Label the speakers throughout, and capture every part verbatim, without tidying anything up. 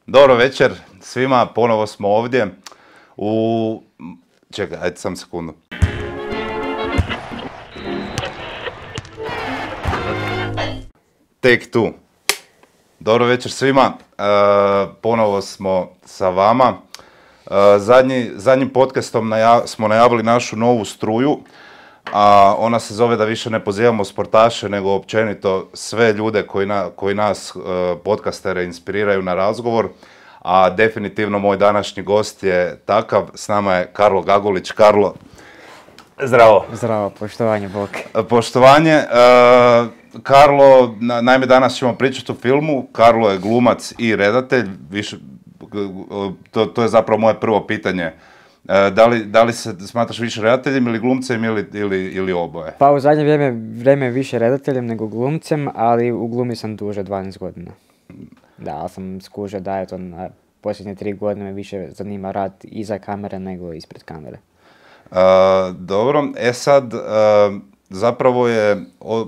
Speaker 1: Dobro večer svima, ponovo smo ovdje u... Čekaj, ajde sam sekundu. Take two. Dobro večer svima, e, ponovo smo sa vama. E, zadnji, zadnjim podcastom najav, smo najavili našu novu struju, a ona se zove da više ne pozivamo sportaše, nego općenito sve ljude koji, na, koji nas, e, podcastere, inspiriraju na razgovor. A definitivno moj današnji gost je takav, s nama je Karlo Gagulić. Karlo, zdravo.
Speaker 2: Zdravo, poštovanje, bok.
Speaker 1: Poštovanje. E, Karlo, na, naime danas ćemo pričati o filmu. Karlo je glumac i redatelj. Više, to, to je zapravo moje prvo pitanje. E, da, li, da li se smatraš više redateljem ili glumcem ili, ili, ili oboje?
Speaker 2: Pa u zadnje vrijeme, vrijeme više redateljem nego glumcem, ali u glumi sam duže dvanaest godina. Da, ali sam skužio da je to na posljednje tri godine me više zanima rad iza kamere nego ispred kamere.
Speaker 1: Uh, dobro, e sad, uh, zapravo je o,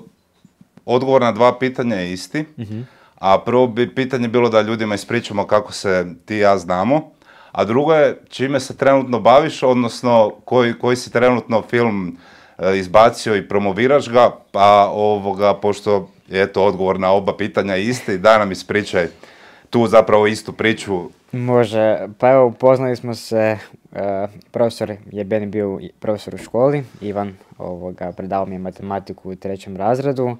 Speaker 1: odgovor na dva pitanja je isti, uh-huh. A prvo bi pitanje bilo da ljudima ispričamo kako se ti i ja znamo, a drugo je čime se trenutno baviš, odnosno koji, koji si trenutno film uh, izbacio i promoviraš ga, pa ovoga, pošto je eto odgovor na oba pitanja isti, da nam ispričaj tu zapravo istu priču.
Speaker 2: Može, pa evo upoznali smo se, uh, profesor je meni bio profesor u školi, Ivan, ovoga, predavao mi je matematiku u trećem razredu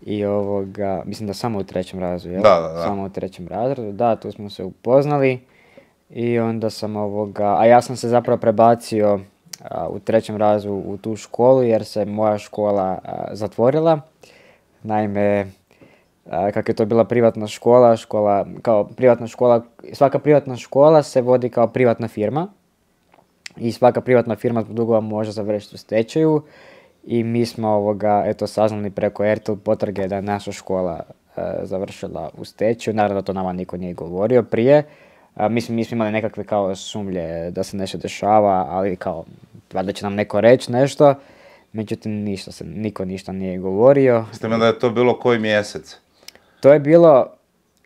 Speaker 2: i ovoga, mislim da samo u trećem razredu, jel?
Speaker 1: Da, da, da.
Speaker 2: Samo u trećem razredu, da, tu smo se upoznali i onda sam ovoga, a ja sam se zapravo prebacio uh, u trećem razredu u tu školu jer se moja škola uh, zatvorila. Naime, kako je to bila privatna škola, škola, kao privatna škola, svaka privatna škola se vodi kao privatna firma i svaka privatna firma zbog dugova može završiti u stečaju i mi smo ovoga, eto, saznali preko R T L potrage da je naša škola e, završila u stečaju. Naravno da to nama niko nije govorio prije. E, mislim, mi smo imali nekakve kao sumlje da se nešto dešava, ali kao, valjda će nam neko reći nešto. Međutim, ništa se, niko ništa nije govorio.
Speaker 1: Ste mi da je to bilo koji mjesec?
Speaker 2: To je bilo,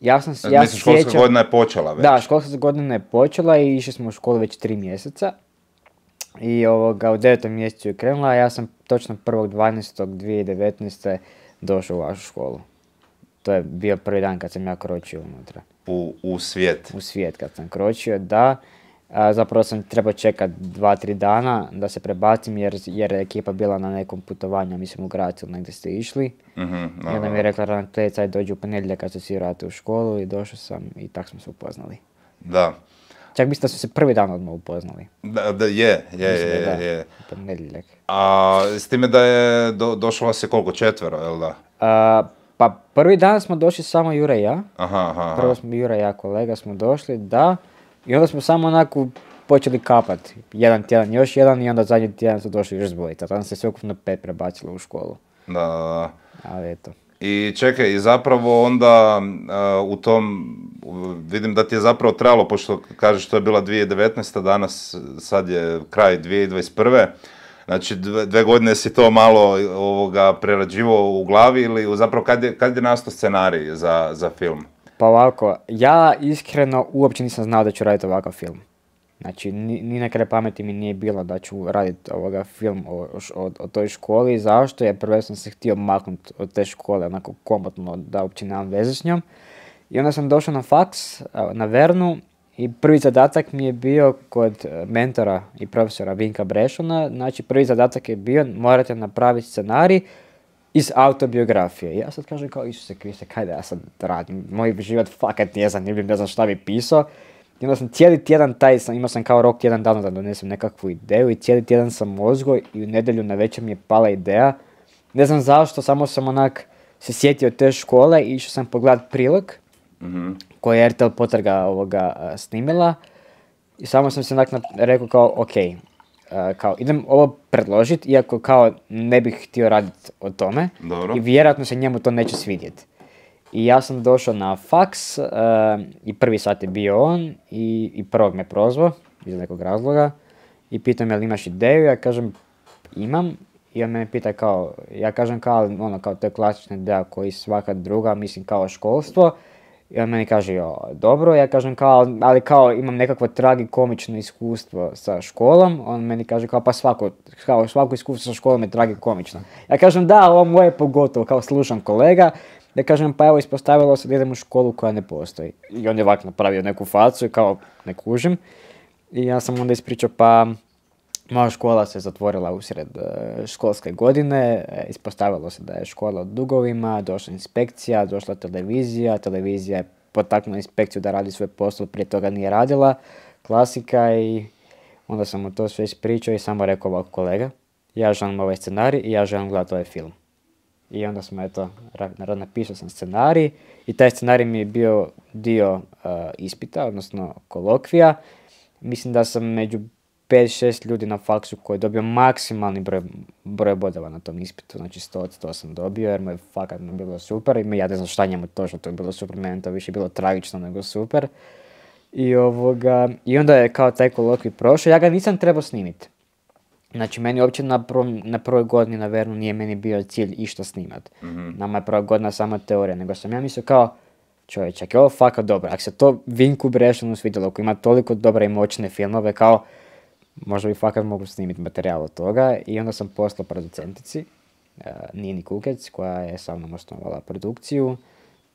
Speaker 2: ja sam se ja
Speaker 1: Mislim, školska
Speaker 2: sjećam,
Speaker 1: godina je počela već.
Speaker 2: Da, školska godina je počela i išli smo u školu već tri mjeseca. I ovoga, u devetom mjesecu je krenula, a ja sam točno prvog dvanaestog dvije tisuće devetnaeste došao u vašu školu. To je bio prvi dan kad sam ja kročio unutra.
Speaker 1: U, u svijet?
Speaker 2: U svijet kad sam kročio, da. A, zapravo sam trebao čekati dva, tri dana da se prebacim jer, jer je ekipa bila na nekom putovanju, mislim u Gracu, negdje ste išli.
Speaker 1: Mm-hmm, no,
Speaker 2: I onda mi je rekla ravnateljica, ajde dođi u ponedjeljak kad se svi vrate u školu i došao sam i tako smo se upoznali.
Speaker 1: Da.
Speaker 2: Čak mislim da su se prvi dan odmah upoznali.
Speaker 1: Da, da je, je,
Speaker 2: mislim,
Speaker 1: je,
Speaker 2: da,
Speaker 1: je.
Speaker 2: u ponedjeljak.
Speaker 1: A s time da je do, došlo vas je koliko, četvero, jel da?
Speaker 2: A, pa prvi dan smo došli samo Jure i ja.
Speaker 1: Aha, aha.
Speaker 2: Prvo smo Jure i ja kolega smo došli, da. I onda smo samo onako počeli kapati. Jedan tjedan, još jedan i onda zadnji tjedan su došli još dvojica. Tada se sve ukupno pet prebacilo u školu.
Speaker 1: Da, da, da.
Speaker 2: Ali eto.
Speaker 1: I čekaj, i zapravo onda uh, u tom, uh, vidim da ti je zapravo trebalo, pošto kažeš to je bila dvije tisuće devetnaesta. Danas, sad je kraj dvije tisuće dvadeset prve. Znači dve, dve godine si to malo ovoga prerađivao u glavi ili zapravo kad je, kad je nastao scenarij za, za film?
Speaker 2: Pa ovako, ja iskreno uopće nisam znao da ću raditi ovakav film. Znači, ni, ni na kraj pameti mi nije bilo da ću raditi ovoga film o, o, o toj školi. Zašto? Jer prvo sam se htio maknuti od te škole, onako komotno da uopće nemam veze s njom. I onda sam došao na faks, na Vernu, i prvi zadatak mi je bio kod mentora i profesora Vinka Brešona. Znači, prvi zadatak je bio, morate napraviti scenarij iz autobiografije. Ja sad kažem kao, Isuse Kriste, kaj da ja sad radim? Moj život fakat nije zanimljiv, ne znam šta bi pisao. I onda sam cijeli tjedan taj, sam, imao sam kao rok tjedan dana da donesem nekakvu ideju i cijeli tjedan sam mozgo i u nedjelju na večer mi je pala ideja. Ne znam zašto, samo sam onak se sjetio te škole i išao sam pogledat prilog mm-hmm. koji je R T L potraga ovoga a, snimila. I samo sam se onak rekao kao, ok, a, kao idem ovo predložiti, iako kao ne bih htio raditi o tome.
Speaker 1: Dobro.
Speaker 2: I vjerojatno se njemu to neće svidjeti. I ja sam došao na faks uh, i prvi sat je bio on i, i prvog me prozvao iz nekog razloga i pitao me jel imaš ideju, ja kažem imam i on me pita kao, ja kažem kao ono kao to je klasična ideja koji svaka druga, mislim kao školstvo I on meni kaže, jo, dobro, ja kažem kao, ali kao imam nekakvo tragikomično iskustvo sa školom, on meni kaže kao, pa svako, kao, svako iskustvo sa školom je tragikomično. Ja kažem, da, ovo moje pogotovo, kao slušam kolega, ja kažem, pa evo ispostavilo se da idem u školu koja ne postoji. I on je ovako napravio neku facu i kao, ne kužim. I ja sam onda ispričao, pa moja škola se zatvorila usred uh, školske godine, e, ispostavilo se da je škola u dugovima, došla inspekcija, došla televizija, televizija je potaknula inspekciju da radi svoj posao, prije toga nije radila, klasika i onda sam mu to sve ispričao i samo rekao ovako, kolega, ja želim ovaj scenarij i ja želim gledati ovaj film. I onda smo, eto, napisao sam scenarij i taj scenarij mi je bio dio uh, ispita, odnosno kolokvija. Mislim da sam među pet šest ljudi na faksu koji je dobio maksimalni broj, broj bodova na tom ispitu, znači sto od sto sam dobio jer mu je fakat bilo super i ja ne znam šta njemu točno to je bilo super, meni to više bilo tragično nego super. I, ovoga, i onda je kao taj kolokvij prošao, ja ga nisam trebao snimiti. Znači, meni uopće na, prvom, na prvoj godini na Vernu nije meni bio cilj išta snimat. Mm-hmm. Nama je prva godina sama teorija, nego sam ja mislio kao, čovječ, ako je ovo fakat dobro, ako se to Vinku Brešanu svidjelo, ako ima toliko dobre i moćne filmove, kao, možda bi fakat mogu snimiti materijal od toga. I onda sam poslao producentici, uh, Nini Kukec, koja je sa mnom osnovala produkciju.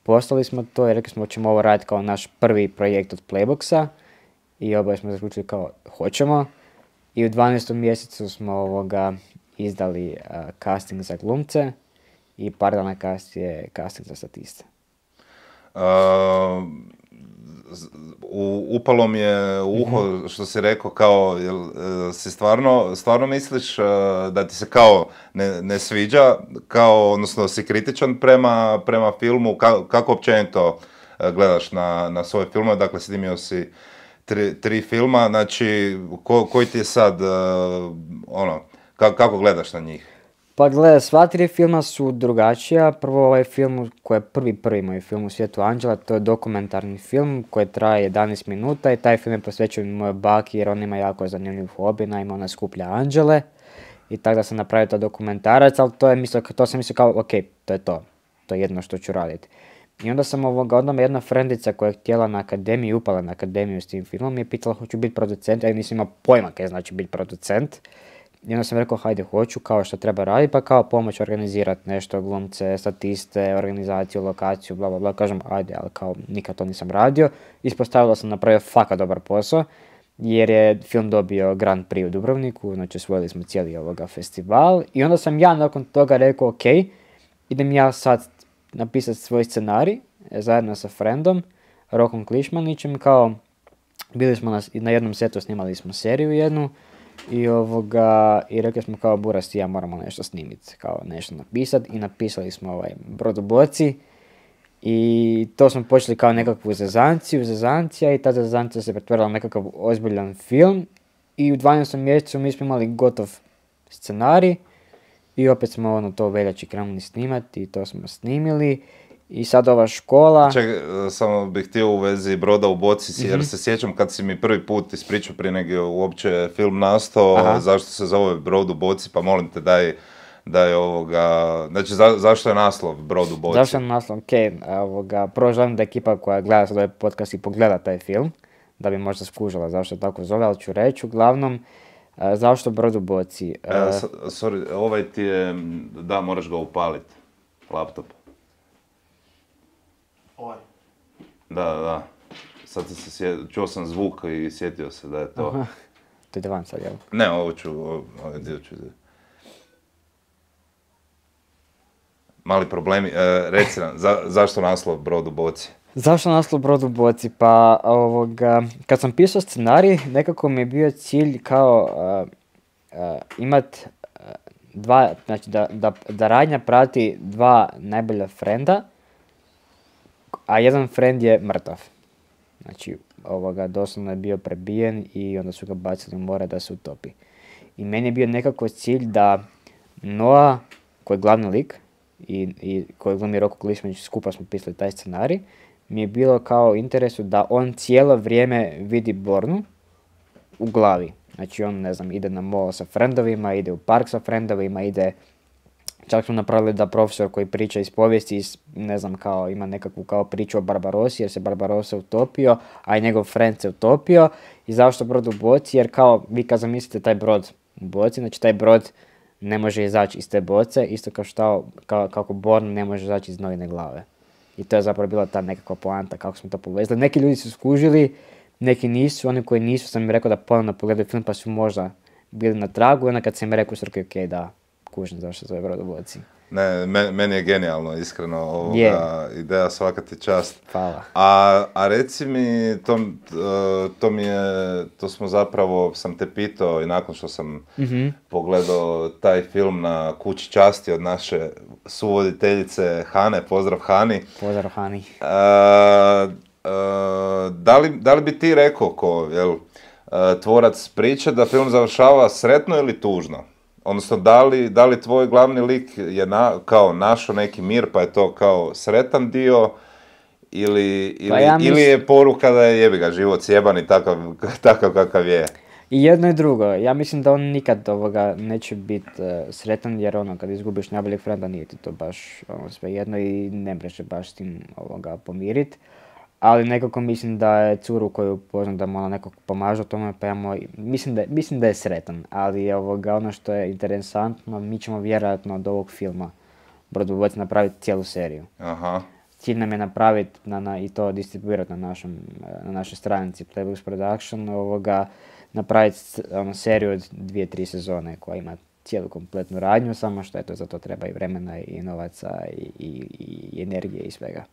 Speaker 2: Poslali smo to i rekli smo, ćemo ovo raditi kao naš prvi projekt od Playboxa. I oboje smo zaključili kao, hoćemo. I u dvanaestom mjesecu smo ovoga izdali uh, casting za glumce i par dana kasnije casting za statiste.
Speaker 1: Uh, u, upalo mi je u uho mm-hmm. što si rekao kao, jel, uh, si stvarno, stvarno misliš uh, da ti se kao ne, ne sviđa, kao, odnosno si kritičan prema, prema filmu, ka, kako općenito uh, gledaš na, na svoje filmove, dakle snimio si Tri, tri filma, znači, ko, koji ti je sad, uh, ono, ka, kako gledaš na njih?
Speaker 2: Pa gledaj, sva tri filma su drugačija. Prvo ovaj film koji je prvi prvi moj film u svijetu Anđela, to je dokumentarni film koji traje jedanaest minuta i taj film je posvećen mojoj baki jer on ima jako zanimljiv hobi, naime ona skuplja anđele. I tako da sam napravio to dokumentarac, ali to, je mislio, to sam mislio kao, ok, to je to, to je jedno što ću raditi. I onda sam ovoga, onda me jedna frendica koja je htjela na akademiju, upala na akademiju s tim filmom, mi je pitala hoću biti producent, ja nisam imao pojma kaj znači biti producent. I onda sam rekao hajde hoću, kao što treba raditi, pa kao pomoć organizirati nešto, glumce, statiste, organizaciju, lokaciju, bla bla bla, kažem ajde, ali kao nikad to nisam radio. Ispostavilo sam napravio fakat dobar posao, jer je film dobio Grand Prix u Dubrovniku, znači osvojili smo cijeli ovoga festival. I onda sam ja nakon toga rekao ok, idem ja sad napisati svoj scenarij zajedno sa frendom, Rokom Klišmanićem, kao bili smo na, na jednom setu, snimali smo seriju jednu i ovoga, i rekli smo kao Buras i ja moramo nešto snimiti, kao nešto napisati i napisali smo ovaj Brod u boci i to smo počeli kao nekakvu zezanciju, zezancija i ta zezancija se pretvorila u nekakav ozbiljan film i u dvanaestom mjesecu mi smo imali gotov scenarij. I opet smo ono to u veljači krenuli snimati i to smo snimili. I sad ova škola...
Speaker 1: Čekaj, samo bih htio u vezi Broda u boci, mm-hmm. jer se sjećam kad si mi prvi put ispričao prije nego uopće film nastao, aha, zašto se zove Brod u boci, pa molim te daj, daj ovoga... Znači, za, zašto je naslov Brod u boci?
Speaker 2: Zašto je naslov? Ok, ovoga, prvo želim da ekipa koja gleda sad ovaj podcast i pogleda taj film, da bi možda skužila zašto tako zove, ali ću reći uglavnom... Uh, zašto Brod u boci? Uh,
Speaker 1: e, sorry, ovaj ti je, da, moraš ga upaliti, laptop.
Speaker 3: Ovaj?
Speaker 1: Da, da, sad se sjet, čuo sam zvuk i sjetio se da je to.
Speaker 2: Aha. To ide van sad, jel?
Speaker 1: Ne, ovo ću, ovaj dio ću... Mali problemi, e, reci nam, za, zašto naslov Brod u boci?
Speaker 2: Zašto naslov Brod u boci? Pa ovoga, kad sam pisao scenarij, nekako mi je bio cilj kao uh, uh, imat uh, dva, znači da, da, da radnja prati dva najbolja frenda, a jedan frend je mrtav. Znači, ovoga, doslovno je bio prebijen i onda su ga bacili u more da se utopi. I meni je bio nekako cilj da Noa, koji je glavni lik, i, i koji glumi Roko Klišmanić, skupa smo pisali taj scenarij, mi je bilo kao interesu da on cijelo vrijeme vidi Bornu u glavi. Znači on, ne znam, ide na mall sa frendovima, ide u park sa frendovima, ide Čak smo napravili da profesor koji priča iz povijesti, iz, ne znam, kao ima nekakvu kao priču o Barbarossi, jer se Barbarossa utopio, a i njegov friend se utopio. I zašto brod u boci? Jer kao vi kad zamislite taj brod u boci, znači taj brod ne može izaći iz te boce, isto kao što kao, kako Born ne može izaći iz novine glave. I to je zapravo bila ta nekakva poanta kako smo to povezali. Neki ljudi su skužili, neki nisu, oni koji nisu sam im rekao da ponovno pogledaju film pa su možda bili na tragu i onda kad sam im rekao su rekao ok, da, kužim zašto se zove brod u boci.
Speaker 1: Ne, meni je genijalno, iskreno, ovoga yeah. ideja, svaka ti čast.
Speaker 2: Hvala.
Speaker 1: A, a reci mi, to, to mi je, to smo zapravo, sam te pitao i nakon što sam mm-hmm. pogledao taj film na Kući časti od naše suvoditeljice Hane, pozdrav Hani.
Speaker 2: Pozdrav Hani.
Speaker 1: A, a, da, li, da li bi ti rekao ko, jel, tvorac priče da film završava sretno ili tužno? Odnosno, da li, da li tvoj glavni lik je na, kao našao neki mir, pa je to kao sretan dio, ili, ili, pa ja mis... ili je poruka da je jebi ga život sjeban i takav, takav kakav je?
Speaker 2: I jedno i drugo. Ja mislim da on nikad ovoga neće biti uh, sretan, jer ono, kad izgubiš najboljeg frenda, nije ti to baš ono, sve jedno i ne mreže baš s tim ovoga pomiriti. Ali nekako mislim da je curu koju poznam da mu ona nekako pomaže tome, pa ja moj, mislim, da, mislim da je sretan, ali ovoga, ono što je interesantno, mi ćemo vjerojatno od ovog filma Brod u boci napraviti cijelu seriju.
Speaker 1: Aha.
Speaker 2: Cilj nam je napraviti na, na, i to distribuirati na, našem, na našoj stranici Playbooks Production, ovoga, napraviti ono, seriju od dvije, tri sezone koja ima cijelu kompletnu radnju, samo što eto, za to treba i vremena i novaca i, i, i energije i svega.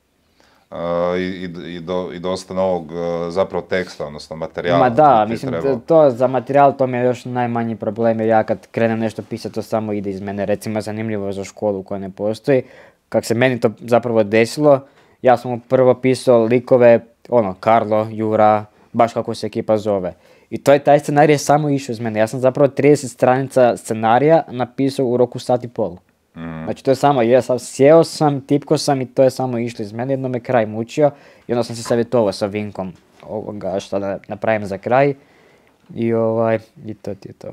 Speaker 1: Uh, i, i, do, i dosta novog uh, zapravo teksta, odnosno materijala.
Speaker 2: Ma da, mislim, treba... to za materijal to mi je još najmanji problem, jer ja kad krenem nešto pisati, to samo ide iz mene. Recimo, zanimljivo za školu koja ne postoji. Kako se meni to zapravo desilo, ja sam prvo pisao likove, ono, Karlo, Jura, baš kako se ekipa zove. I to je taj scenarij samo išao iz mene. Ja sam zapravo trideset stranica scenarija napisao u roku sat i pol. Mm. Znači to je samo, ja sam sjeo sam, tipko sam i to je samo išlo iz mene, jedno me kraj mučio i onda sam se savjetovao sa Vinkom ovoga što da napravim za kraj i ovaj, i to ti je to.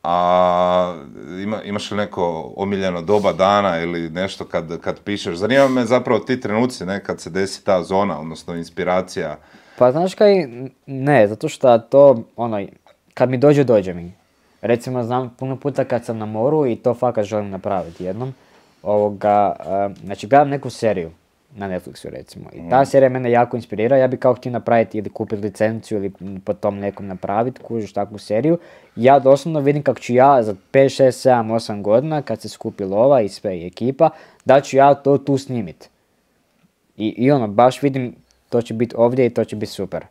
Speaker 1: A ima, imaš li neko omiljeno doba dana ili nešto kad, kad pišeš? Zanima me zapravo ti trenuci, ne, kad se desi ta zona, odnosno inspiracija.
Speaker 2: Pa znaš kaj, ne, zato što to, ono, kad mi dođe, dođe mi. Recimo, znam puno puta kad sam na moru i to fakat želim napraviti jednom, ovoga, uh, znači gledam neku seriju na Netflixu recimo i ta serija mene jako inspirira, ja bi kao htio napraviti ili kupiti licenciju ili po tom nekom napraviti, kužiš takvu seriju. Ja doslovno vidim kako ću ja za pet, šest, sedam, osam godina kad se skupi lova i sve i ekipa, da ću ja to tu snimiti. I, i ono, baš vidim, to će biti ovdje i to će biti super.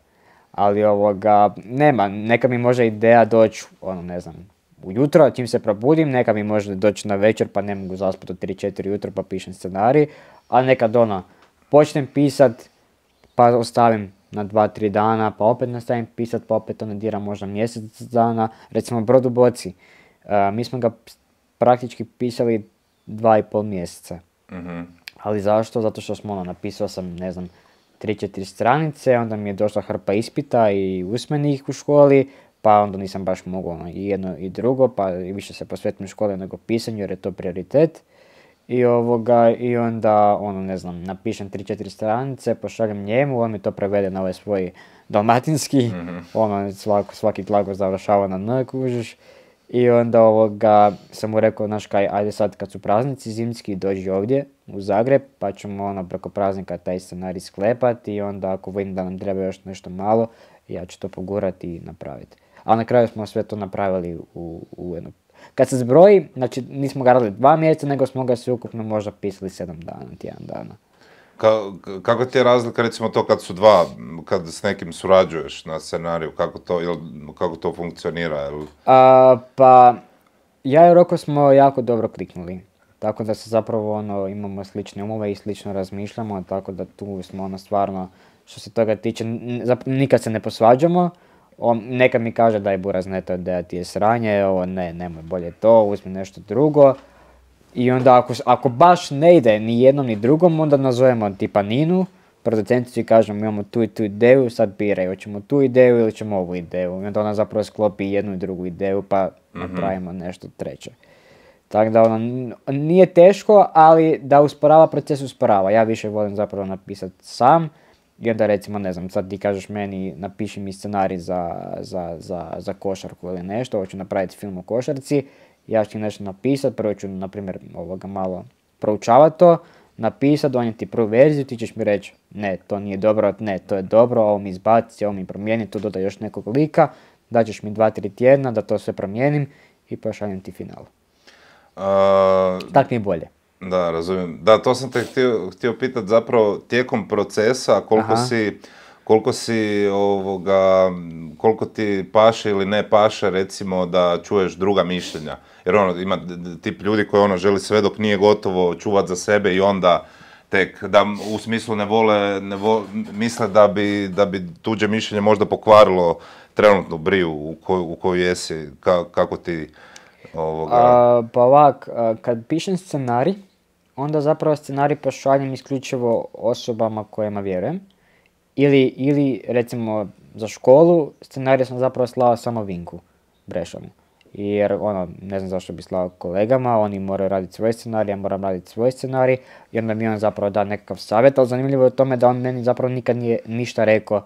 Speaker 2: Ali ovoga, nema, neka mi može ideja doći, ono ne znam, ujutro, čim se probudim, neka mi može doći na večer pa ne mogu zaspati od tri četiri jutro pa pišem scenarij, a nekad ono, počnem pisat pa ostavim na dva tri dana, pa opet nastavim pisat, pa opet ono diram možda mjesec dana, recimo Brod u boci, uh, mi smo ga praktički pisali dva i pol mjeseca. Mm-hmm. Ali zašto? Zato što smo ono, napisao sam, ne znam, tri četiri stranice, onda mi je došla hrpa ispita i usmenih u školi, pa onda nisam baš mogao ono, i jedno i drugo, pa više se posvetim školi nego pisanju jer je to prioritet. I, ovoga, i onda, ono, ne znam, napišem tri četiri stranice, pošaljem njemu, on mi to prevede na ovaj svoj dalmatinski, mm-hmm. ono, svaki, svaki glagol završava na n, kužiš. I onda ovoga, sam mu rekao, znaš kaj, ajde sad kad su praznici zimski, dođi ovdje u Zagreb, pa ćemo ono preko praznika taj scenarij sklepati i onda ako vidim da nam treba još nešto malo, ja ću to pogurati i napraviti. A na kraju smo sve to napravili u, u jednu... Kad se zbroji, znači nismo ga radili dva mjeseca, nego smo ga sve ukupno možda pisali sedam dana, tjedan dana.
Speaker 1: Ka, kako ti je razlika recimo to kad su dva, kad s nekim surađuješ na scenariju, kako to, jel, kako to funkcionira? Jel?
Speaker 2: A, pa, ja i Roko smo jako dobro kliknuli, tako da se zapravo ono, imamo slične umove i slično razmišljamo, tako da tu smo ono stvarno, što se toga tiče, nikad se ne posvađamo. On, neka mi kaže da je buraz neto da ti je sranje, ovo ne, nemoj bolje to, uzmi nešto drugo. I onda ako, ako baš ne ide ni jednom ni drugom, onda nazovemo tipa Ninu, producenticu i kažemo imamo tu i tu ideju, sad biraj, hoćemo tu ideju ili ćemo ovu ideju. I onda ona zapravo sklopi jednu i drugu ideju pa mm-hmm. napravimo nešto treće. Tako da ono, n- nije teško, ali da usporava proces usporava. Ja više volim zapravo napisati sam i onda recimo, ne znam, sad ti kažeš meni napiši mi scenarij za, za, za, za košarku ili nešto, hoću napraviti film o košarci, ja ću nešto napisati, prvo ću, na primjer, ovoga malo proučavati to, napisati, donijeti prvu verziju, ti ćeš mi reći, ne, to nije dobro, ne, to je dobro, ovo mi izbaci, ovo mi promijeni, tu dodaj još nekog lika, daćeš mi dva, tri tjedna da to sve promijenim i pošaljem ti final.
Speaker 1: Uh,
Speaker 2: Tak mi je bolje.
Speaker 1: Da, razumijem. Da, to sam te htio, htio pitati zapravo tijekom procesa koliko
Speaker 2: Aha.
Speaker 1: si, koliko si ovoga, koliko ti paše ili ne paše recimo da čuješ druga mišljenja. Jer ono, ima d- d- tip ljudi koji ono želi sve dok nije gotovo čuvat za sebe i onda tek, da u smislu ne vole, ne vo, misle da bi, da bi tuđe mišljenje možda pokvarilo trenutnu briju u koju, u koju jesi, ka, kako ti ovoga...
Speaker 2: A, pa ovak, a, kad pišem scenarij, onda zapravo scenarij pošaljem isključivo osobama kojima vjerujem. Ili, ili recimo za školu, scenarij sam zapravo slao samo Vinku Brešanu. Jer ono, ne znam zašto bi slao kolegama, oni moraju raditi svoj scenarij, ja moram raditi svoj scenarij i onda mi on zapravo da nekakav savjet, ali zanimljivo je u tome da on meni zapravo nikad nije ništa rekao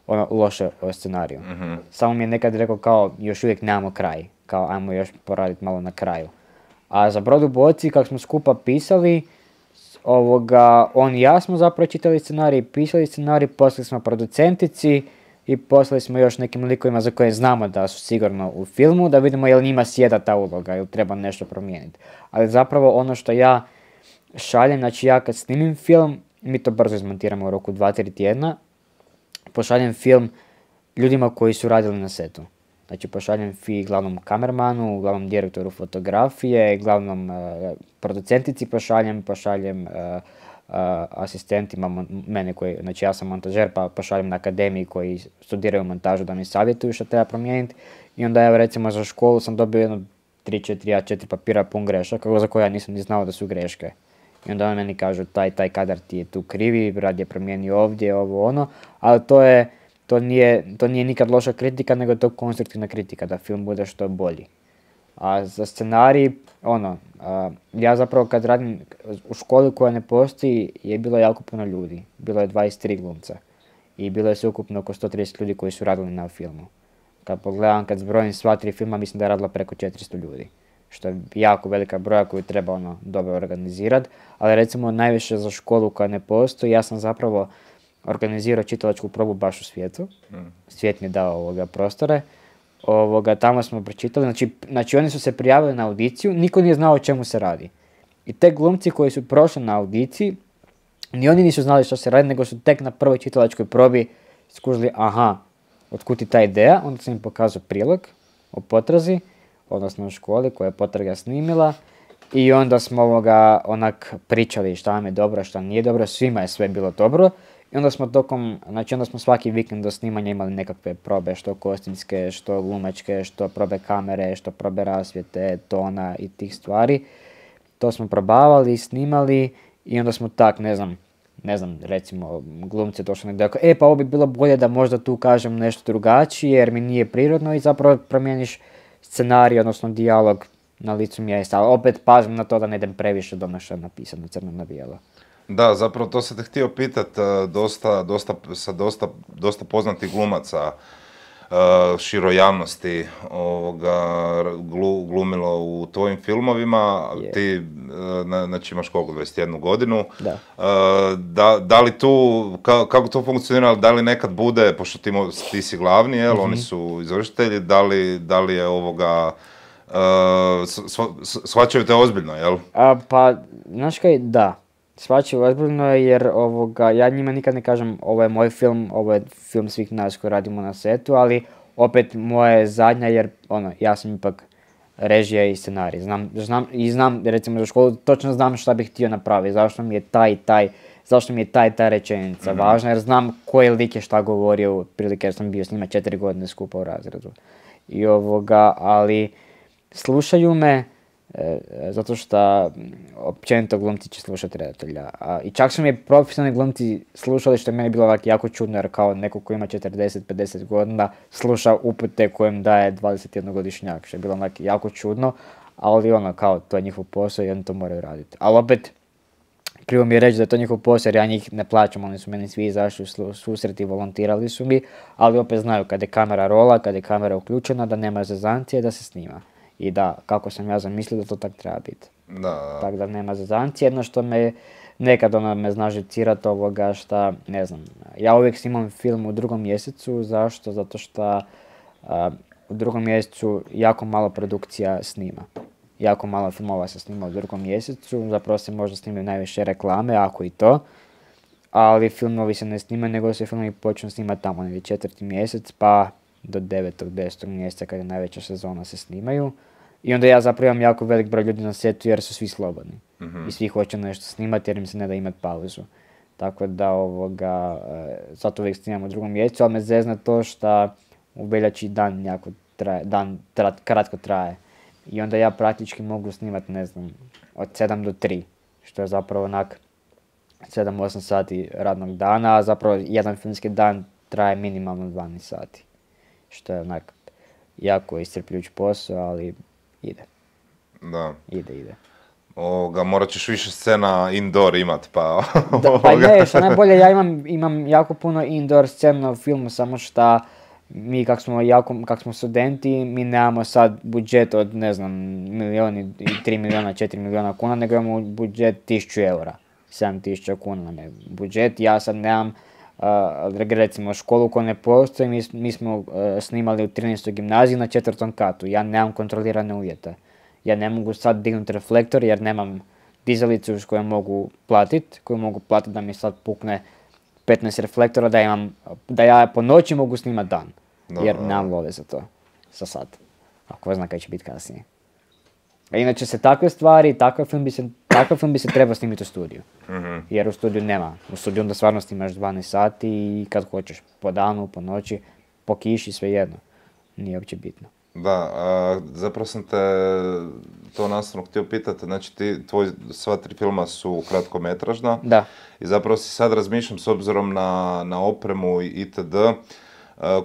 Speaker 2: ono, loše o scenariju.
Speaker 1: Mhm.
Speaker 2: Samo mi je nekad rekao kao još uvijek nemamo kraj, kao ajmo još poraditi malo na kraju. A za Brod u boci, kako smo skupa pisali, ovoga, on i ja smo zapravo čitali scenarij, pisali scenarij, poslali smo producentici i poslali smo još nekim likovima za koje znamo da su sigurno u filmu, da vidimo je li njima sjeda ta uloga ili treba nešto promijeniti. Ali zapravo ono što ja šaljem, znači ja kad snimim film, mi to brzo izmontiramo u roku dva tri tjedna, pošaljem film ljudima koji su radili na setu. Znači pošaljem fi glavnom kamermanu, glavnom direktoru fotografije, glavnom uh, producentici pošaljem, pošaljem uh, uh, asistentima mon- mene koji, znači ja sam montažer pa pošaljem na akademiji koji studiraju montažu da mi savjetuju što treba promijeniti. I onda evo recimo za školu sam dobio jedno tri četiri a četiri papira pun grešaka za koje ja nisam ni znao da su greške. I onda oni meni kažu taj, taj kadar ti je tu krivi, rad je promijenio ovdje, ovo ono, ali to je, to nije, to nije nikad loša kritika, nego je to konstruktivna kritika, da film bude što bolji. A za scenarij, ono, a, ja zapravo kad radim u školi koja ne postoji, je bilo jako puno ljudi. Bilo je dvadeset tri glumca. I bilo je sveukupno oko sto trideset ljudi koji su radili na filmu. Kad pogledam, kad zbrojim sva tri filma, mislim da je radilo preko četiristo ljudi. Što je jako velika broja koju treba ono dobro organizirati. Ali recimo najviše za školu koja ne postoji, ja sam zapravo organizirao čitalačku probu baš u svijetu.
Speaker 1: Mm.
Speaker 2: Svijet mi je dao ovoga prostore. Ovoga, tamo smo pročitali, znači, znači oni su se prijavili na audiciju, niko nije znao o čemu se radi. I te glumci koji su prošli na audiciji, ni oni nisu znali što se radi, nego su tek na prvoj čitalačkoj probi skužili, aha, otkud ti ta ideja, onda sam im pokazao prilog o potrazi, odnosno o školi koja je potraga snimila, i onda smo ovoga onak pričali šta nam je dobro, šta nije dobro, svima je sve bilo dobro. I onda smo tokom, znači onda smo svaki vikend do snimanja imali nekakve probe, što kostimske, što glumačke, što probe kamere, što probe rasvjete, tona i tih stvari. To smo probavali, snimali i onda smo tak, ne znam, ne znam, recimo glumci došli negdje, ako, e pa ovo bi bilo bolje da možda tu kažem nešto drugačije jer mi nije prirodno i zapravo promijeniš scenarij, odnosno dijalog na licu mjesta, ali opet pazim na to da ne idem previše do naša napisano crno na bijelo.
Speaker 1: Da, zapravo to sam te htio pitat, uh, dosta, dosta, sa dosta, dosta poznatih glumaca uh, široj javnosti ovoga, glu, glumilo u tvojim filmovima,
Speaker 2: Je.
Speaker 1: ti uh, na, znači imaš koliko, dvadeset jednu godinu,
Speaker 2: Da.
Speaker 1: Uh, da, da li tu, ka, kako to funkcionira, da li nekad bude, pošto ti, mo- ti si glavni, jel,
Speaker 2: Mhm.
Speaker 1: oni su izvršitelji, da li, da li je ovoga, uh, s- s- shvaćaju te ozbiljno, jel?
Speaker 2: A, pa, znaš kaj, da. Shvaćaju ozbiljno jer ovoga, ja njima nikad ne kažem ovo je moj film, ovo je film svih nas koji radimo na setu, ali opet moja je zadnja jer ono, ja sam ipak režija i scenarij. Znam, znam, i znam, recimo za školu, točno znam šta bih htio napraviti, zašto mi je taj taj, zašto mi je taj ta rečenica važna, jer znam koji lik je šta govorio, prilike jer sam bio s njima četiri godine skupa u razredu. I ovoga, ali slušaju me, e, zato što m, općenito glumci će slušati redatelja. A, I čak su mi profesionalni glumci slušali, što je meni bilo ovako jako čudno, jer kao neko ko ima četrdeset pedeset godina sluša upute kojem daje dvadesetjednogodišnjak, što je bilo onak jako čudno. ali ono, kao, to je njihov posao i oni to moraju raditi. Ali opet, krivo mi je reći da je to njihov posao jer ja njih ne plaćam, oni su meni svi izašli u susret i volontirali su mi, ali opet znaju kad je kamera rola, kad je kamera uključena, da nema zezancije, da se snima. I da, kako sam ja zamislio da to tak treba biti.
Speaker 1: Da.
Speaker 2: Tako da nema zezancije, jedno što me nekad ono me zna živcirat ovoga šta, ne znam, ja uvijek snimam film u drugom mjesecu, zašto? Zato što u drugom mjesecu jako malo produkcija snima. Jako malo filmova se snima u drugom mjesecu, zapravo se možda snimaju najviše reklame, ako i to, ali filmovi se ne snimaju, nego se filmovi počnu snimati tamo negdje četvrti mjesec, pa do devetog, desetog mjeseca kada je najveća sezona se snimaju. I onda ja zapravo imam jako velik broj ljudi na setu jer su svi slobodni. Mm-hmm. I svi hoće nešto snimati jer im se ne da imati pauzu. Tako da ovoga, zato uvijek snimam u drugom mjesecu, ali me zezna to što u veljači dan jako traje, dan tra, kratko traje. I onda ja praktički mogu snimati, ne znam, od sedam do tri, što je zapravo onak sedam osam sati radnog dana, a zapravo jedan filmski dan traje minimalno dvanaest sati. Što je onak jako iscrpljujući posao, ali ide.
Speaker 1: Da.
Speaker 2: Ide, ide.
Speaker 1: Ovoga, morat ćeš više scena indoor imat, pa...
Speaker 2: Da, pa ne, što najbolje, ja imam, imam jako puno indoor scena u filmu, samo što mi kak smo, jako, kak smo studenti, mi nemamo sad budžet od, ne znam, milijon i tri milijuna, četiri milijuna kuna, nego imamo budžet tisuću eura, sedam tisuća kuna nam je budžet. Ja sad nemam, uh, recimo, školu koja ne postoji, mi, mi smo uh, snimali u trinaestoj gimnaziji na četvrtom katu, ja nemam kontrolirane uvjete. Ja ne mogu sad dignuti reflektor jer nemam dizalicu s kojom mogu platiti, koju mogu platiti da mi sad pukne petnaest reflektora, da, imam, da ja po noći mogu snimati dan. No, jer nemam love za to, za sad. A ko zna kaj će biti kasnije. A inače se takve stvari, takav film bi se, takav film bi se trebao snimiti u studiju. Mm-hmm. Jer u studiju nema. U studiju onda stvarno snimaš dvanaest sati i kad hoćeš. Po danu, po noći, po kiši, svejedno. Nije uopće bitno.
Speaker 1: Da, a, zapravo sam te to nastavno htio pitati, znači ti, tvoj sva tri filma su kratkometražna.
Speaker 2: Da.
Speaker 1: I zapravo si sad razmišljam s obzirom na, na opremu i itd.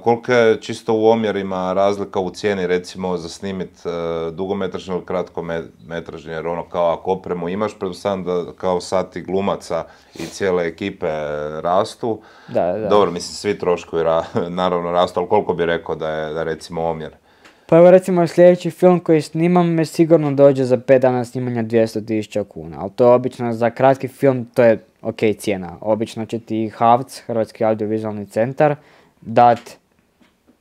Speaker 1: Koliko je čisto u omjerima razlika u cijeni recimo za snimit uh, dugometražni ili kratkometražni, jer ono kao ako opremu imaš, pretpostavljam da kao sati glumaca i cijele ekipe rastu.
Speaker 2: Da, da.
Speaker 1: Dobro, mislim svi troškovi ra, naravno rastu, ali koliko bi rekao da je da recimo omjer?
Speaker 2: Pa evo recimo sljedeći film koji snimam me sigurno dođe za pet dana snimanja dvjesto tisuća kuna, ali to je obično za kratki film, to je ok cijena. Obično će ti H A V C, Hrvatski audiovizualni centar, dat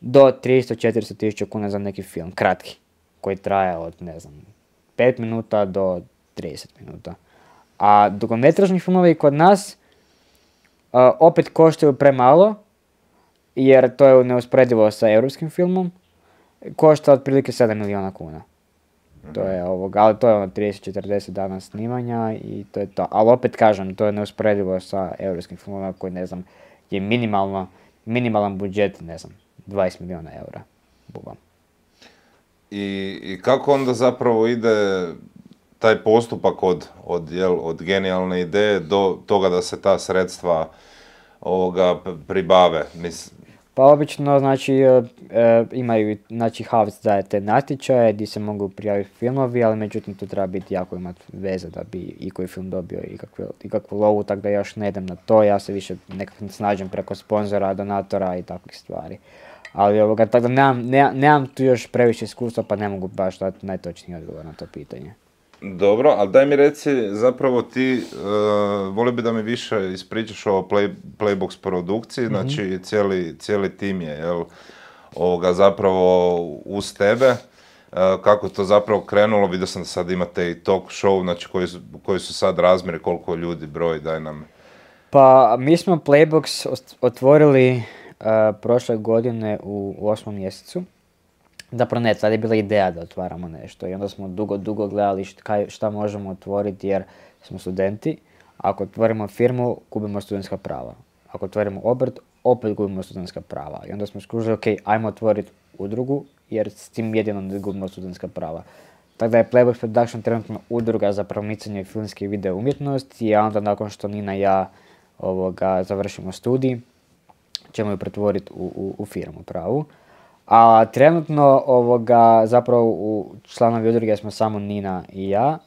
Speaker 2: do tristo do četiristo tisuća kuna za neki film, kratki, koji traje od, ne znam, pet minuta do trideset minuta. A dugometražni filmovi kod nas uh, opet koštaju premalo, jer to je neusporedivo sa europskim filmom, košta otprilike sedam milijuna kuna. To je ovoga, ali to je ono trideset do četrdeset dana snimanja i to je to. Ali opet kažem, to je neusporedivo sa europskim filmom koji, ne znam, je minimalno, minimalan budžet, ne znam, dvadeset milijuna eura. Bubam.
Speaker 1: I, I kako onda zapravo ide taj postupak od, od, jel, od genijalne ideje do toga da se ta sredstva ovoga pribave? Mislim,
Speaker 2: pa obično, znači, e, e, imaju, znači, H A V C daje te natječaje gdje se mogu prijaviti filmovi, ali međutim tu treba biti jako imati veze da bi i koji film dobio ikakvu, ikakvu lovu, tako da još ne idem na to, ja se više nekako snađem preko sponzora, donatora i takvih stvari. Ali ovoga, tako da nemam, nemam, nemam tu još previše iskustva, pa ne mogu baš dati najtočniji odgovor na to pitanje.
Speaker 1: Dobro, ali daj mi reci, zapravo ti, uh, volio bi da mi više ispričaš o play, Playbox produkciji, mm-hmm. znači cijeli, cijeli tim je, jel, ovoga zapravo uz tebe, uh, kako je to zapravo krenulo, vidio sam da sad imate i talk show, znači koji su, koji su sad razmjeri, koliko ljudi broj, daj nam.
Speaker 2: Pa mi smo Playbox otvorili uh, prošle godine u, u osmom mjesecu. Zapravo ne, sad je bila ideja da otvaramo nešto i onda smo dugo, dugo gledali šta, šta možemo otvoriti jer smo studenti. Ako otvorimo firmu, gubimo studentska prava. Ako otvorimo obrt, opet gubimo studentska prava. I onda smo skužili, ok, ajmo otvoriti udrugu jer s tim jedino ne gubimo studentska prava. Tako da je Playbox Production trenutno udruga za promicanje filmske i video umjetnosti, a onda nakon što Nina i ja ovoga, završimo studij, ćemo ju pretvoriti u, u, u firmu pravu. A trenutno ovoga, zapravo u članovi udruge smo samo Nina i ja.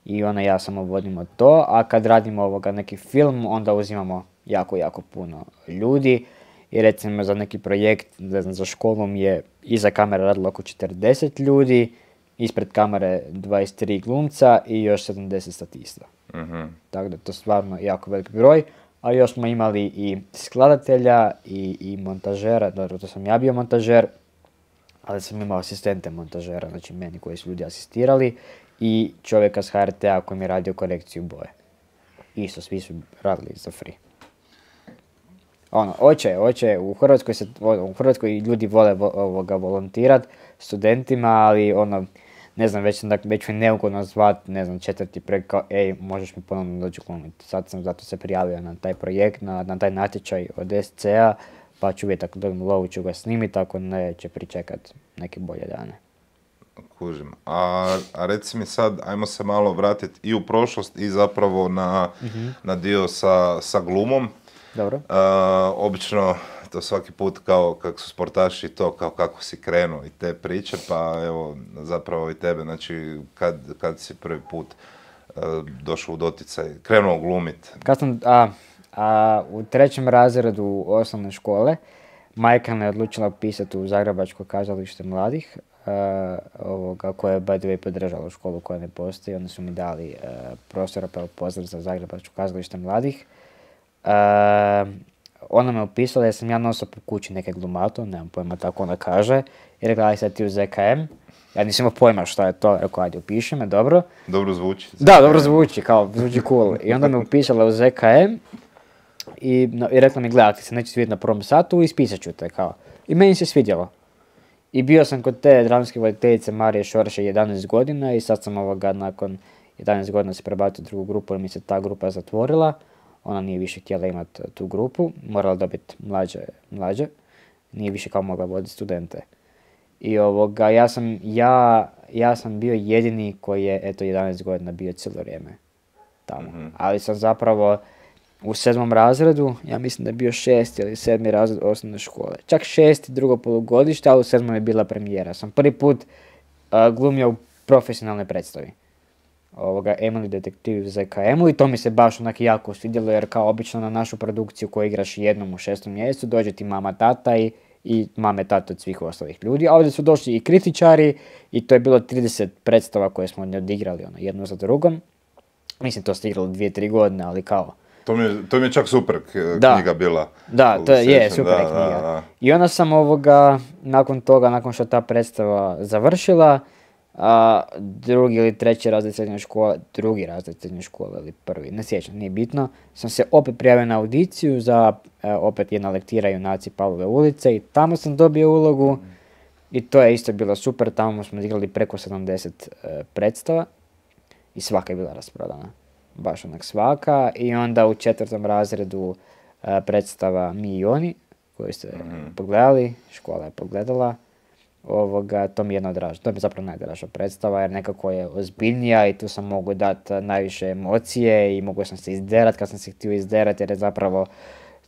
Speaker 2: I ona i ja samo vodimo to, a kad radimo ovoga neki film, onda uzimamo jako, jako puno ljudi. I recimo za neki projekt, ne znam, za školom je iza kamere radilo oko četrdeset ljudi, ispred kamere dvadeset tri glumca i još sedamdeset statista.
Speaker 1: Mm-hmm.
Speaker 2: Tako da to je stvarno jako velik broj. A još smo imali i skladatelja i, i montažera, dobro, to sam ja bio montažer, ali sam imao asistente montažera, znači meni koji su ljudi asistirali, i čovjeka s H R T-a koji mi je radio korekciju boje. Isto, svi su radili za free. Ono, oće, oće, u Hrvatskoj se, u Hrvatskoj ljudi vole vo, ovoga volontirat studentima, ali ono, ne znam, već, već mi neugodno zvat, ne znam, četvrti projekt kao, ej, možeš mi ponovno doći glumiti. Sad sam zato se prijavio na taj projekt, na, na taj natječaj od S C A, pa ću vidjeti ako dobijem lovu ću ga snimiti, ako ne će pričekat neke bolje dane.
Speaker 1: Kužim. A, a reci mi sad, ajmo se malo vratiti i u prošlost i zapravo na, mm-hmm. na dio sa, sa glumom.
Speaker 2: Dobro.
Speaker 1: Uh, obično to svaki put kao kako su sportaši to kao kako si krenuo i te priče, pa evo zapravo i tebe, znači kad, kad si prvi put uh, došao u doticaj, krenuo glumit?
Speaker 2: Kad sam, a, a, u trećem razredu osnovne škole, majka me odlučila upisati u Zagrebačko kazalište mladih, uh, ovoga, koje je by the way podržalo školu koja ne postoji. Oni su mi dali uh, prostora pa pozdrav za Zagrebačko kazalište mladih. Uh, ona me upisala jer sam ja nosio po kući neke glumato, nemam pojma tako ona kaže, i rekla aj sad ti u Z K M. Ja nisam imao pojma šta je to, rekao ajde upiši me, dobro.
Speaker 1: Dobro zvuči.
Speaker 2: Da, dobro zvuči, kao zvuči cool. I onda me upisala u Z K M i, no, i rekla mi gledaj, ti se neće svidjeti na prvom satu, ispisat ću te kao. I meni se svidjelo. I bio sam kod te dramske voditeljice Marije Šorše jedanaest godina i sad sam ovoga nakon jedanaest godina se prebacio u drugu grupu jer mi se ta grupa zatvorila. Ona nije više htjela imati tu grupu, morala dobiti mlađe, mlađe. Nije više kao mogla voditi studente. I ovoga, ja sam, ja, ja sam bio jedini koji je, eto, jedanaest godina bio cijelo vrijeme tamo. Mm-hmm. Ali sam zapravo u sedmom razredu, ja mislim da je bio šesti ili sedmi razred osnovne škole. Čak šesti, drugo polugodište, ali u sedmom je bila premijera. Sam prvi put uh, glumio u profesionalnoj predstavi. Ovoga, Emily Detektiv u Z K M-u i to mi se baš onak jako svidjelo jer kao obično na našu produkciju koju igraš jednom u šestom mjesecu dođe ti mama, tata i, i mame, tata od svih ostalih ljudi. A ovdje su došli i kritičari i to je bilo trideset predstava koje smo odigrali ono, jedno za drugom. Mislim to ste igrali dvije, tri godine, ali kao...
Speaker 1: To mi je, to mi je čak super knjiga da, bila.
Speaker 2: Da, to je, je super da, knjiga. Da, da. I onda sam ovoga, nakon toga, nakon što ta predstava završila, a, drugi ili treći razred srednje škole, drugi razred srednje škole ili prvi, ne sjećam, nije bitno, sam se opet prijavio na audiciju za e, opet jedna lektira Junaci Pavlove ulice i tamo sam dobio ulogu mm. i to je isto bilo super, tamo smo igrali preko sedamdeset e, predstava i svaka je bila rasprodana. Baš onak svaka i onda u četvrtom razredu e, predstava Mi i oni, koju ste mm-hmm. pogledali, škola je pogledala, ovoga, to mi je jedna draža, to mi je zapravo najdraža predstava jer nekako je ozbiljnija i tu sam mogu dati najviše emocije i mogu sam se izderat kad sam se htio izderat jer je zapravo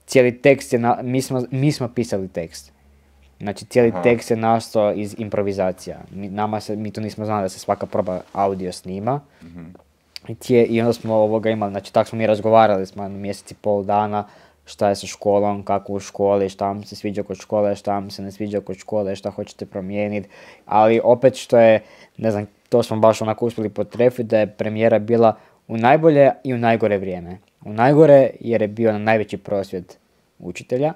Speaker 2: cijeli tekst je, na, mi, smo, mi smo pisali tekst. Znači cijeli Aha. tekst je nastao iz improvizacija. Mi, nama se, mi tu nismo znali da se svaka proba audio snima. Mm-hmm. I, tije, I onda smo ovoga imali, znači tako smo mi razgovarali smo mjesec i pol dana šta je sa školom, kako u školi, šta vam se sviđa kod škole, šta vam se ne sviđa kod škole, šta hoćete promijeniti. Ali opet što je, ne znam, to smo baš onako uspjeli potrefiti da je premijera bila u najbolje i u najgore vrijeme. U najgore jer je bio na najveći prosvjed učitelja,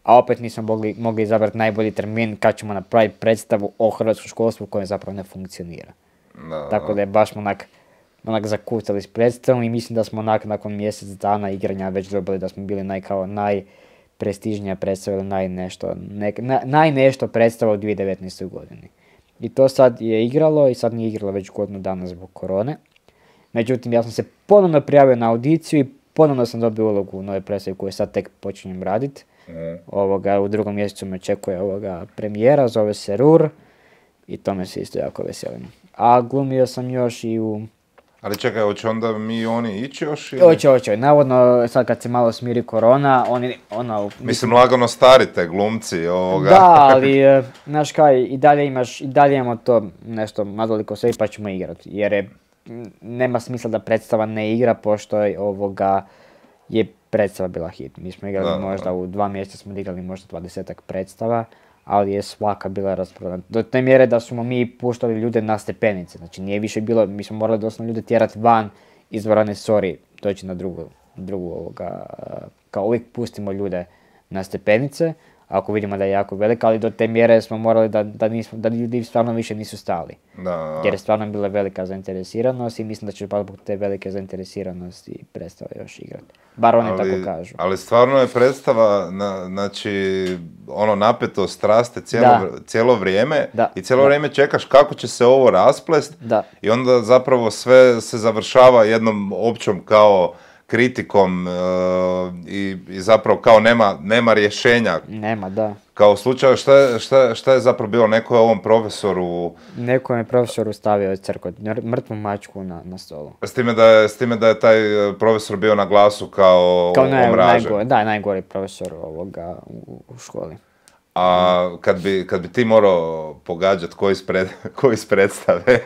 Speaker 2: a opet nismo mogli, mogli izabrati najbolji termin kad ćemo napraviti predstavu o hrvatskom školstvu koje zapravo ne funkcionira. No. Tako da je baš onak, onak zakucali s predstavom i mislim da smo onak nakon mjesec dana igranja već dobili da smo bili naj, kao najprestižnija predstava ili naj nešto, ne, na, naj nešto predstava u dvije tisuće devetnaestoj godini. I to sad je igralo i sad nije igralo već godinu dana zbog korone. Međutim, ja sam se ponovno prijavio na audiciju i ponovno sam dobio ulogu u nove predstavi koju sad tek počinjem raditi. Mm. Ovoga, u drugom mjesecu me očekuje ovoga premijera, zove se Rur i to me se isto jako veselim. A glumio sam još i u
Speaker 1: Ali čekaj, hoće onda mi oni ići još? Ili?
Speaker 2: Hoće, hoće. Navodno, sad kad se malo smiri korona, oni, ono...
Speaker 1: Mislim, lagano starite glumci ovoga.
Speaker 2: Da, ali, e, znaš kaj, i dalje imaš, i dalje imamo to nešto mazoliko sve pa ćemo igrati. Jer je, m, nema smisla da predstava ne igra, pošto je ovoga, je predstava bila hit. Mi smo igrali
Speaker 1: Da,
Speaker 2: možda
Speaker 1: da.
Speaker 2: u dva mjeseca smo igrali možda dvadesetak predstava, ali je svaka bila rasprodana. Do te mjere da smo mi puštali ljude na stepenice. Znači nije više bilo, mi smo morali doslovno ljude tjerati van iz dvorane, sorry, doći na drugu, drugu ovoga, kao uvijek pustimo ljude na stepenice, ako vidimo da je jako velika, ali do te mjere smo morali da, da, nismo, da ljudi stvarno više nisu stali.
Speaker 1: Da.
Speaker 2: Jer je stvarno bila velika zainteresiranost i mislim da će pa zbog te velike zainteresiranosti predstava još igrati. Bar oni
Speaker 1: ali,
Speaker 2: tako kažu.
Speaker 1: Ali stvarno je predstava, na, znači, ono napetost raste cijelo,
Speaker 2: Da.
Speaker 1: vr- cijelo vrijeme
Speaker 2: Da,
Speaker 1: i cijelo
Speaker 2: da.
Speaker 1: vrijeme čekaš kako će se ovo rasplest
Speaker 2: Da.
Speaker 1: i onda zapravo sve se završava jednom općom kao kritikom e, i, i zapravo kao nema, nema rješenja.
Speaker 2: Nema, da.
Speaker 1: Kao u slučaju šta je, šta, je- šta je zapravo bilo, neko je ovom profesoru,
Speaker 2: Neko je profesoru stavio crkot, mrtvu mačku na, na stolu.
Speaker 1: s time, da je, s time da je taj e, profesor bio na glasu kao,
Speaker 2: Kao naj,
Speaker 1: omražen.
Speaker 2: najgore, da, najgori profesor ovoga u, u školi.
Speaker 1: A kad bi, kad bi ti morao pogađati koji ispred, ko iz predstave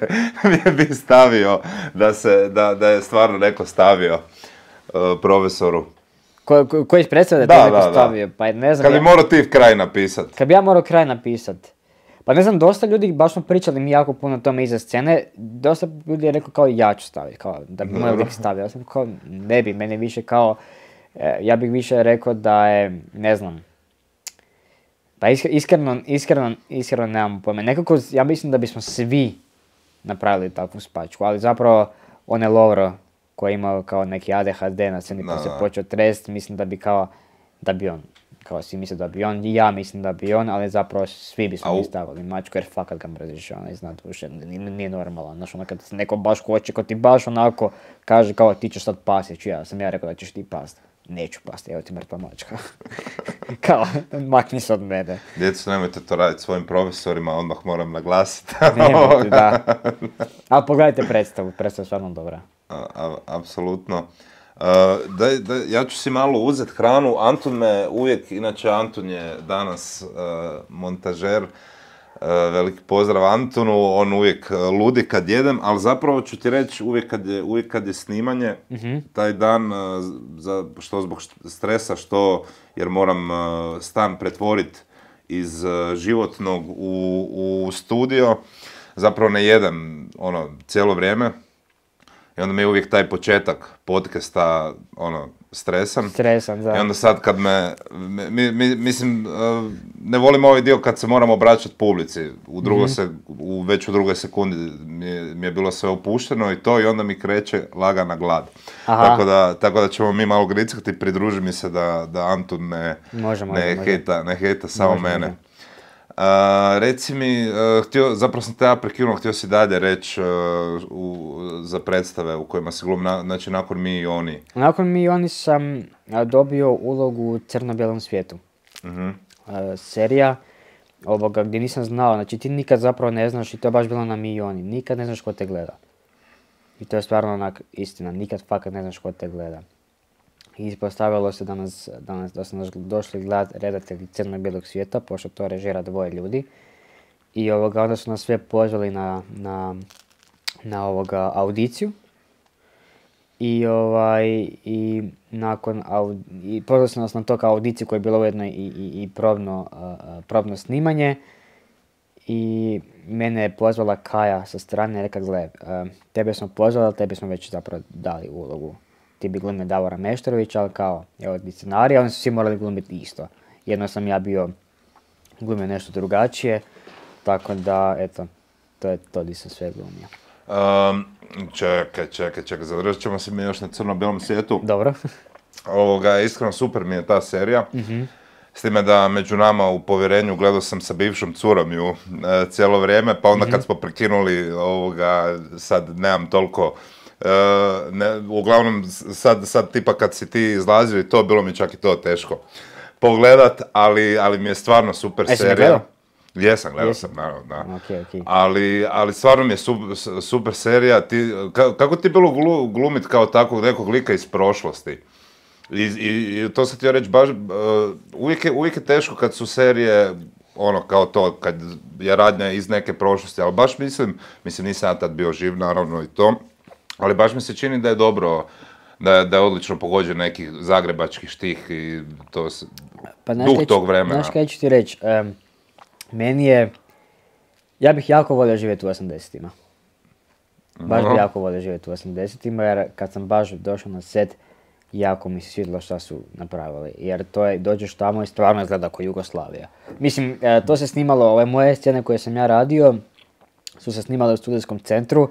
Speaker 1: bi stavio da, se, da, da je stvarno neko stavio uh, profesoru.
Speaker 2: Ko, ko, koji predstavlja
Speaker 1: Da,
Speaker 2: da, neko
Speaker 1: da, da.
Speaker 2: stavio, pa ne znam.
Speaker 1: Kad bi
Speaker 2: ja-
Speaker 1: morao ti kraj napisat.
Speaker 2: Kad bi ja morao kraj napisat, pa ne znam, dosta ljudi, baš smo pričali mi jako puno o tome iza scene, dosta ljudi je rekao kao ja ću staviti, kao da bi moj
Speaker 1: Dobro.
Speaker 2: lik stavio. Ja sam kao ne bi, mene više kao, e, ja bih više rekao da je, ne znam, pa isk- iskreno, iskreno, iskreno nemam pojma. Nekako, ja mislim da bismo svi napravili takvu spačku, ali zapravo on je Lovro koji je imao kao neki A D H D na sceni pa
Speaker 1: Da,
Speaker 2: se
Speaker 1: da.
Speaker 2: počeo trest, mislim da bi kao, da bi on, kao svi misle da bi on, i ja mislim da bi on, ali zapravo svi bismo
Speaker 1: Au.
Speaker 2: mi stavili mačku jer fakat ga mrziš, ona iznad duše, nije, nije normalno, znaš, ono kad se neko baš hoće, ko ti baš onako kaže kao ti ćeš sad pasti, ću ja, sam ja rekao da ćeš ti past. Neću pasti, evo ti mrtva mačka. Kao, makni se od mene.
Speaker 1: Djeco, nemojte to raditi svojim profesorima, odmah moram naglasiti.
Speaker 2: Nemojte, da. Ali pogledajte predstavu, predstava je stvarno dobra.
Speaker 1: A- a- Apsolutno. Uh, daj, daj, ja ću si malo uzeti hranu. Antun me uvijek, inače Antun je danas uh, montažer. Uh, veliki pozdrav Antunu, on uvijek uh, ludi kad jedem, ali zapravo ću ti reći uvijek kad je, uvijek kad je snimanje, taj dan, uh, za, što zbog št- stresa, što jer moram uh, stan pretvoriti iz uh, životnog u, u studio, zapravo ne jedem ono cijelo vrijeme. I onda mi je uvijek taj početak podcasta, ono, stresan.
Speaker 2: Stresan, da.
Speaker 1: I onda sad kad me, mi, mi- mislim, uh, ne volim ovaj dio kad se moram obraćati publici. U drugo se, u, već u drugoj sekundi mi je, mi je bilo sve opušteno i to i onda mi kreće lagana glad.
Speaker 2: Aha.
Speaker 1: Tako da, tako da ćemo mi malo grickati, pridruži mi se da, da Antun ne,
Speaker 2: Može, može,
Speaker 1: ne
Speaker 2: može.
Speaker 1: hejta, ne hejta samo
Speaker 2: Može,
Speaker 1: mene.
Speaker 2: može.
Speaker 1: A, reci mi, uh, htio, zapravo sam te ja prekinuo, htio si dalje reći uh, u- za predstave u kojima se glumi, na- znači nakon mi i oni.
Speaker 2: Nakon mi oni sam a, dobio ulogu u Crno-bijelom svijetu.
Speaker 1: Mhm.
Speaker 2: A, serija ovoga gdje nisam znao, znači ti nikad zapravo ne znaš i to je baš bilo na mi i oni, nikad ne znaš ko te gleda. I to je stvarno onak istina, nikad fakat ne znaš ko te gleda. I ispostavilo se da, nas, da, nas, da su nas došli gledat redatelji Crno-bijelog svijeta, pošto to režira dvoje ljudi. I ovoga, onda su nas sve pozvali na, na, na ovoga audiciju. I ovaj, i nakon, au, i pozvali su nas na to kao audiciju koja je bila ujedno i, i, i probno, a, a, probno snimanje. I mene je pozvala Kaja sa strane i rekla, gle, a, tebe smo pozvali, ali tebi smo već zapravo dali ulogu. Ti bi glumio Davora Meštrovića, ali kao, evo ti scenarija, oni su svi morali glumiti isto. Jedno sam ja bio glumio nešto drugačije, tako da, eto, to je to di sam sve glumio.
Speaker 1: Um, čekaj, čekaj, čekaj, zadržat ćemo se mi još na crno-bijelom svijetu.
Speaker 2: Dobro.
Speaker 1: Ovoga, iskreno super mi je ta serija. S time da među nama u povjerenju gledao sam sa bivšom curom ju e, cijelo vrijeme, pa onda kad smo prekinuli ovoga, sad nemam toliko, e, ne, uglavnom sad, sad tipa kad si ti izlazio i to, bilo mi čak i to teško pogledat, ali, ali mi je stvarno super
Speaker 2: E, si ga
Speaker 1: serija.
Speaker 2: gledao?
Speaker 1: Jesam, gledao
Speaker 2: Jesi?
Speaker 1: sam, naravno, da.
Speaker 2: Okej, okej.
Speaker 1: Ali, ali stvarno mi je super, super serija. Ti, ka- kako ti je bilo glu, glumit kao takvog nekog lika iz prošlosti? I, i, i to sam htio reći, baš, uh, uvijek, je, uvijek je teško kad su serije, ono, kao to, kad je radnja iz neke prošlosti, ali baš mislim, mislim nisam ja tad bio živ, naravno, i to, ali baš mi se čini da je dobro, da je, da je odlično pogođen neki zagrebački štih i to se,
Speaker 2: Pa, znaš
Speaker 1: duh
Speaker 2: kaj ću-
Speaker 1: tog vremena.
Speaker 2: Znaš kaj ću ti reći, em, meni je, ja bih jako volio živjeti u osamdesetima. Baš bi
Speaker 1: Aha.
Speaker 2: jako volio živjeti u osamdesetima, jer kad sam baš došao na set, jako mi se svidjelo šta su napravili. Jer to je, dođeš tamo i stvarno izgleda kao Jugoslavija. Mislim, e, to se snimalo, ove moje scene koje sam ja radio, su se snimale u studijskom centru,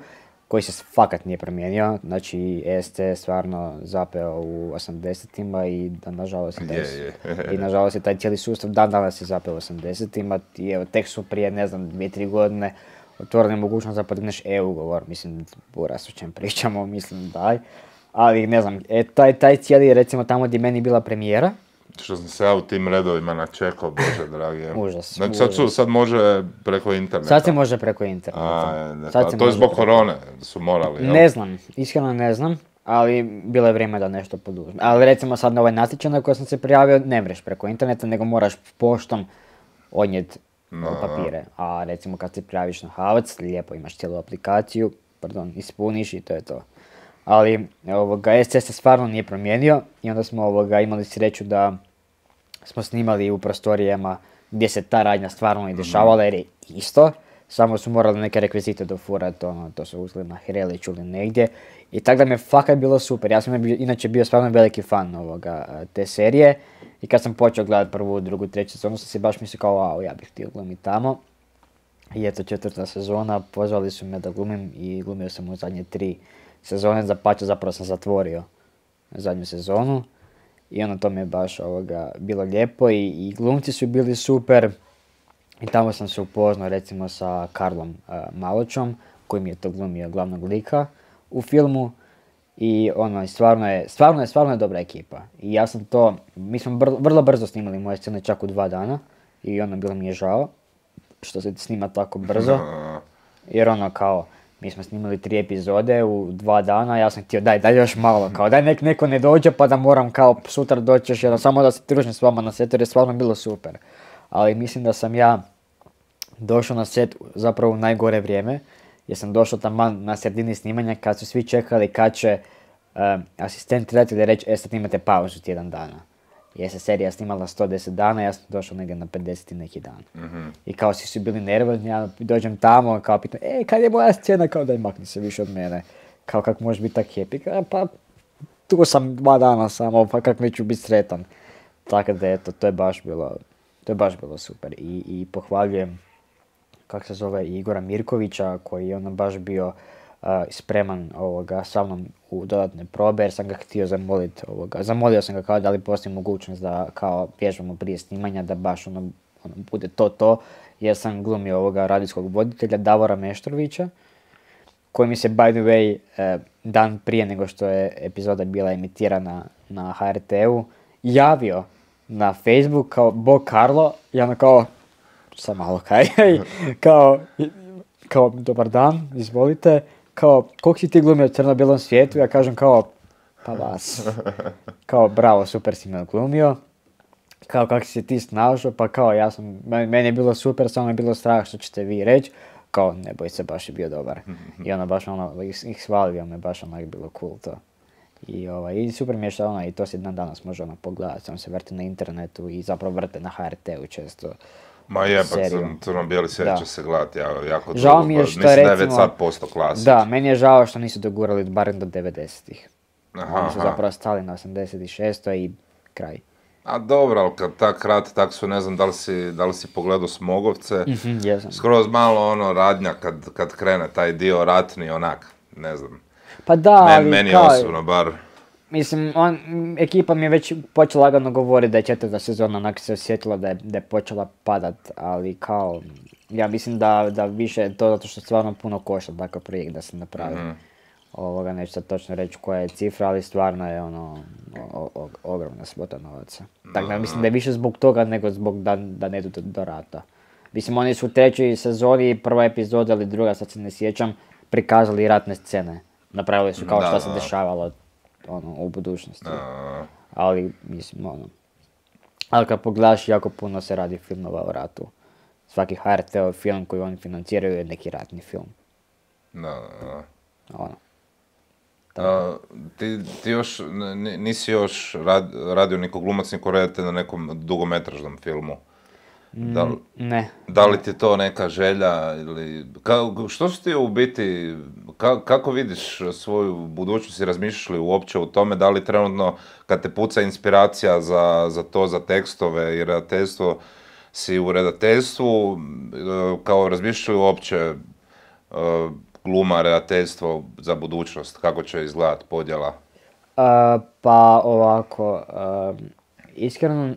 Speaker 2: koji se fakat nije promijenio. Znači, E S C je stvarno zapeo u osamdesetima i da, nažalost, je taj,
Speaker 1: Je, je.
Speaker 2: i nažalost je taj cijeli sustav dan danas je zapeo u osamdesetima i evo, tek su prije, ne znam, dvije, tri godine otvorili mogućnost da podigneš e-ugovor. Mislim, buras o čem pričamo, mislim, daj. Ali, ne znam, e, taj, taj cijeli, recimo, tamo gdje meni bila premijera,
Speaker 1: Što sam se ja u tim redovima načekao, bože dragi.
Speaker 2: Užas,
Speaker 1: Znači sad, su,
Speaker 2: užas.
Speaker 1: sad može preko interneta.
Speaker 2: sad se može preko interneta.
Speaker 1: A, ne,
Speaker 2: Sad
Speaker 1: pa
Speaker 2: se
Speaker 1: to je
Speaker 2: može
Speaker 1: zbog
Speaker 2: preko-
Speaker 1: korone, su morali, jel?
Speaker 2: Ne znam, iskreno ne znam, ali bilo je vrijeme da nešto poduzme. Ali recimo sad na ovaj natječaj na koji sam se prijavio, ne mreš preko interneta, nego moraš poštom odnijet
Speaker 1: No.
Speaker 2: papire. A recimo kad se prijaviš na Havac, lijepo imaš cijelu aplikaciju, pardon, ispuniš i to je to. Ali ovoga, S C se stvarno nije promijenio i onda smo ovoga, imali sreću da smo snimali u prostorijama gdje se ta radnja stvarno i dešavala jer je isto, samo su morali neke rekvizite dofurati, ono, to su uzeli na Hreliću ili negdje. I tako da mi je fakat bilo super, ja sam bio- inače bio stvarno veliki fan ovoga, te serije i kad sam počeo gledati prvu, drugu, treću sezonu sam si baš mislio kao wow, ja bih htio glumiti tamo. I eto četvrta sezona, pozvali su me da glumim i glumio sam u zadnje tri sezone, zapače zapravo sam zatvorio zadnju sezonu. I ono to mi je baš ovoga, bilo lijepo i, i glumci su bili super. I tamo sam se upoznao recimo sa Karlom uh, Maločom, koji mi je to glumio glavnog lika u filmu. I ono, stvarno je, stvarno je, stvarno je dobra ekipa. I ja sam to, mi smo br- vrlo brzo snimali moje scene, čak u dva dana. I ono, bilo mi je žao što se snima tako brzo.
Speaker 1: A,
Speaker 2: Jer ono kao, mi smo snimali tri epizode u dva dana, ja sam htio daj, daj još malo, kao daj nek neko ne dođe pa da moram kao sutra doći još jednom, samo da se družim s vama na setu jer je stvarno bilo super. Ali mislim da sam ja došao na set zapravo u najgore vrijeme, jer sam došao taman na sredini snimanja kad su svi čekali kad će uh, asistent redatelja reći, e sad imate pauzu tjedan dana. Jer se serija snimala sto deset dana, ja sam došao negdje na pedeset i neki dan.
Speaker 1: mhm.
Speaker 2: I kao svi su bili nervozni, ja dođem tamo, kao pitam, e, kad je moja scena, kao daj makni se više od mene. Kao kak možeš biti tak happy, kao, pa tu sam dva dana samo, pa kak neću biti sretan. Tako da eto, to je baš bilo, to je baš bilo super. I, i pohvaljujem, kak se zove, Igora Mirkovića, koji je ono baš bio uh, spreman ovoga, sa mnom u dodatne probe, jer sam ga htio zamoliti, ovoga, zamolio sam ga kao da li postoji mogućnost da kao vježbamo prije snimanja, da baš ono, ono bude to to, jer sam glumio ovoga radijskog voditelja Davora Meštrovića, koji mi se by the way eh, dan prije nego što je epizoda bila emitirana na H R T-u javio na Facebook kao Bog Karlo i ono kao, sam malo kaj, kao, kao dobar dan, izvolite, kao koliko si ti glumio u crno-bijelom svijetu, ja kažem kao pa vas, kao bravo, super si me glumio, kao kako si se ti snašao, pa kao ja sam, meni je bilo super, samo je bilo strah što ćete vi reći, kao ne boj se, baš je bio dobar. I ono baš ono, ih, ih svalio me, baš onak bilo cool to. I, ovaj, i super mi je što ono, i to se dan danas može ono pogledati, samo se vrti na internetu i zapravo vrte na H R T-u često.
Speaker 1: Ma je, pa
Speaker 2: seriju.
Speaker 1: crno-bijeli svijet
Speaker 2: Da.
Speaker 1: će se gledati ja, jako
Speaker 2: Žao
Speaker 1: dugo,
Speaker 2: mi je
Speaker 1: pa
Speaker 2: što
Speaker 1: mislim da je
Speaker 2: recimo-
Speaker 1: već sad posto klasik.
Speaker 2: Da, meni je žao što nisu dogurali barem do devedesetih.
Speaker 1: Aha,
Speaker 2: Oni su
Speaker 1: aha.
Speaker 2: zapravo stali na osamdeset šest i kraj.
Speaker 1: A dobro, ali kad tak rat, tak su, ne znam da li si, da li si pogledao Smogovce,
Speaker 2: Mhm, jesam.
Speaker 1: skroz malo ono radnja kad, kad krene taj dio ratni, onak, ne znam.
Speaker 2: Pa da,
Speaker 1: Men,
Speaker 2: ali
Speaker 1: meni
Speaker 2: kao,
Speaker 1: osobno bar.
Speaker 2: mislim, on, m, ekipa mi je već počela lagano govoriti da je četvrta sezona, onak se osjetila da je, da je počela padat, ali kao, ja mislim da, da više je to zato što stvarno puno košta takav projekt da se napravi.
Speaker 1: Mhm.
Speaker 2: Ovoga, neću sad točno reći koja je cifra, ali stvarno je ono, o, o, ogromna svota novaca. Tako da mislim da je više zbog toga nego zbog da, da ne idu do, do rata. Mislim, oni su u trećoj sezoni, prva epizoda ili druga, sad se ne sjećam, prikazali ratne scene. Napravili su kao
Speaker 1: Da,
Speaker 2: što
Speaker 1: da,
Speaker 2: se
Speaker 1: da.
Speaker 2: dešavalo ono, u budućnosti.
Speaker 1: A,
Speaker 2: Ali, mislim, ono... Ali kad pogledaš, jako puno se radi filmova o ratu. Svaki H R T-ov film koji oni financiraju je neki ratni film.
Speaker 1: da, da.
Speaker 2: Ono.
Speaker 1: A, ti, ti još, n- nisi još rad, radio niko glumac, niko redatelj na nekom dugometražnom filmu. Da, li-
Speaker 2: Ne.
Speaker 1: da li ti je to neka želja ili... Ka, što su ti u biti, ka, kako vidiš svoju budućnost i razmišljaš li uopće o tome, da li trenutno kad te puca inspiracija za, za to, za tekstove i redateljstvo, si u redateljstvu, e, kao razmišljaš li uopće e, gluma, redateljstvo za budućnost, kako će izgledati podjela?
Speaker 2: A, pa ovako, a, iskreno,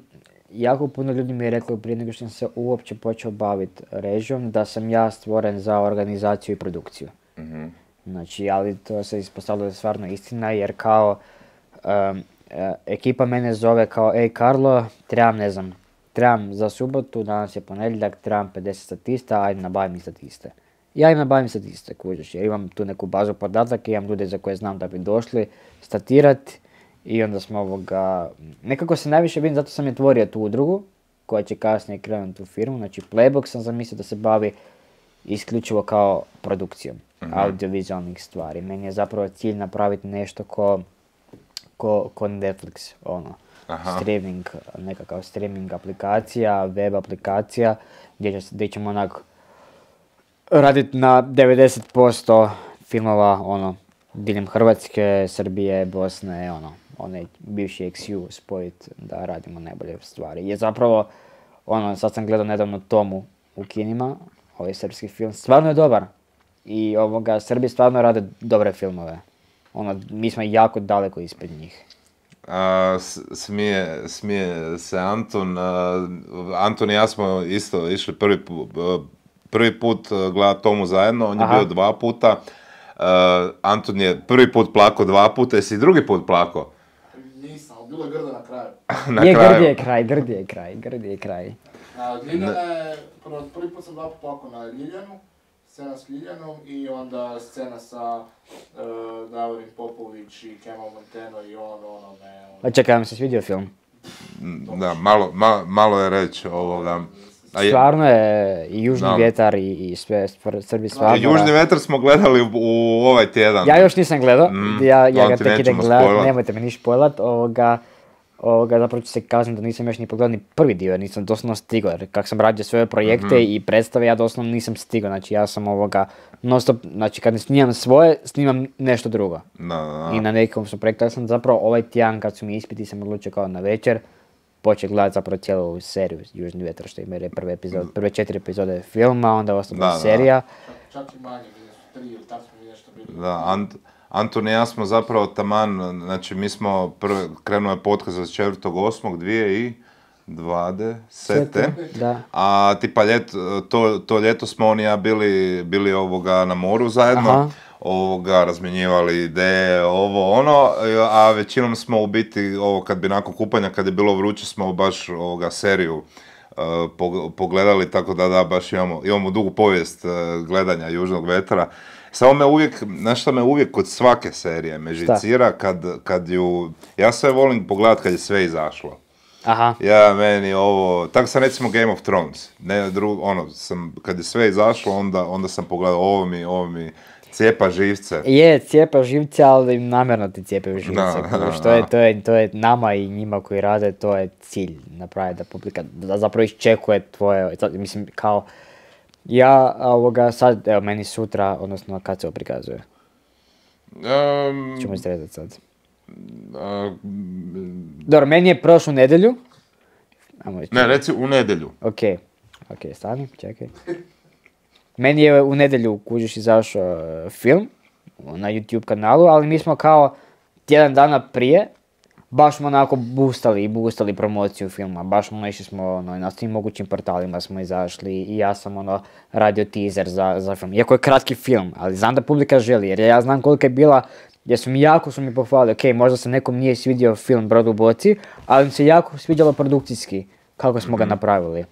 Speaker 2: jako puno ljudi mi je reklo prije nego što sam se uopće počeo baviti režijom da sam ja stvoren za organizaciju i produkciju.
Speaker 1: Mhm.
Speaker 2: Znači, ali to se ispostavilo da je stvarno istina jer kao um, e, ekipa mene zove kao ej Karlo, trebam ne znam, trebam za subotu, danas je ponedjeljak, trebam pedeset statista, ajde nabavim mi statiste. Ja im nabavim statiste, kužiš, jer imam tu neku bazu podataka, imam ljude za koje znam da bi došli statirati i onda smo ovoga, nekako se najviše vidim, zato sam je tvorio tu udrugu koja će kasnije krenuti u firmu, znači Playbox sam zamislio da se bavi isključivo kao produkcijom audiovizualnih stvari. Meni je zapravo cilj napraviti nešto ko, ko, ko Netflix, ono,
Speaker 1: Aha.
Speaker 2: streaming, nekakav streaming aplikacija, web aplikacija, gdje, će, gdje ćemo onak raditi na devedeset posto filmova, ono, diljem Hrvatske, Srbije, Bosne, ono, onaj bivši X U spojit da radimo najbolje stvari. Je zapravo, ono, sad sam gledao nedavno Tomu u kinima, ovaj srpski film, stvarno je dobar. I ovoga, Srbi stvarno rade dobre filmove. Ono, mi smo jako daleko ispred njih.
Speaker 1: A, s- smije, smije se Antun. a, Antun i ja smo isto išli prvi, pu, prvi put gledati Tomu zajedno, on je
Speaker 2: Aha.
Speaker 1: bio dva puta. A, Antun je prvi put plako dva puta, jesi i drugi put plako?
Speaker 3: Nisam, ali bilo je grdo na kraju.
Speaker 1: Na
Speaker 2: je,
Speaker 1: kraju.
Speaker 2: grdi je kraj, grdi je kraj, grdi je kraj.
Speaker 3: A, Ljiljana je, prvo, prvi put sam dva put plako na Ljiljanu, scena s Ljiljanom i onda scena sa uh, Davorin Popović i Kemal Monteno i on, ono, me, ono.
Speaker 2: Pa čekaj, vam se svidio film?
Speaker 1: Da, malo, ma- malo je reći ovoga. A je-
Speaker 2: Stvarno je i Južni
Speaker 1: Da.
Speaker 2: vjetar i, i sve stvar- Srbi stvarno...
Speaker 1: Južni vetar smo gledali u, u ovaj tjedan.
Speaker 2: Ja još nisam gledao,
Speaker 1: Mm,
Speaker 2: ja, ja
Speaker 1: on
Speaker 2: ga
Speaker 1: ti
Speaker 2: tek idem
Speaker 1: nećemo
Speaker 2: gledat,
Speaker 1: spojlat.
Speaker 2: nemojte me ni špojlat, ovoga, ovoga, zapravo ću se kazati da nisam još ni pogledao ni prvi dio, jer nisam doslovno stigao, jer kak sam radio svoje projekte
Speaker 1: Mhm.
Speaker 2: i predstave, ja doslovno nisam stigao, znači ja sam ovoga, non stop, znači kad ne snimam svoje, snimam nešto drugo.
Speaker 1: Da, da,
Speaker 2: I
Speaker 1: da.
Speaker 2: na nekom sam projektu, ja sam zapravo ovaj tjedan kad su mi ispiti, sam odlučio kao na večer, počeo gledati zapravo cijelu ovu seriju Južni vjetar, što ima je prve epizode, prve četiri epizode filma, onda ostala
Speaker 1: Da, da.
Speaker 2: serija.
Speaker 3: Čak, čak i manje, bili su tri ili tako smo mi nešto bili.
Speaker 1: Da, Ant, Antun i ja smo zapravo taman, znači mi smo prvi, krenuo je podcast od četvrtog osmog dvije dvadesete.
Speaker 2: Da.
Speaker 1: A tipa ljet, to, to ljeto smo on i ja bili, bili ovoga na moru zajedno,
Speaker 2: Aha.
Speaker 1: ovoga razmjenjivali ideje, ovo ono, a većinom smo u biti, ovo kad bi nakon kupanja, kad je bilo vruće, smo baš ovoga seriju uh, pog- pogledali, tako da da, baš imamo, imamo dugu povijest uh, gledanja Južnog vetra. Samo me uvijek, znaš šta me uvijek kod svake serije me živcira kad, kad ju, ja sve volim pogledat kad je sve izašlo.
Speaker 2: Aha.
Speaker 1: Ja, meni ovo, tako sam recimo Game of Thrones, ne dru, ono, sam, kad je sve izašlo, onda, onda sam pogledao, ovo mi, ovo mi cijepa živce.
Speaker 2: Je, cijepa živce, ali namjerno ti cijepaju živce.
Speaker 1: Da,
Speaker 2: kužiš,
Speaker 1: da,
Speaker 2: to, je,
Speaker 1: da.
Speaker 2: to, je, to je nama i njima koji rade, to je cilj napraviti da publika da zapravo iščekuje tvoje, sad, mislim kao, ja ovoga sad, evo meni sutra, odnosno kad se ovo prikazuje,
Speaker 1: Um,
Speaker 2: ćemo izredati sad.
Speaker 1: a,
Speaker 2: Dobro, meni je prošlu nedjelju, ajmo reći,
Speaker 1: ne, reci u nedjelju.
Speaker 2: ok, ok, stani, čekaj. Meni je u nedjelju, kužiš, izašao e, film na YouTube kanalu, ali mi smo kao tjedan dana prije baš smo onako boostali i boostali promociju filma, baš ono išli smo ono, na svim mogućim portalima smo izašli i ja sam ono radio teaser za, za film. Iako je kratki film, ali znam da publika želi jer ja znam kolika je bila, jer su mi jako su mi pohvalili, ok, možda se nekom nije svidio film Brod u boci, ali mi se jako sviđalo produkcijski kako smo ga napravili.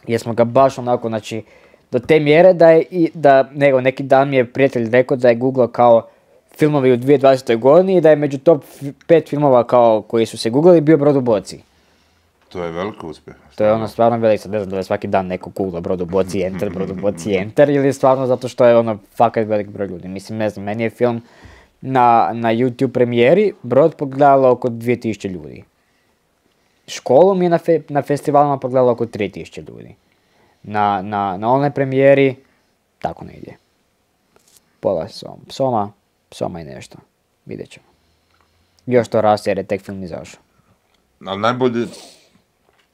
Speaker 2: jer smo ga baš onako, znači, do te mjere da je, i, da, nego neki dan mi je prijatelj rekao da je googlao kao filmovi u dvije tisuće dvadesete godini i da je među top pet filmova kao koji su se googlali bio Brod u boci.
Speaker 1: To je veliki uspjeh.
Speaker 2: To je ono stvarno veliko, sad ne znam da je svaki dan neko googla Brod u boci, enter, Brod u boci, enter, ili stvarno zato što je ono fakat velik broj ljudi. Mislim, ne znam, meni je film na, na YouTube premijeri Brod pogledalo oko dvije tisuće ljudi. Školu mi je na, fe, na festivalima pogledalo oko tri tisuće ljudi. Na, na, na onoj premijeri, tako negdje. Pola som, soma, soma i nešto. Vidjet ćemo. Još to raste jer je tek film izašao.
Speaker 1: Ali najbolji,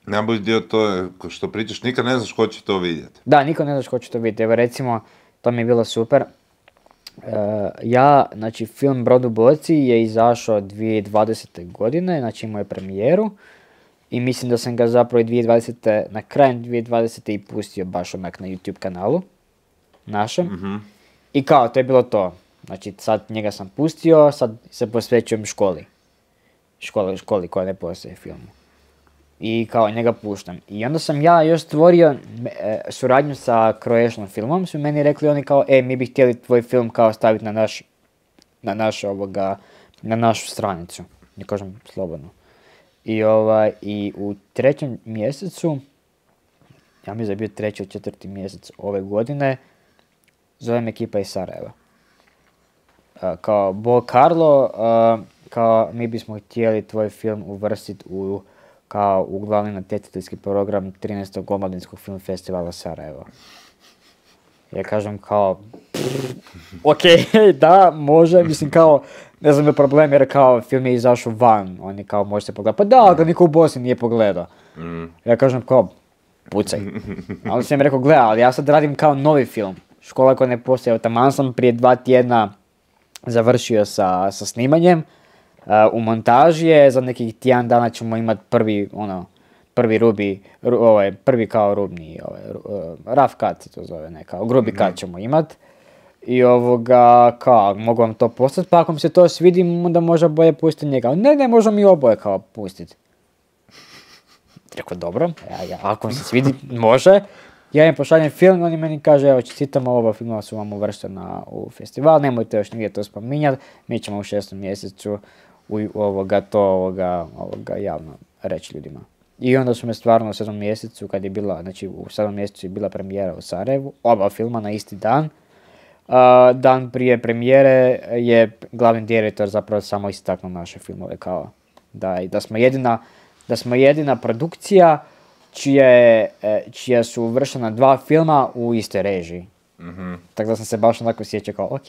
Speaker 1: najbolji dio to je, što pričaš, nikad ne znaš ko će to vidjeti.
Speaker 2: Da, niko ne znaš ko će to vidjeti. Evo recimo, to mi je bilo super. Uh, ja, znači film Brod u boci je izašao dvije tisuće dvadesete godine, znači imao je premijeru. I mislim da sam ga zapravo i dvije tisuće dvadesete, na krajem dvije tisuće dvadesete i pustio baš onak na YouTube kanalu našem.
Speaker 1: Mm-hmm.
Speaker 2: I kao, to je bilo to. Znači sad njega sam pustio, sad se posvećujem školi. Školi, školi koja ne postoje filmu. I kao njega puštam. I onda sam ja još stvorio e, suradnju sa Croatian filmom. Su meni rekli oni kao, e, mi bi htjeli tvoj film kao staviti na naš, na naš ovoga, na našu stranicu. Ne kažem slobodno. I, ovaj, I u trećem mjesecu, ja mislim da je bio treći ili četvrti mjesec ove godine, zovem ekipa iz Sarajeva. Uh, kao Bo Carlo, uh, kao mi bismo htjeli tvoj film uvrstiti u, kao u glavni natjecateljski program trinaestog omladinskog film festivala Sarajevo. Ja kažem kao, ok, da, može, mislim kao, ne znam je problem jer kao film je izašao van, oni kao može se pogledati, pa da, ga niko u Bosni nije pogledao. Mm. Ja kažem kao, pucaj. A on sam mi rekao, gleda, ali ja sad radim kao novi film, škola koja ne postoje, evo taman sam prije dva tjedna završio sa, sa snimanjem, uh, u montaži je, za nekih tjedan dana ćemo imati prvi, ono, prvi rubi, ru, ovaj, prvi kao rubni, ovaj, uh, rough cut se to zove, ne, kao grubi cut ćemo imat. I ovoga, kao, mogu vam to postati, pa ako mi se to svidi, onda možda bolje pustiti njega. Ne, ne, možemo mi oboje kao pustiti. Rekao, dobro, ja, ja, ako mi se svidi, može. Ja im pošaljem film, oni meni kaže, evo, čestitamo, oba filmova su vam uvrštena u festival, nemojte još nigdje to spominjati, mi ćemo u šestom mjesecu u, ovoga, to ovoga, ovoga javno reći ljudima. I onda su me stvarno u sedmom mjesecu, kad je bila, znači u sedmom mjesecu je bila premijera u Sarajevu, oba filma na isti dan. Uh, dan prije premijere je glavni direktor zapravo samo istaknuo naše filmove kao da, da smo jedina, da smo jedina produkcija čije, čija su uvršena dva filma u istoj režiji. Mm-hmm. Tako da sam se baš onako sjećao kao, ok,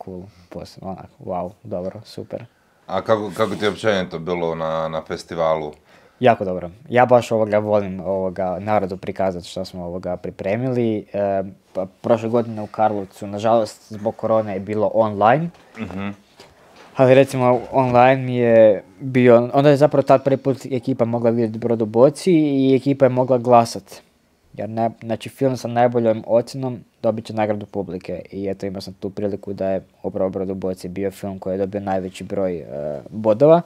Speaker 2: cool, posebno, onako, wow, dobro, super.
Speaker 1: A kako, kako ti je općenito bilo na, na festivalu?
Speaker 2: Jako dobro. Ja baš ovoga volim ovoga narodu prikazati što smo ovoga pripremili. E, pa, prošle godine u Karlovcu, nažalost, zbog korone je bilo online. Mm-hmm. Ali recimo online mi je bio, onda je zapravo tad prvi put ekipa mogla vidjeti Brod u boci i ekipa je mogla glasati. Jer ne, znači film sa najboljom ocjenom dobit će nagradu publike i eto imao sam tu priliku da je upravo Brod u boci bio film koji je dobio najveći broj uh, bodova.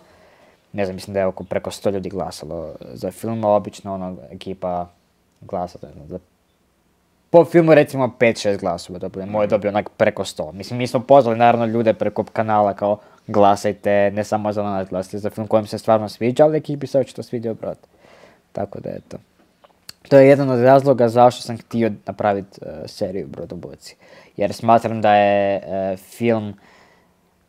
Speaker 2: Ne znam, mislim da je oko preko sto ljudi glasalo za film, a obično ono ekipa glasa za po filmu recimo pet šest glasova dobili, moj je dobio onak preko sto. Mislim, mi smo pozvali naravno ljude preko kanala kao glasajte, ne samo za nas, glasajte za film kojem se stvarno sviđa, ali ekipi se očito sviđao Brod. Tako da eto. To je jedan od razloga zašto sam htio napraviti uh, seriju Brod u boci. Jer smatram da je uh, film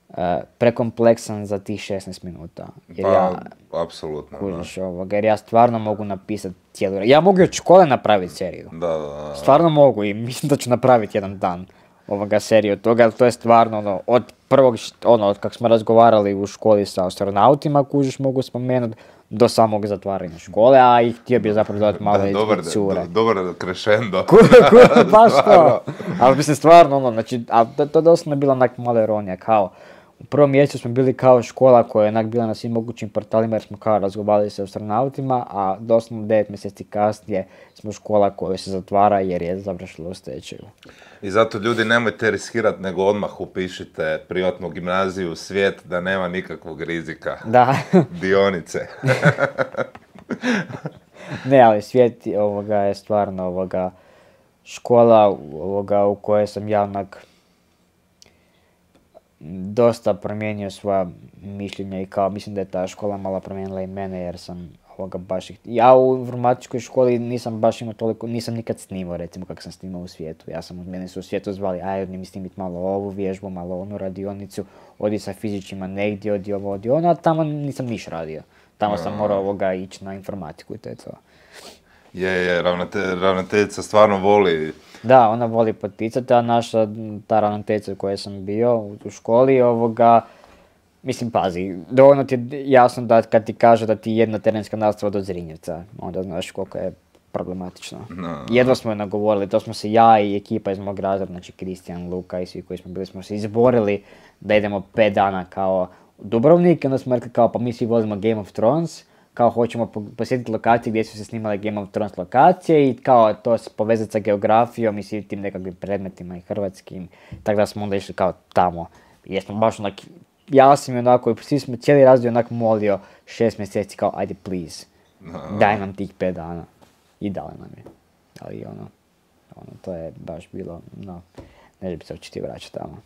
Speaker 2: uh, prekompleksan za tih šesnaest minuta. Jer
Speaker 1: pa,
Speaker 2: ja,
Speaker 1: apsolutno.
Speaker 2: Kužiš ovoga, jer ja stvarno mogu napisati cijelu... Ja mogu od škole napraviti seriju.
Speaker 1: Da, da, da.
Speaker 2: Stvarno mogu i mislim da ću napraviti jedan dan ovoga seriju od toga, ali to je stvarno ono, od prvog, ono, od kako smo razgovarali u školi sa astronautima, kužiš, mogu spomenuti, do samog zatvaranja škole, a i htio bi zapravo dodati malo i cure.
Speaker 1: Dobar crescendo.
Speaker 2: Baš to. Ali mislim stvarno, ono, znači, a to, to doslovno je bila onak malo ironija, kao, u prvom mjesecu smo bili kao škola koja je onak bila na svim mogućim portalima jer smo kao razgovarali sa astronautima, a doslovno devet mjeseci kasnije smo škola koja se zatvara jer je završila u stečaju.
Speaker 1: I zato ljudi nemojte riskirati nego odmah upišite privatnu gimnaziju u svijet da nema nikakvog rizika.
Speaker 2: Da.
Speaker 1: Dionice.
Speaker 2: Ne, ali svijet ovoga je stvarno ovoga škola ovoga u kojoj sam ja onak dosta promijenio svoja mišljenja i kao mislim da je ta škola malo promijenila i mene jer sam ovoga baš ih... Ja u informatičkoj školi nisam baš imao toliko, nisam nikad snimao recimo kako sam snimao u svijetu. Ja sam, mene su u svijetu zvali, aj mi snimit malo ovu vježbu, malo onu radionicu, odi sa fizičima negdje, odi ovo, odi ono, a tamo nisam niš radio. Tamo sam morao ovoga ići na informatiku i to je to.
Speaker 1: Je, je, ravnate, ravnateljica stvarno voli.
Speaker 2: Da, ona voli poticati, a naša, ta ravnateljica u kojoj sam bio u školi, ovoga, mislim, pazi, dovoljno ti je jasno da kad ti kaže da ti jedna terenska nastava do Zrinjevca, onda znaš koliko je problematično.
Speaker 1: No.
Speaker 2: Jedva smo je nagovorili, to smo se ja i ekipa iz mog razreda, znači Kristijan, Luka i svi koji smo bili, smo se izborili da idemo pet dana kao u Dubrovnik i onda smo rekli kao pa mi svi volimo Game of Thrones, kao hoćemo posjetiti lokacije gdje su se snimale Game of Thrones lokacije i kao to se povezati sa geografijom i svim tim nekakvim predmetima i hrvatskim, tako da smo onda išli kao tamo. Jesmo baš onak, ja sam i onako, i svi smo cijeli razred onak molio šest mjeseci kao ajde please, daj nam tih pet dana. I dali nam je. Ali ono, ono, to je baš bilo, no, ne bi se očiti vraćati tamo.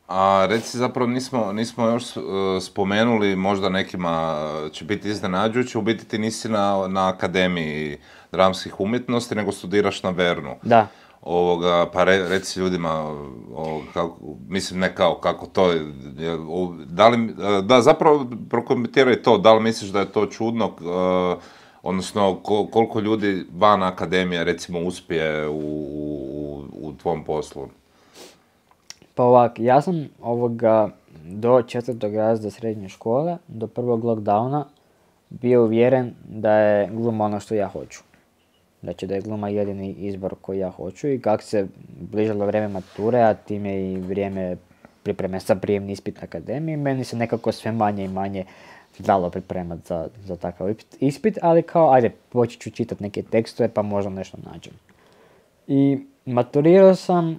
Speaker 1: A reci, zapravo nismo, nismo još uh, spomenuli, možda nekima će biti iznenađujuće, u biti ti nisi na, na Akademiji dramskih umjetnosti, nego studiraš na Vernu.
Speaker 2: Da.
Speaker 1: Ovoga, pa re, reci ljudima, ovoga, kako, mislim ne kao kako to je, da li, da zapravo prokomentiraj to, da li misliš da je to čudno, uh, odnosno ko, koliko ljudi van akademije recimo uspije u, u, u tvom poslu?
Speaker 2: Pa ovak, ja sam ovoga do četvrtog razreda srednje škole, do prvog lockdowna, bio uvjeren da je gluma ono što ja hoću. Znači da je gluma jedini izbor koji ja hoću i kako se bližalo vrijeme mature, a time i vrijeme pripreme za prijemni ispit na akademiji, meni se nekako sve manje i manje dalo pripremati za, za takav ispit, ali kao ajde počet ću čitati neke tekstove pa možda nešto nađem. I maturirao sam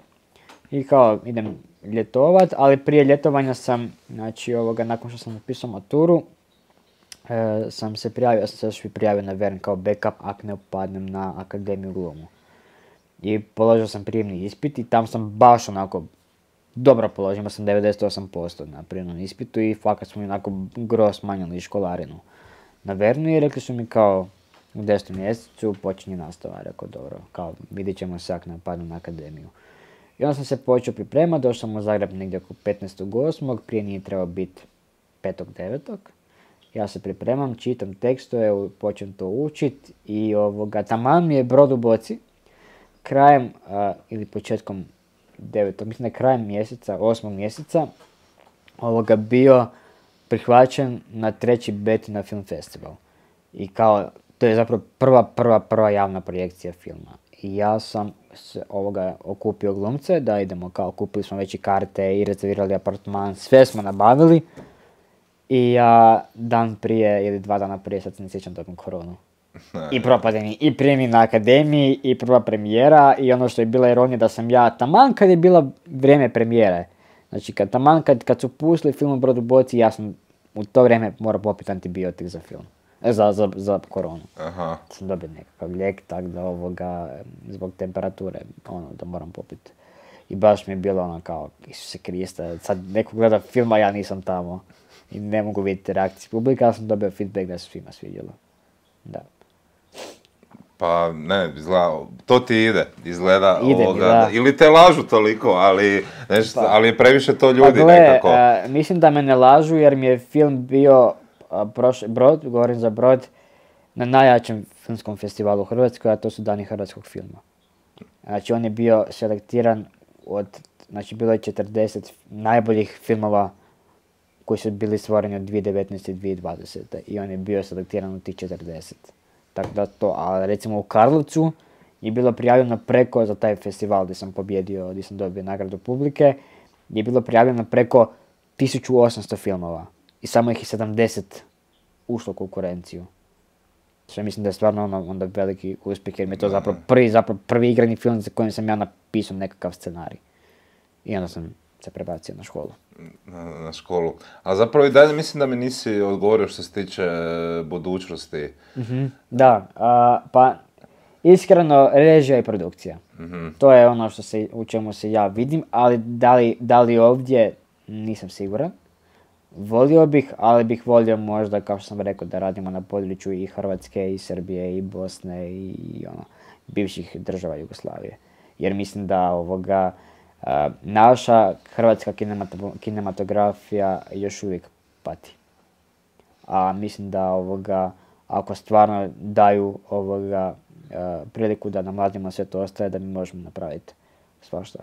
Speaker 2: i kao idem ljetovat, ali prije ljetovanja sam, znači ovoga, nakon što sam napisao maturu, e, sam se prijavio, ja sam se još i prijavio na Vern kao backup ako ne upadnem na Akademiju glumu. I položio sam prijemni ispit i tam sam baš onako dobro položio, imao sam devedeset osam posto na prijemnom ispitu i fakat smo mi onako gro smanjili školarinu na Vernu i rekli su mi kao u desetom mjesecu počinje nastava, rekao dobro, kao vidit ćemo se ako ne upadnem na Akademiju. I onda sam se počeo pripremati, došao sam u Zagreb negdje oko petnaestog osmog prije nije trebao biti petog devetog Ja se pripremam, čitam tekstove, počnem to učit i ovoga, taman mi je Brod u boci, krajem a, ili početkom devetog mislim da je krajem mjeseca, osmog mjeseca, ovoga bio prihvaćen na treći Betina film festival. I kao, to je zapravo prva, prva, prva javna projekcija filma. I ja sam se ovoga okupio glumce, da idemo kao, kupili smo već i karte i rezervirali apartman, sve smo nabavili. I ja dan prije ili dva dana prije, sad se ne sjećam tokom koronu. I propadeni, i prijemi na Akademiji, i prva premijera, i ono što je bila ironija da sam ja, taman kad je bila vrijeme premijere, znači kad, taman kad, kad su pustili film o Brod u boci, ja sam u to vrijeme morao popiti antibiotik za film, za, za, za koronu.
Speaker 1: Aha.
Speaker 2: Sam dobio nekakav lijek, tak da ovoga, zbog temperature, ono, da moram popiti. I baš mi je bilo ono kao, Isuse Kriste, sad neko gleda film, a ja nisam tamo. I ne mogu vidjeti reakcije publika, ali sam dobio feedback da se svima svidjelo. Da.
Speaker 1: Pa ne, izgleda, to ti ide, izgleda
Speaker 2: Ide
Speaker 1: ovoga,
Speaker 2: mi, da.
Speaker 1: ili te lažu toliko, ali, nešto,
Speaker 2: Pa.
Speaker 1: ali je previše to ljudi
Speaker 2: pa gle,
Speaker 1: nekako.
Speaker 2: a, mislim da me ne lažu jer mi je film bio, a, prošli, Brod, govorim za Brod, na najjačem filmskom festivalu u Hrvatskoj, a to su Dani hrvatskog filma. Znači on je bio selektiran od, znači bilo je četrdeset najboljih filmova koji su bili stvoreni od dvije tisuće devetnaeste. i dvije tisuće dvadesete. i on je bio selektiran u tih četrdeset. Tako da to, a recimo u Karlovcu je bilo prijavljeno preko, za taj festival gdje sam pobjedio, gdje sam dobio nagradu publike, je bilo prijavljeno preko tisuću osamsto filmova i samo ih je sedamdeset ušlo u konkurenciju. Što mislim da je stvarno ono, onda veliki uspjeh jer mi je to zapravo prvi, zapravo prvi igrani film za kojim sam ja napisao nekakav scenarij. I onda sam se prebacio na školu.
Speaker 1: Na, na školu. A zapravo i dalje mislim da mi nisi odgovorio što se tiče e, budućnosti.
Speaker 2: Mm-hmm. Da, a, pa iskreno režija i produkcija. Mm-hmm. To je ono što se, u čemu se ja vidim, ali da li, da li ovdje nisam siguran. Volio bih, ali bih volio možda, kao što sam rekao, da radimo na području i Hrvatske, i Srbije, i Bosne, i ono, bivših država Jugoslavije. Jer mislim da ovoga, uh, naša hrvatska kinemat- kinematografija još uvijek pati. A mislim da ovoga, ako stvarno daju ovoga, uh, priliku da nam mladima sve to ostaje, da mi možemo napraviti svašta.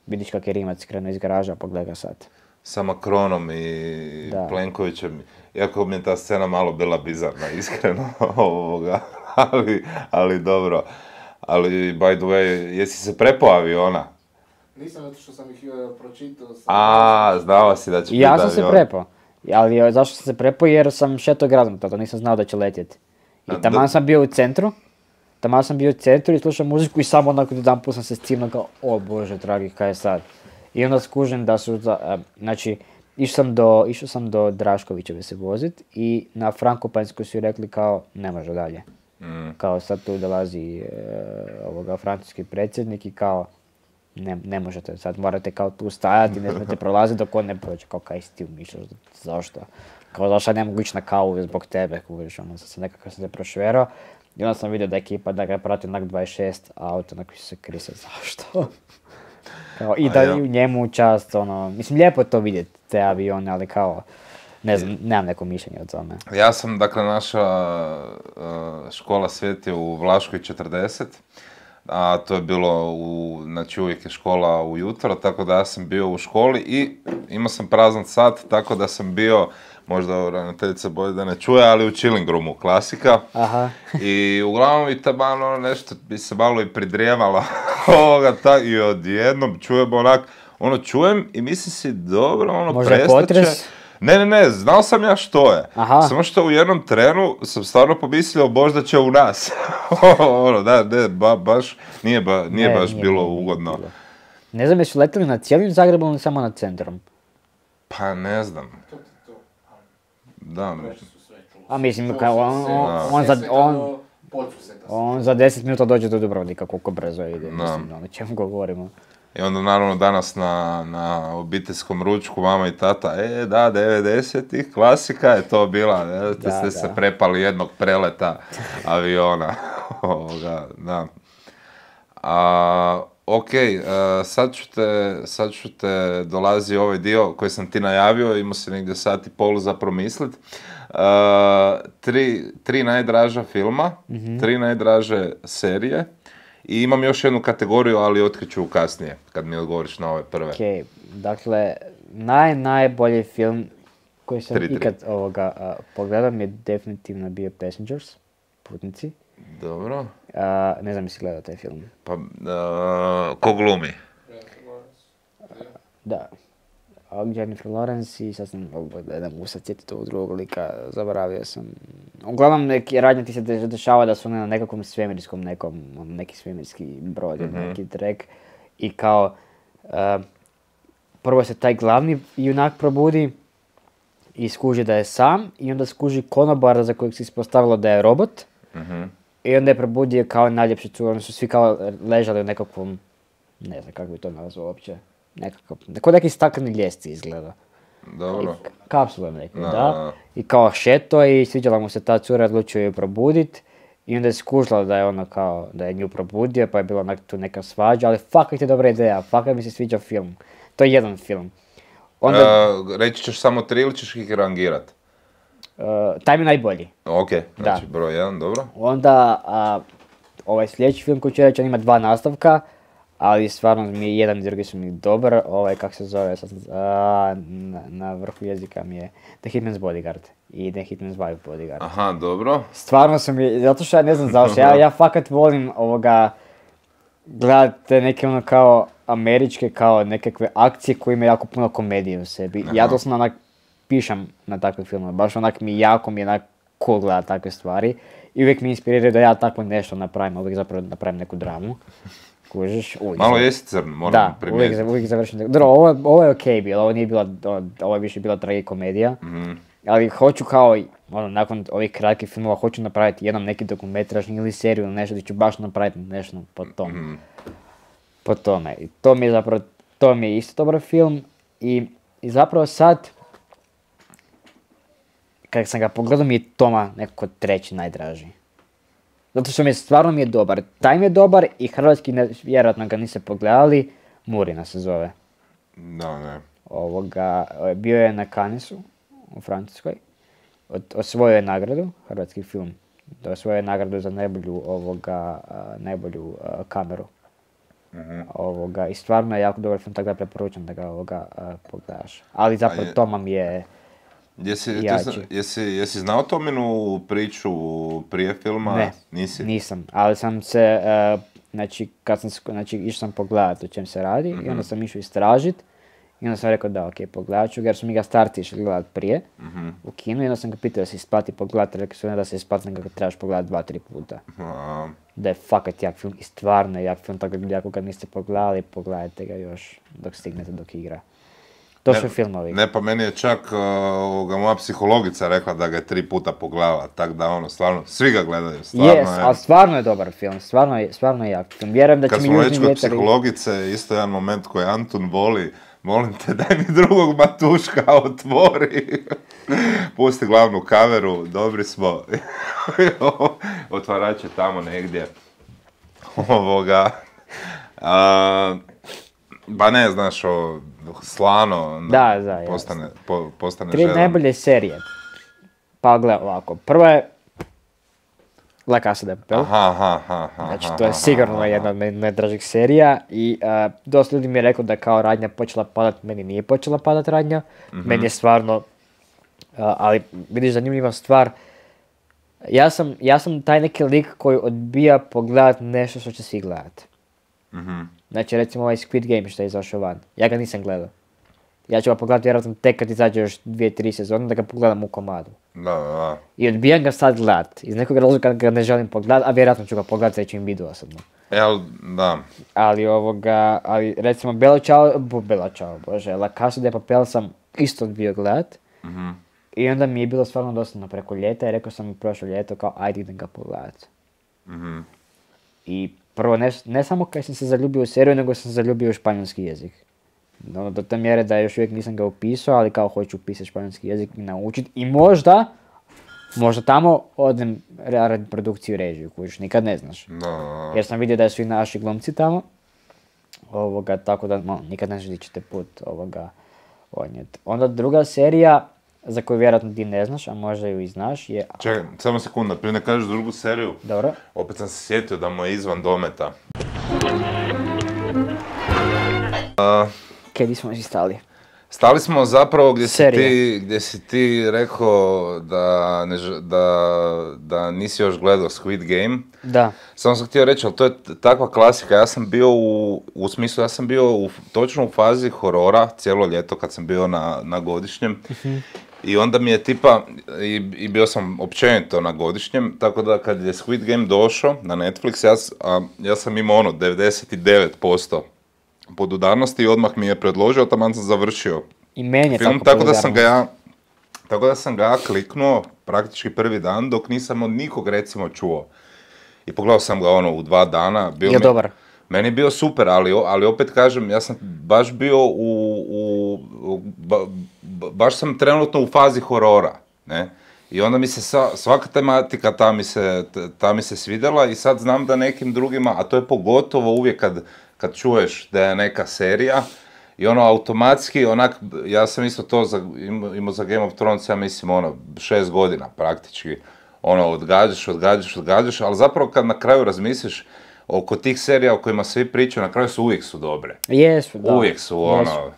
Speaker 2: Vidiš kak je Rimac krenuo iz garaža, pogledaj ga sad.
Speaker 1: Sa Macronom i
Speaker 2: da.
Speaker 1: Plenkovićem, iako mi je ta scena malo bila bizarna, iskreno, ovoga, ali, ali dobro. Ali, by the way, jesi se prepao aviona?
Speaker 3: Nisam, zato što sam ih uh, pročitao. Sam
Speaker 1: A, znao si da će
Speaker 2: Ja
Speaker 1: biti
Speaker 2: sam se
Speaker 1: avion.
Speaker 2: prepao, ali zašto sam se prepao? Jer sam šetao gradom, tada nisam znao da će letjeti. I taman sam bio u centru, taman sam bio u centru i slušao muziku i samo onako jedan put sam se scimno kao, o bože dragi, kaj je sad? I onda skužim da su, za, znači, išao sam do, išao sam do Draškovićeve se vozit i na Frankopanjsku su rekli kao, ne može dalje. Mm. Kao sad tu dolazi e, ovoga francuski predsjednik i kao, ne, ne možete sad, morate kao tu stajati, ne smijete prolaziti dok on ne prođe, kao kaj si ti umišljaš, zašto? Kao zašto ne mogu ići na kavu zbog tebe, kuviš, ono, sad sam nekako sam se prošverao i onda sam vidio da ekipa da ga prati onak dvadeset šest, a auto onako se krise, zašto? Kao, i da
Speaker 1: ja.
Speaker 2: u njemu čast, ono, mislim, lijepo je to vidjeti, te avione, ali kao, ne znam, nemam neko mišljenje o tome.
Speaker 1: Ja sam, dakle, naša uh, škola Svijet je u Vlaškoj četrdeset, a to je bilo, u, znači uvijek je škola ujutro, tako da ja sam bio u školi i imao sam prazan sat, tako da sam bio, možda ravnateljica boje da ne čuje, ali u chilling roomu, klasika.
Speaker 2: Aha.
Speaker 1: I uglavnom i taman ono nešto bi se malo i pridrijemalo ovoga, ta, i odjednom čujem onak, ono čujem i mislim si dobro, ono
Speaker 2: možda
Speaker 1: prestaće.
Speaker 2: potres?
Speaker 1: Ne, ne, ne, znao sam ja što je.
Speaker 2: Aha.
Speaker 1: Samo što u jednom trenu sam stvarno pomislio možda će u nas. ono, da, ne, ba, baš, nije, ba, nije
Speaker 2: Ne,
Speaker 1: baš
Speaker 2: nije,
Speaker 1: bilo
Speaker 2: nije, nije
Speaker 1: ugodno.
Speaker 2: bilo. Ne znam, jesu letili na cijelim Zagrebom ili samo nad centrom?
Speaker 1: Pa ne znam.
Speaker 3: To ti to.
Speaker 1: Da,
Speaker 3: Reći su sve čuli.
Speaker 2: A mislim,
Speaker 3: Čuli
Speaker 2: kao
Speaker 3: su
Speaker 2: on,
Speaker 3: sve.
Speaker 2: on, on,
Speaker 3: Sve
Speaker 2: za,
Speaker 3: se
Speaker 2: on,
Speaker 3: kao podsveta se.
Speaker 2: on za deset minuta dođe do Dubrovnika, koliko brzo ide,
Speaker 1: Da.
Speaker 2: mislim, ono čemu govorimo.
Speaker 1: I onda naravno danas na, na obiteljskom ručku mama i tata, e da, devedesetih, klasika je to bila, ne? Te
Speaker 2: Da,
Speaker 1: ste
Speaker 2: da.
Speaker 1: se prepali jednog preleta aviona. Ovoga, da. A, ok, uh, sad ću te, sad ću te, dolazi ovaj dio koji sam ti najavio, imao si negdje sat i pol za promislit. Uh, tri, tri najdraža filma, mm-hmm. tri najdraže serije. I imam još jednu kategoriju, ali otkriću kasnije, kad mi odgovoriš na ove prve.
Speaker 2: Ok, dakle, naj, najbolji film koji sam
Speaker 1: Tri, tri.
Speaker 2: ikad ovoga uh, pogledao mi je definitivno bio Passengers, Putnici.
Speaker 1: Dobro.
Speaker 2: Uh, ne znam jesi gledao taj film.
Speaker 1: Pa, uh, ko glumi?
Speaker 2: Da. A Jennifer Lawrence i sad sam, ne da mogu sad sjetiti ovog drugog lika, zaboravio sam. Uglavnom neki radnje ti se de- dešava da su na nekakvom svemirskom nekom, ono, neki svemirski brod, mm-hmm. neki trek. I kao, uh, prvo se taj glavni junak probudi i skuži da je sam i onda skuži konobara za kojeg se ispostavilo da je robot.
Speaker 1: Mm-hmm.
Speaker 2: I onda je probudio kao najljepši cur, oni su svi kao ležali u nekakvom, ne znam kako bi to nazvao uopće, nekakav, kao neki stakleni ljesci izgleda.
Speaker 1: Dobro.
Speaker 2: I, kapsule neke,
Speaker 1: Da,
Speaker 2: da.
Speaker 1: da.
Speaker 2: I kao šeto i sviđala mu se ta cura, odlučio ju probudit. I onda je skužila da je ono kao, da je nju probudio, pa je bila onak tu neka svađa, ali fakat je dobra ideja, fakat mi se sviđa film. To je jedan film. Onda,
Speaker 1: Uh, reći ćeš samo tri ili ćeš ih rangirat?
Speaker 2: uh, taj mi je najbolji.
Speaker 1: Ok, znači
Speaker 2: Da.
Speaker 1: broj jedan, dobro.
Speaker 2: Onda, a, ovaj sljedeći film koji ću reći, on ima dva nastavka, ali stvarno mi je jedan i drugi su mi dobar, ovaj, kak se zove, sad, sam- a, na, na vrhu jezika mi je The Hitman's Bodyguard i The Hitman's Wife Bodyguard.
Speaker 1: Aha, dobro.
Speaker 2: Stvarno sam mi, zato što ja ne znam zašto, ja, ja fakat volim ovoga, gledate neke ono kao američke, kao nekakve akcije koje imaju jako puno komedije u sebi. Ja
Speaker 1: Aha.
Speaker 2: doslovno onak pišem na takve filmove, baš onak mi jako mi je onak cool gledat takve stvari. I uvijek mi inspiriraju da ja tako nešto napravim, uvijek zapravo napravim neku dramu. kužiš. Uvijek
Speaker 1: Malo
Speaker 2: za-
Speaker 1: jesi crn, moram
Speaker 2: Da,
Speaker 1: primijetiti.
Speaker 2: uvijek, uvijek završim. Dobro, ovo, je- ovo je okej bilo, ovo nije bila, ovo je više bila tragikomedija.
Speaker 1: Mhm.
Speaker 2: Ali hoću kao, i, ono, nakon ovih kratkih filmova, hoću napraviti jednom neki dokumentražni ili seriju ili nešto gdje ću baš napraviti nešto po tom.
Speaker 1: Mhm.
Speaker 2: Po tome. I to mi je zapravo, to mi je isto dobar film i, i zapravo sad, kad sam ga pogledao mi je Toma nekako treći najdraži. Zato što mi je, stvarno mi je dobar. Taj mi je dobar i hrvatski, ne, vjerojatno ga niste pogledali, Murina se zove.
Speaker 1: Da, ne.
Speaker 2: Ovoga, bio je na Cannesu u Francuskoj. Od, osvojio je nagradu, hrvatski film. Da osvojio je nagradu za najbolju, ovoga, a, najbolju a, kameru.
Speaker 1: Mhm.
Speaker 2: Ovoga, i stvarno je jako dobar film, tako da preporučam da ga ovoga, a, pogledaš. Ali zapravo
Speaker 1: je-
Speaker 2: Toma mi je...
Speaker 1: Jesi, ti
Speaker 2: Jači.
Speaker 1: zna- jesi, jesi znao Tominu priču prije filma?
Speaker 2: Ne,
Speaker 1: Nisi?
Speaker 2: nisam, ali sam se, a, znači, kad sam, sk- znači, išao sam pogledat o čem se radi i
Speaker 1: Mhm.
Speaker 2: onda sam išao istražit i onda sam rekao da, ok, pogledat ću ga, jer su mi ga starci išli gledat prije
Speaker 1: Mhm.
Speaker 2: u kinu i onda sam ga pitao da se isplati pogledat, rekao su ne da se isplati, nego ga trebaš pogledat dva, tri puta.
Speaker 1: A,
Speaker 2: Da je fakat jak film i stvarno je jak film, tako da ako ga niste pogledali, pogledajte ga još dok stignete dok igra. To
Speaker 1: Ne-
Speaker 2: su filmovi.
Speaker 1: Ne, pa meni je čak uh, ovoga, moja psihologica rekla da ga je tri puta pogledala, tak da ono, stvarno, svi ga gledaju, stvarno
Speaker 2: Yes,
Speaker 1: je.
Speaker 2: ali stvarno je dobar film, stvarno je, stvarno je jak film. Vjerujem da će
Speaker 1: Kad
Speaker 2: mi
Speaker 1: smo
Speaker 2: Južni
Speaker 1: već kod
Speaker 2: vjetar...
Speaker 1: psihologice, isto jedan moment koji Antun voli, molim te daj mi drugog matuška, otvori. Pusti glavnu kameru, dobri smo. Otvarač je tamo negdje. Ovoga. A, ba ne, znaš, o, slano, onda
Speaker 2: Da, da, jasno.
Speaker 1: postane, po, postane
Speaker 2: Tri
Speaker 1: žedan.
Speaker 2: najbolje serije. Pa gle ovako, prva je La Casa de Papel.
Speaker 1: Aha, aha, aha, aha,
Speaker 2: Znači, to je
Speaker 1: aha,
Speaker 2: sigurno
Speaker 1: aha.
Speaker 2: jedna od meni najdražih serija i uh, dosta ljudi mi je rekao da kao radnja počela padat, meni nije počela padat radnja,
Speaker 1: Mhm.
Speaker 2: meni je stvarno, uh, ali vidiš zanimljiva stvar, ja sam, ja sam taj neki lik koji odbija pogledat nešto što će svi gledat.
Speaker 1: Mhm.
Speaker 2: Znači recimo ovaj Squid Game što je izašao van, ja ga nisam gledao. Ja ću ga pogledati vjerojatno tek kad izađe još dvije, tri sezone da ga pogledam u komadu.
Speaker 1: Da, da, da.
Speaker 2: I odbijam ga sad gledat, iz nekog razloga ga ne želim pogledat, a vjerojatno ću ga pogledat sljedeći im vidu osobno.
Speaker 1: E, ali, da.
Speaker 2: Ali ovoga, ali recimo Bella Ciao, bu, Bella Ciao, bože, La Casa de Papel sam isto odbio gledat.
Speaker 1: Mhm.
Speaker 2: I onda mi je bilo stvarno dosadno preko ljeta i rekao sam prošlo ljeto kao ajde idem ga pogledat.
Speaker 1: Mhm.
Speaker 2: I prvo ne, ne samo kad sam se zaljubio u seriju, nego sam se zaljubio u španjolski jezik. Ono, do te mjere da još uvijek nisam ga upisao, ali kao hoću upisati španjolski jezik i naučiti. I možda, možda tamo odem raditi produkciju i režiju, kužiš, nikad ne znaš.
Speaker 1: Da, da, da.
Speaker 2: Jer sam vidio da su i naši glumci tamo. Ovoga, tako da no, nikad ne znaš gdje ćete put ovoga odnijeti. Onda druga serija, za koju vjerojatno ti ne znaš, a možda ju i znaš, je...
Speaker 1: Čekaj, samo sekunda, prije ne kažeš drugu seriju.
Speaker 2: Dobro.
Speaker 1: Opet sam se sjetio da mu je izvan dometa.
Speaker 2: Kaj, di smo si stali?
Speaker 1: Stali smo zapravo gdje si
Speaker 2: Serije.
Speaker 1: ti, gdje si ti rekao da, ne, ž- da, da nisi još gledao Squid Game.
Speaker 2: Da.
Speaker 1: Samo sam htio reći, ali to je t- takva klasika, ja sam bio u, u smislu, ja sam bio u, točno u fazi horora cijelo ljeto kad sam bio na, na godišnjem. I onda mi je tipa, i, i bio sam općenito na godišnjem, tako da kad je Squid Game došao na Netflix, ja, s- a, ja sam imao ono devedeset devet posto podudarnosti i odmah mi je predložio, taman sam završio
Speaker 2: I meni je
Speaker 1: film,
Speaker 2: tako
Speaker 1: tako da sam ga
Speaker 2: popularno.
Speaker 1: ja, tako da sam ga ja kliknuo praktički prvi dan dok nisam od nikog recimo čuo. I pogledao sam ga ono u dva dana. Bio
Speaker 2: Je
Speaker 1: mi-
Speaker 2: dobar.
Speaker 1: Meni je bio super, ali, o- ali opet kažem, ja sam baš bio u, u, u- ba- ba- baš sam trenutno u fazi horora, ne? I onda mi se sa- svaka tematika ta mi, se, t- ta mi se svidjela i sad znam da nekim drugima, a to je pogotovo uvijek kad, kad čuješ da je neka serija i ono automatski, onak, ja sam isto to za, imao imao za Game of Thrones, ja mislim ono, šest godina praktički, ono, odgađaš, odgađaš, odgađaš, ali zapravo kad na kraju razmisliš oko tih serija o kojima svi pričaju, na kraju su uvijek su dobre.
Speaker 2: Jesu, da.
Speaker 1: Uvijek su ono...
Speaker 2: Jesu.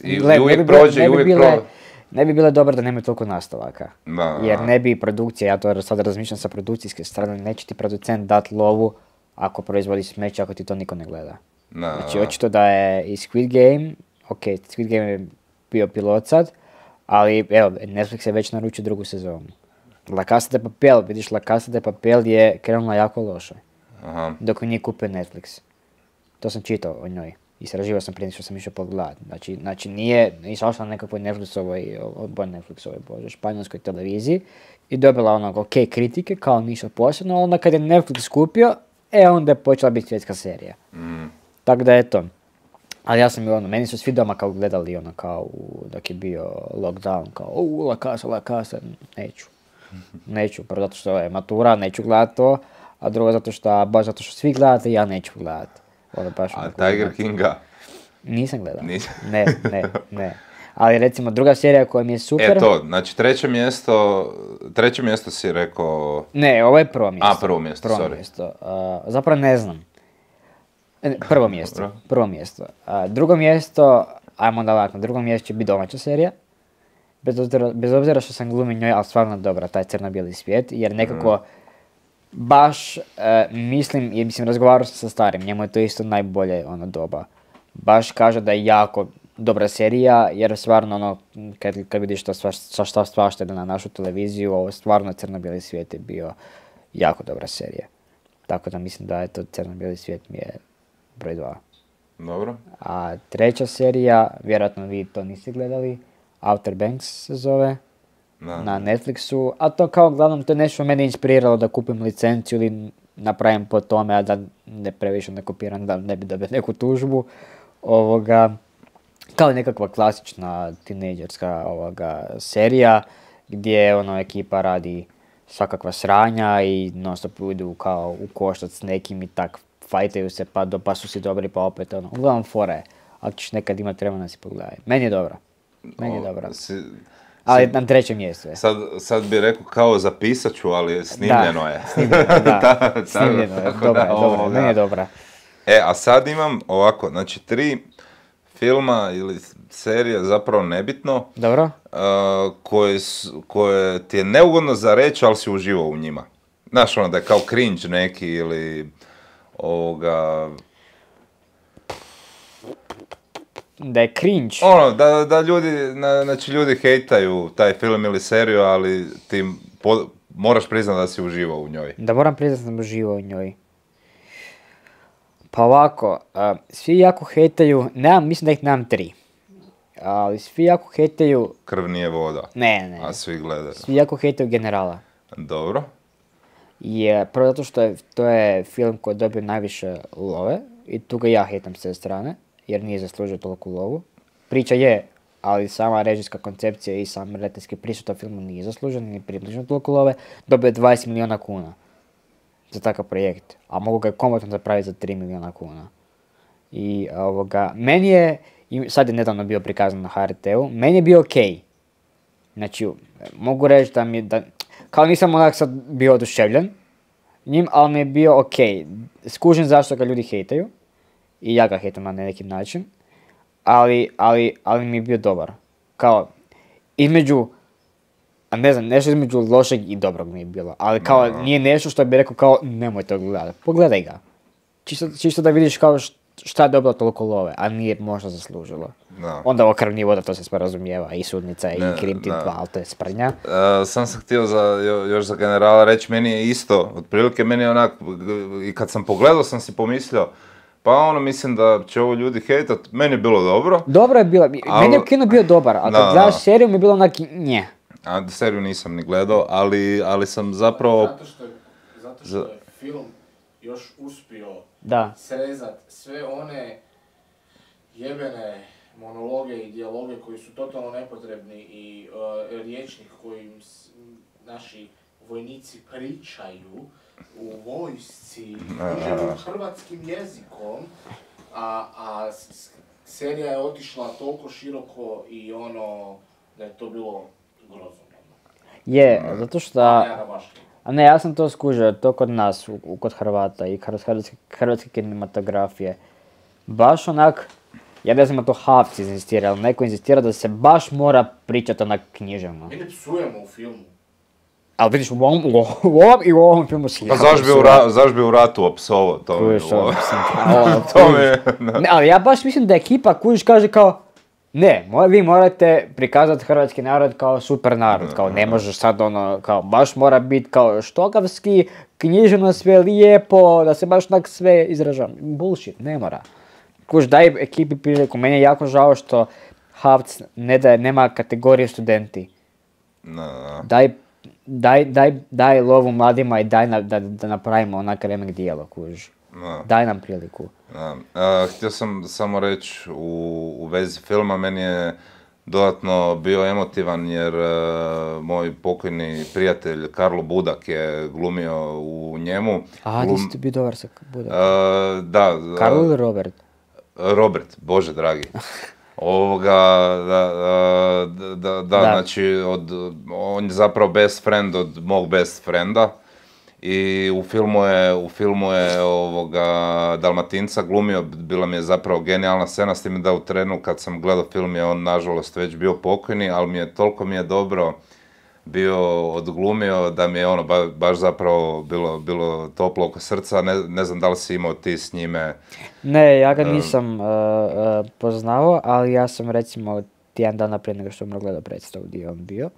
Speaker 1: I,
Speaker 2: Gle,
Speaker 1: i
Speaker 2: ne
Speaker 1: uvijek
Speaker 2: bi bile-
Speaker 1: prođe,
Speaker 2: ne
Speaker 1: i
Speaker 2: bi
Speaker 1: uvijek
Speaker 2: bile-
Speaker 1: prođe.
Speaker 2: Ne bi bilo dobro da nema toliko nastavaka.
Speaker 1: Da,
Speaker 2: Jer
Speaker 1: da.
Speaker 2: ne bi produkcija, ja to sad razmišljam sa produkcijske strane, neće ti producent dat lovu ako proizvodi smeće, ako ti to niko ne gleda.
Speaker 1: Da,
Speaker 2: Znači,
Speaker 1: da.
Speaker 2: očito da je i Squid Game, ok, Squid Game je bio pilot sad, ali evo, Netflix je već naručio drugu sezonu. La Casa de Papel, vidiš, La Casa de Papel je krenula jako loše.
Speaker 1: Aha.
Speaker 2: dok nije kupio Netflix. To sam čitao o njoj. Istraživao sam prije što sam išao pogledati. Znači, znači nije, išao sam na nekakvoj Netflixovoj, bo Netflixovoj, bože, španjolskoj televiziji i dobila onog ok kritike, kao ništa posebno, onda kad je Netflix kupio, e onda je počela biti svjetska serija.
Speaker 1: Mm.
Speaker 2: Tako da eto. Ali ja sam i ono, meni su svi doma kao gledali ono kao u, dok je bio lockdown, kao u La Casa, La Casa, neću. Neću, prvo zato što je matura, neću gledati to, a drugo zato što, baš zato što svi gledate, ja neću gledati. Ono baš
Speaker 1: A
Speaker 2: onako
Speaker 1: Tiger
Speaker 2: gledati.
Speaker 1: Kinga?
Speaker 2: Nisam gledao.
Speaker 1: Nisam.
Speaker 2: Ne, ne, ne. Ali recimo druga serija koja mi je super...
Speaker 1: E to, znači treće mjesto, treće mjesto si rekao...
Speaker 2: Ne, ovo je prvo mjesto.
Speaker 1: A, prvo mjesto,
Speaker 2: prvo
Speaker 1: sorry.
Speaker 2: Mjesto. Uh, zapravo ne znam. E, Prvo mjesto,
Speaker 1: Dobro.
Speaker 2: prvo mjesto. Uh, drugo mjesto, ajmo da ovako, na drugom mjestu će biti domaća serija. Bez obzira, bez obzira što sam glumi njoj, ali stvarno dobra, taj crno-bijeli svijet, jer nekako
Speaker 1: Mm.
Speaker 2: baš uh, mislim, jer mislim razgovarao sam sa starim, njemu je to isto najbolje ono doba. Baš kaže da je jako dobra serija, jer stvarno ono, kad, kad vidiš to sva, sva, šta svašta ide na našu televiziju, ovo stvarno crno-bijeli svijet je bio jako dobra serija. Tako da mislim da je to crno-bijeli svijet mi je broj dva.
Speaker 1: Dobro.
Speaker 2: A treća serija, vjerojatno vi to niste gledali, Outer Banks se zove,
Speaker 1: Da.
Speaker 2: na Netflixu, a to kao uglavnom to je nešto mene inspiriralo da kupim licenciju ili napravim po tome, a da ne previše ne kopiram, da ne bi dobio neku tužbu. Ovoga, kao nekakva klasična tinejdžerska ovoga serija gdje ono ekipa radi svakakva sranja i non stop idu kao u koštac s nekim i tak fajtaju se pa, do, pa su si dobri pa opet ono. Uglavnom fora je, ako ćeš nekad imati vremena si pogledaj. Meni je dobro. Meni je
Speaker 1: O,
Speaker 2: dobro.
Speaker 1: si-
Speaker 2: Ali
Speaker 1: si-
Speaker 2: na trećem mjestu je.
Speaker 1: Sad, sad bi rekao kao zapisat ću, ali snimljeno je.
Speaker 2: Snimljeno, da.
Speaker 1: Da,
Speaker 2: Snimljeno je,
Speaker 1: tako
Speaker 2: dobra
Speaker 1: da,
Speaker 2: je, dobra,
Speaker 1: ovoga.
Speaker 2: meni je dobra.
Speaker 1: E, a sad imam ovako, znači tri filma ili serije, zapravo nebitno,
Speaker 2: Dobro?
Speaker 1: uh, koje, s- koje ti je neugodno za reći, ali si uživao u njima. Znaš, ono da je kao cringe neki ili ovoga...
Speaker 2: Da je cringe.
Speaker 1: Ono, da, da ljudi, na, znači ljudi hejtaju taj film ili seriju, ali ti po- moraš priznati da si uživao u njoj.
Speaker 2: Da moram priznati da sam uživao u njoj. Pa ovako, a, svi jako hejtaju, nemam, mislim da ih nemam tri. Ali svi jako hejtaju,
Speaker 1: Krv nije voda,
Speaker 2: ne, ne,
Speaker 1: a svi gledaju.
Speaker 2: svi jako hejtaju Generala.
Speaker 1: Dobro.
Speaker 2: Je, prvo zato što je, to je film koji je dobio najviše love i tu ga ja hejtam s te strane, jer nije zaslužio toliku lovu. Priča je, ali sama režijska koncepcija i sam redateljski pristup filmu nije zaslužen, ni približno toliko love. Dobio je dvadeset milijuna kuna za takav projekt, a mogu ga komotno zapraviti za tri milijuna kuna. I ovoga, meni je, i sad je nedavno bio prikazan na H R T-u, meni je bio okej. Znači, mogu reći da mi, da, kao nisam onak sad bio oduševljen njim, ali mi je bio okej. Skužim zašto ga ljudi hejtaju i ja ga hejtam na neki način, ali, ali, ali mi je bio dobar. Kao, između, a ne znam, nešto između lošeg i dobrog mi je bilo, ali kao
Speaker 1: No.
Speaker 2: nije nešto što bi rekao kao nemoj to gledati, pogledaj ga. Čisto, čisto da vidiš kao št- šta je dobilo toliko love, a nije možda zaslužilo.
Speaker 1: Da.
Speaker 2: Onda ovo krv nije voda, to se sporazumijeva, i sudnica, i
Speaker 1: Ne,
Speaker 2: Krim Team
Speaker 1: da.
Speaker 2: dva, ali to je sprnja.
Speaker 1: E, sam sam htio za, jo- još za generala reći, meni je isto, otprilike meni je onak, g- i kad sam pogledao sam si pomislio, pa ono mislim da će ovo ljudi hejtat, meni je bilo dobro,
Speaker 2: Dobro je bilo,
Speaker 1: Al-
Speaker 2: meni je kino bio dobar, a kad
Speaker 1: Da,
Speaker 2: gledaš
Speaker 1: da.
Speaker 2: seriju mi je bilo onak nje.
Speaker 1: a seriju nisam ni gledao, ali, ali sam zapravo,
Speaker 3: Zato što, je- zato što
Speaker 1: Za-
Speaker 3: je film još uspio
Speaker 2: Da.
Speaker 3: srezat sve one jebene monologe i dijaloge koji su totalno nepotrebni i uh, riječnik kojim s- naši vojnici pričaju u vojsci, pričaju hrvatskim jezikom, a, a s- s- serija je otišla toliko široko i ono da je to bilo grozno.
Speaker 2: Je, zato što...
Speaker 3: Ja ga baš
Speaker 2: A ne, ja sam to skužio, to kod nas, u, u- kod Hrvata i hrvatske, hrvatske, hrvatske kinematografije. Baš onak, ja ne znam da to Havci inzistira, ali neko inzistira da se baš mora pričati onak književno.
Speaker 3: Mi ne psujemo u filmu.
Speaker 2: Ali vidiš, u ovom, u ovom i u ovom filmu si
Speaker 1: pa
Speaker 2: jako
Speaker 1: zašto bi, u
Speaker 2: psuje.
Speaker 1: ra, zašto bi u ratu opsovo, to mi je
Speaker 2: Kužiš, ono,
Speaker 1: ovo.
Speaker 2: mislim, ono,
Speaker 1: To mi
Speaker 2: kužiš.
Speaker 1: je, da.
Speaker 2: Ne, ali ja baš mislim da ekipa kužiš kaže kao, Ne, mo- vi morate prikazati hrvatski narod kao super narod, kao ne možeš sad ono, kao baš mora biti kao štokavski, književno sve lijepo, da se baš tak sve izražava. Bullshit, ne mora. Kuž, daj ekipi priliku, meni je jako žao što Havc ne daje, nema kategorije studenti.
Speaker 1: No, no.
Speaker 2: Daj, daj, daj, daj lovu mladima i daj na, da, da napravimo onak remek dijelo, kuž.
Speaker 1: No.
Speaker 2: Daj nam priliku.
Speaker 1: Da. A, htio sam samo reći u, u vezi filma, meni je dodatno bio emotivan jer uh, moj pokojni prijatelj Karlo Budak je glumio u njemu.
Speaker 2: A,
Speaker 1: Glum...
Speaker 2: ti si ti bio dobar sa Budak.
Speaker 1: Uh, da.
Speaker 2: Karlo ili Robert?
Speaker 1: Robert, Bože dragi. Ovoga, da, da, da, da, znači, od, on je zapravo best friend od mog best frienda. I u filmu je, u filmu je ovoga Dalmatinca glumio, bila mi je zapravo genijalna scena, s tim da u trenu kad sam gledao film je on nažalost već bio pokojni, ali mi je, toliko mi je dobro bio odglumio da mi je ono ba, baš zapravo bilo, bilo toplo oko srca, ne, ne znam da li si imao ti s njime.
Speaker 2: Ne, ja ga nisam uh, uh, poznao, ali ja sam recimo tjedan dana prije nego što sam gledao predstavu gdje je on bio,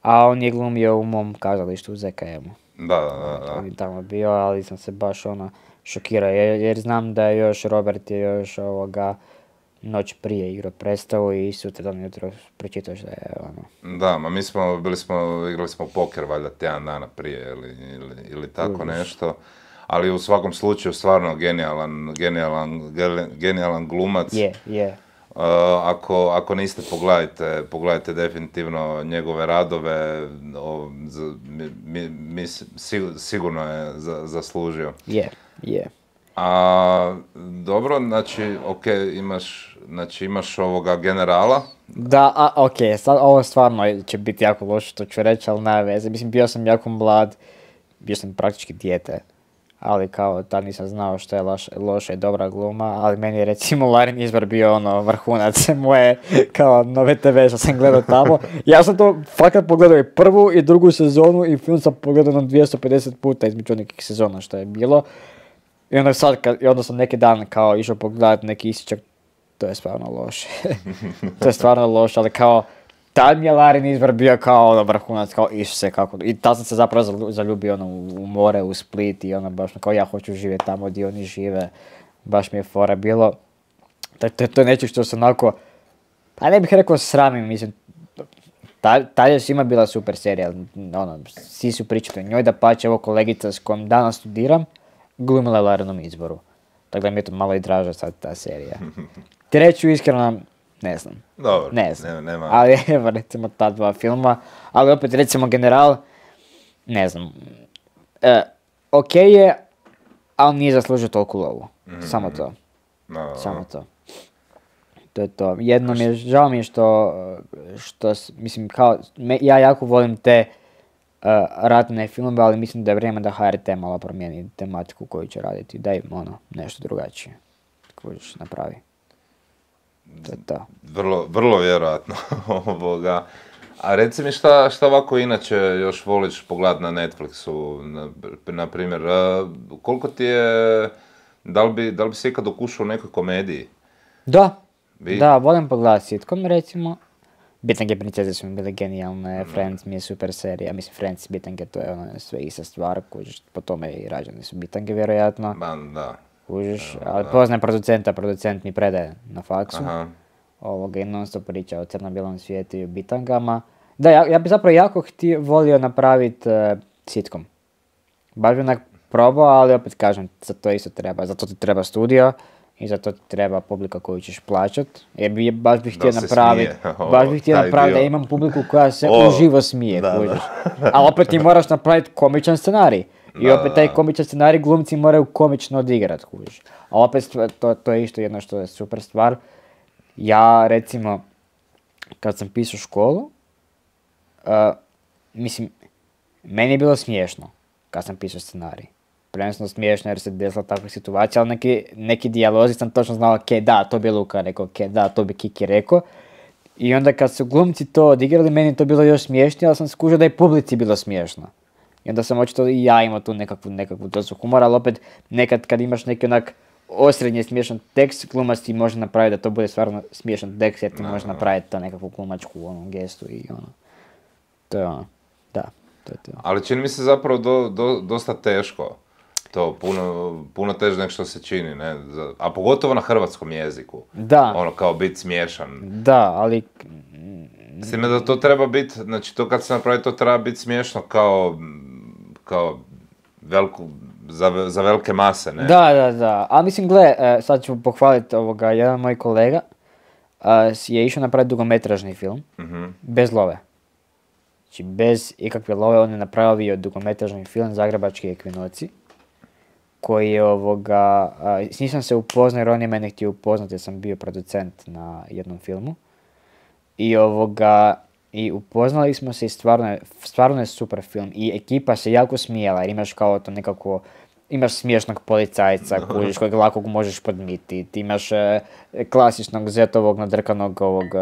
Speaker 2: a on je glumio u mom kazalištu u Z K M-u.
Speaker 1: Da, da, da.
Speaker 2: On je tamo bio, ali sam se baš ono šokirao, jer, jer znam da je još Robert je još ovoga noć prije igrao predstavu i sutra dan jutro pročitao što je ono.
Speaker 1: Da, ma mi smo, bili smo, igrali smo poker valjda tjedan dana prije ili, ili, ili tako
Speaker 2: Uviš.
Speaker 1: nešto. Ali u svakom slučaju stvarno genijalan, genijalan, genijalan glumac.
Speaker 2: Je, je.
Speaker 1: Uh, ako, ako niste, pogledajte, pogledajte definitivno njegove radove, o, z, mi, mi, mi, sigurno je za, zaslužio.
Speaker 2: Je, je.
Speaker 1: A, dobro, znači, ok, imaš, znači, imaš ovoga generala.
Speaker 2: Da, a, ok, sad ovo stvarno će biti jako loše što ću reći, ali nema veze. Mislim, bio sam jako mlad, bio sam praktički dijete, ali kao tad nisam znao što je loš, loša i dobra gluma, ali meni je recimo Larin Izbor bio ono vrhunac moje kao nove te ve što sam gledao tamo. Ja sam to fakat pogledao i prvu i drugu sezonu i film sam pogledao na dvjesto pedeset puta između nekih sezona što je bilo. I onda sad, kad, i onda sam neki dan kao išao pogledat neki isičak, to je stvarno loše. To je stvarno loše, ali kao tad mi je Larin Izbor bio kao ono vrhunac, kao Isuse, kako, i tad sam se zapravo zaljubio ono, u, u more, u Split i ono baš kao ja hoću živjeti tamo gdje oni žive, baš mi je fora bilo. To, to, to je nešto što se onako, pa ne bih rekao sramim, mislim, tad ta je svima bila super serija, ono, svi su pričali o njoj, da pače evo kolegica s kojom danas studiram, glumila je Larinom Izboru. Tako da mi je to malo i draža sad ta serija. Treću iskreno, ne znam.
Speaker 1: Dobro,
Speaker 2: ne znam.
Speaker 1: Nema, nema.
Speaker 2: Ali evo recimo ta dva filma, ali opet recimo General, ne znam. E, ok je, ali nije zaslužio toliko lovu. Mm-hmm. Samo to.
Speaker 1: No,
Speaker 2: Samo to. To je to. Jedno mi je, žao mi je što, što mislim kao, me, ja jako volim te uh, ratne filmove, ali mislim da je vrijeme da H R T malo promijeni tematiku koju će raditi. Daj ono, nešto drugačije. Koju ćeš napravi. To je to.
Speaker 1: Vrlo, vrlo vjerojatno ovoga. A reci mi šta, šta ovako inače još voliš pogledati na Netflixu, na, na primjer, uh, koliko ti je, da li bi, da li bi se ikad okušao u nekoj komediji?
Speaker 2: Da,
Speaker 1: Vi?
Speaker 2: da, volim pogledati sitcom recimo. Bitange princeze su mi bile genijalne, mm. Friends mi je super serija, mislim Friends i Bitange to je ono sve ista stvar, kužiš, po tome i rađeni su Bitange vjerojatno.
Speaker 1: Ba, da.
Speaker 2: Kužiš,
Speaker 1: Evo,
Speaker 2: ali
Speaker 1: da.
Speaker 2: poznajem producenta, producent mi predaje na faksu.
Speaker 1: Aha.
Speaker 2: Ovoga i non stop priča o crno-bijelom svijetu i o bitangama. Da, ja, ja bi zapravo jako htio, volio napraviti uh, sitcom. Baš bi onak probao, ali opet kažem, za to isto treba, za to ti treba studio i za to ti treba publika koju ćeš plaćat. Jer bi, baš bih htio napraviti, baš bih htio napraviti da imam publiku koja se
Speaker 1: o,
Speaker 2: uživo smije,
Speaker 1: da,
Speaker 2: kužiš. Ali opet ti moraš napraviti komičan scenarij. I
Speaker 1: da,
Speaker 2: opet taj
Speaker 1: da.
Speaker 2: komičan scenarij glumci moraju komično odigrat, kužiš. A opet to, to je isto jedno što je super stvar. Ja, recimo, kad sam pisao školu, uh, mislim, meni je bilo smiješno kad sam pisao scenarij. Prvenstveno smiješno jer se desila takva situacija, ali neki, neki dijalozi sam točno znao, ok, da, to bi Luka rekao, ok, da, to bi Kiki rekao. I onda kad su glumci to odigrali, meni je to bilo još smiješnije, ali sam skužio da je publici bilo smiješno. I onda sam očito i ja imao tu nekakvu, nekakvu dozu humora, ali opet nekad kad imaš neki onak osrednje smiješan tekst, glumac ti može napraviti da to bude stvarno smiješan tekst, jer ti
Speaker 1: No,
Speaker 2: može
Speaker 1: no.
Speaker 2: napraviti ta nekakvu glumačku ono, gestu i ono. To je ono, da, to je to.
Speaker 1: Ali čini mi se zapravo do, do, dosta teško. To puno, puno teže nego što se čini, ne? Za- A pogotovo na hrvatskom jeziku.
Speaker 2: Da,
Speaker 1: Ono, kao biti smiješan.
Speaker 2: da, ali
Speaker 1: S time da to treba biti, znači to kad se napravi, to treba biti smiješno kao, kao veliku, za, za velike mase, ne?
Speaker 2: da, da, da. A mislim, gle, e, sad ću pohvaliti ovoga, jedan moj kolega e, si je išao napraviti dugometražni film,
Speaker 1: Mhm.
Speaker 2: bez love. Znači, bez ikakve love on je napravio dugometražni film Zagrebački ekvinoci, koji je ovoga, a, s njim sam se upoznao jer on je mene htio upoznati jer sam bio producent na jednom filmu. I ovoga, i upoznali smo se i stvarno je, stvarno je super film. I ekipa se jako smijela jer imaš kao to nekako, imaš smiješnog policajca kužiš kojeg lako možeš podmititi. Ti imaš e, klasičnog zetovog nadrkanog ovog, e,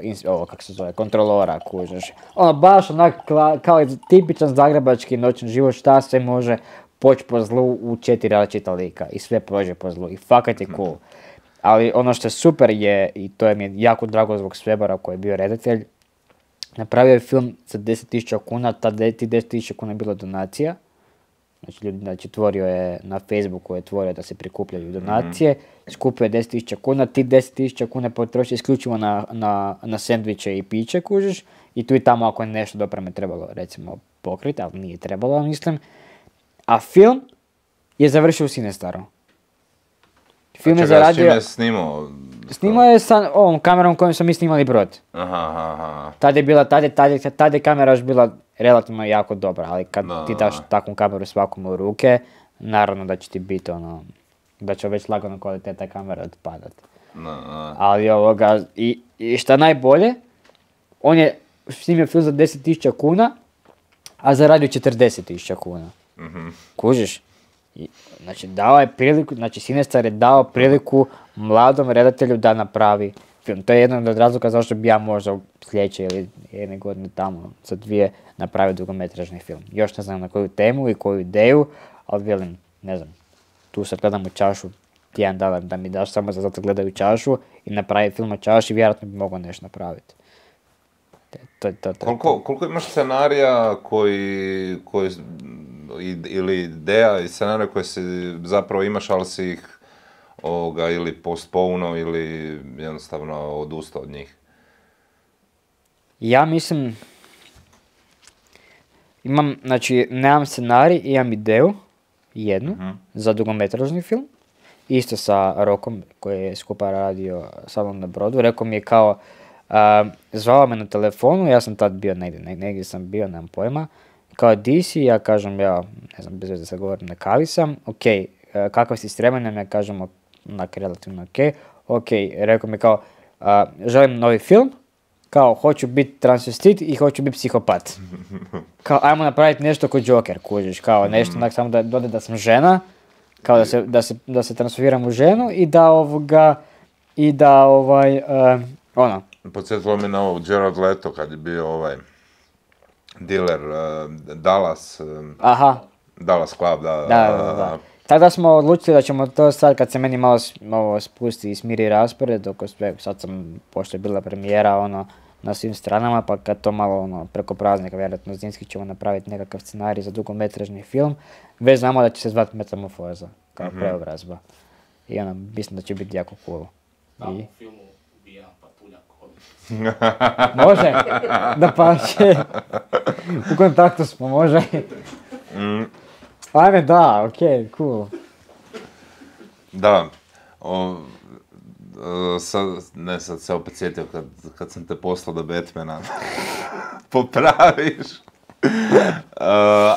Speaker 2: ins- ovog, kako se zove, kontrolora kužiš. Ono baš onak kla- kao tipičan zagrebački noćni život, šta sve može poći po zlu u četiri različita lika i sve prođe po zlu i fakat je cool. Ali ono što je super je, i to je mi je jako drago zbog Svebara koji je bio redatelj, napravio je film za deset tisuća kuna, ta de, ti deset tisuća kuna je bilo donacija. Znači, ljudi, znači tvorio je na Facebooku je tvorio da se prikupljaju donacije, skupio je deset tisuća kuna, ti deset tisuća kuna potroši isključivo na, na, na sendviče i piće, kužiš, i tu i tamo ako je nešto dopreme trebalo recimo pokriti, ali nije trebalo, ja mislim. A film je završio u Cinestaru. Film je
Speaker 1: Čekaj, s čime
Speaker 2: zaradio,
Speaker 1: je snimao?
Speaker 2: snimao je sa ovom kamerom kojom smo mi snimali Brod.
Speaker 1: Aha, aha, aha.
Speaker 2: Tad je bila, tad je, tad je, tad je kamera još bila relativno jako dobra, ali kad
Speaker 1: Da,
Speaker 2: ti
Speaker 1: da,
Speaker 2: daš
Speaker 1: da.
Speaker 2: takvu kameru svakom u ruke, naravno da će ti biti ono, da će već lagano kvaliteta kamere otpadat.
Speaker 1: Na, na.
Speaker 2: Ali ovoga, i, i šta najbolje, on je snimio film za deset tisuća kuna, a zaradio četrdeset tisuća kuna.
Speaker 1: Mhm.
Speaker 2: Kužiš? I, znači, dao je priliku, znači Cinestar je dao priliku mladom redatelju da napravi film. To je jedan od razloga zašto bi ja možda u sljedeće ili jedne godine tamo, za dvije, napravio dugometražni film. Još ne znam na koju temu i koju ideju, ali velim, ne znam, tu sad gledam u čašu, tjedan dana da mi daš samo za zato gledaju čašu i napravi film o čaši, vjerojatno bi mogao nešto napraviti. To, to, to, to.
Speaker 1: Koliko, koliko imaš scenarija koji, koji, i- ili ideja i scenarija koje si zapravo imaš, ali si ih ovoga, ili postponuo ili jednostavno odustao od njih?
Speaker 2: Ja mislim, imam, znači, nemam scenarij, imam ideju, jednu,
Speaker 1: Mhm.
Speaker 2: za dugometražni film, isto sa Rokom, koji je skupa radio sa mnom na Brodu. Rekao mi je kao, a, zvao me na telefonu, ja sam tad bio negdje, neg- negdje sam bio, nemam pojma, kao di si, ja kažem, ja, ne znam, bez veze sad govorim, na kavi sam, ok, e, kakav si s vremenom, ja kažem, onak, relativno ok, ok, rekao mi kao, a, želim novi film, kao, hoću biti transvestit i hoću biti psihopat. Kao, ajmo napraviti nešto ko Joker, kužiš, kao nešto, onak, samo da dode da sam žena, kao da se, da se, da se transformiram u ženu i da ovoga, i da ovaj, e, ono,
Speaker 1: Podsjetilo me na ovo Jared Leto kad je bio ovaj dealer uh, Dallas, um,
Speaker 2: aha,
Speaker 1: Dallas Club, da.
Speaker 2: da, da, da, da. Tada smo odlučili da ćemo to sad, kad se meni malo s- ovo spusti i smiri raspored, oko sve, sad sam, pošto je bila premijera, ono, na svim stranama, pa kad to malo, ono, preko praznika, vjerojatno zimski ćemo napraviti nekakav scenarij za dugometražni film, već znamo da će se zvati Metamorfoza, kao preobrazba. I ono, mislim da će biti jako cool.
Speaker 3: Tamo
Speaker 2: I,
Speaker 3: u filmu ubija patuljak odlično.
Speaker 2: može, da pače, u kontaktu smo, može.
Speaker 1: Mm,
Speaker 2: Ajme, da, okej, cool.
Speaker 1: da. O, e, sad, ne, sad se opet sjetio kad, kad sam te poslao do Batmana. Popraviš. Uh,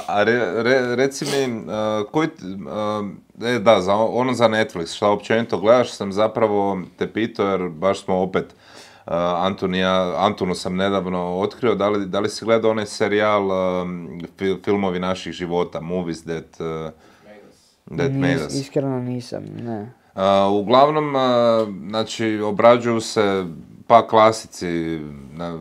Speaker 1: a re, re, reci mi, uh, koji, t- uh, e, da, za, ono za Netflix, šta općenito gledaš, sam zapravo te pitao jer baš smo opet, uh, Antun i ja, Antunu sam nedavno otkrio, da li, da li si gledao onaj serijal um, fil- filmovi naših života, Movies That, uh, that Made
Speaker 2: Nis-
Speaker 1: Us.
Speaker 2: Iskreno nisam, ne.
Speaker 1: Uh, uglavnom, uh, znači, obrađuju se pa klasici, na,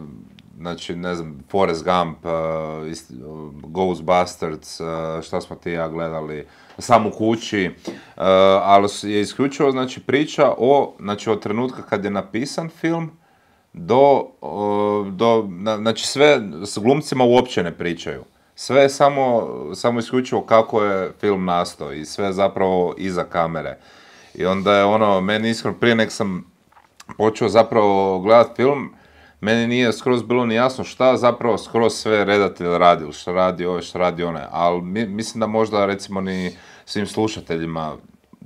Speaker 1: znači, ne znam, Forrest Gump, uh, ist, uh, Ghostbusters, uh, šta smo ti i ja gledali, Sam u kući, uh, ali je isključivo, znači, priča o, znači, od trenutka kad je napisan film, do, uh, do na, znači, sve s glumcima uopće ne pričaju. Sve je samo, samo isključivo kako je film nastao i sve zapravo iza kamere. I onda je ono, meni iskreno, prije nek sam počeo zapravo gledat film, meni nije skroz bilo ni jasno šta zapravo skroz sve redatelj radi, šta radi ove, šta radi one, ali mi, mislim da možda recimo ni svim slušateljima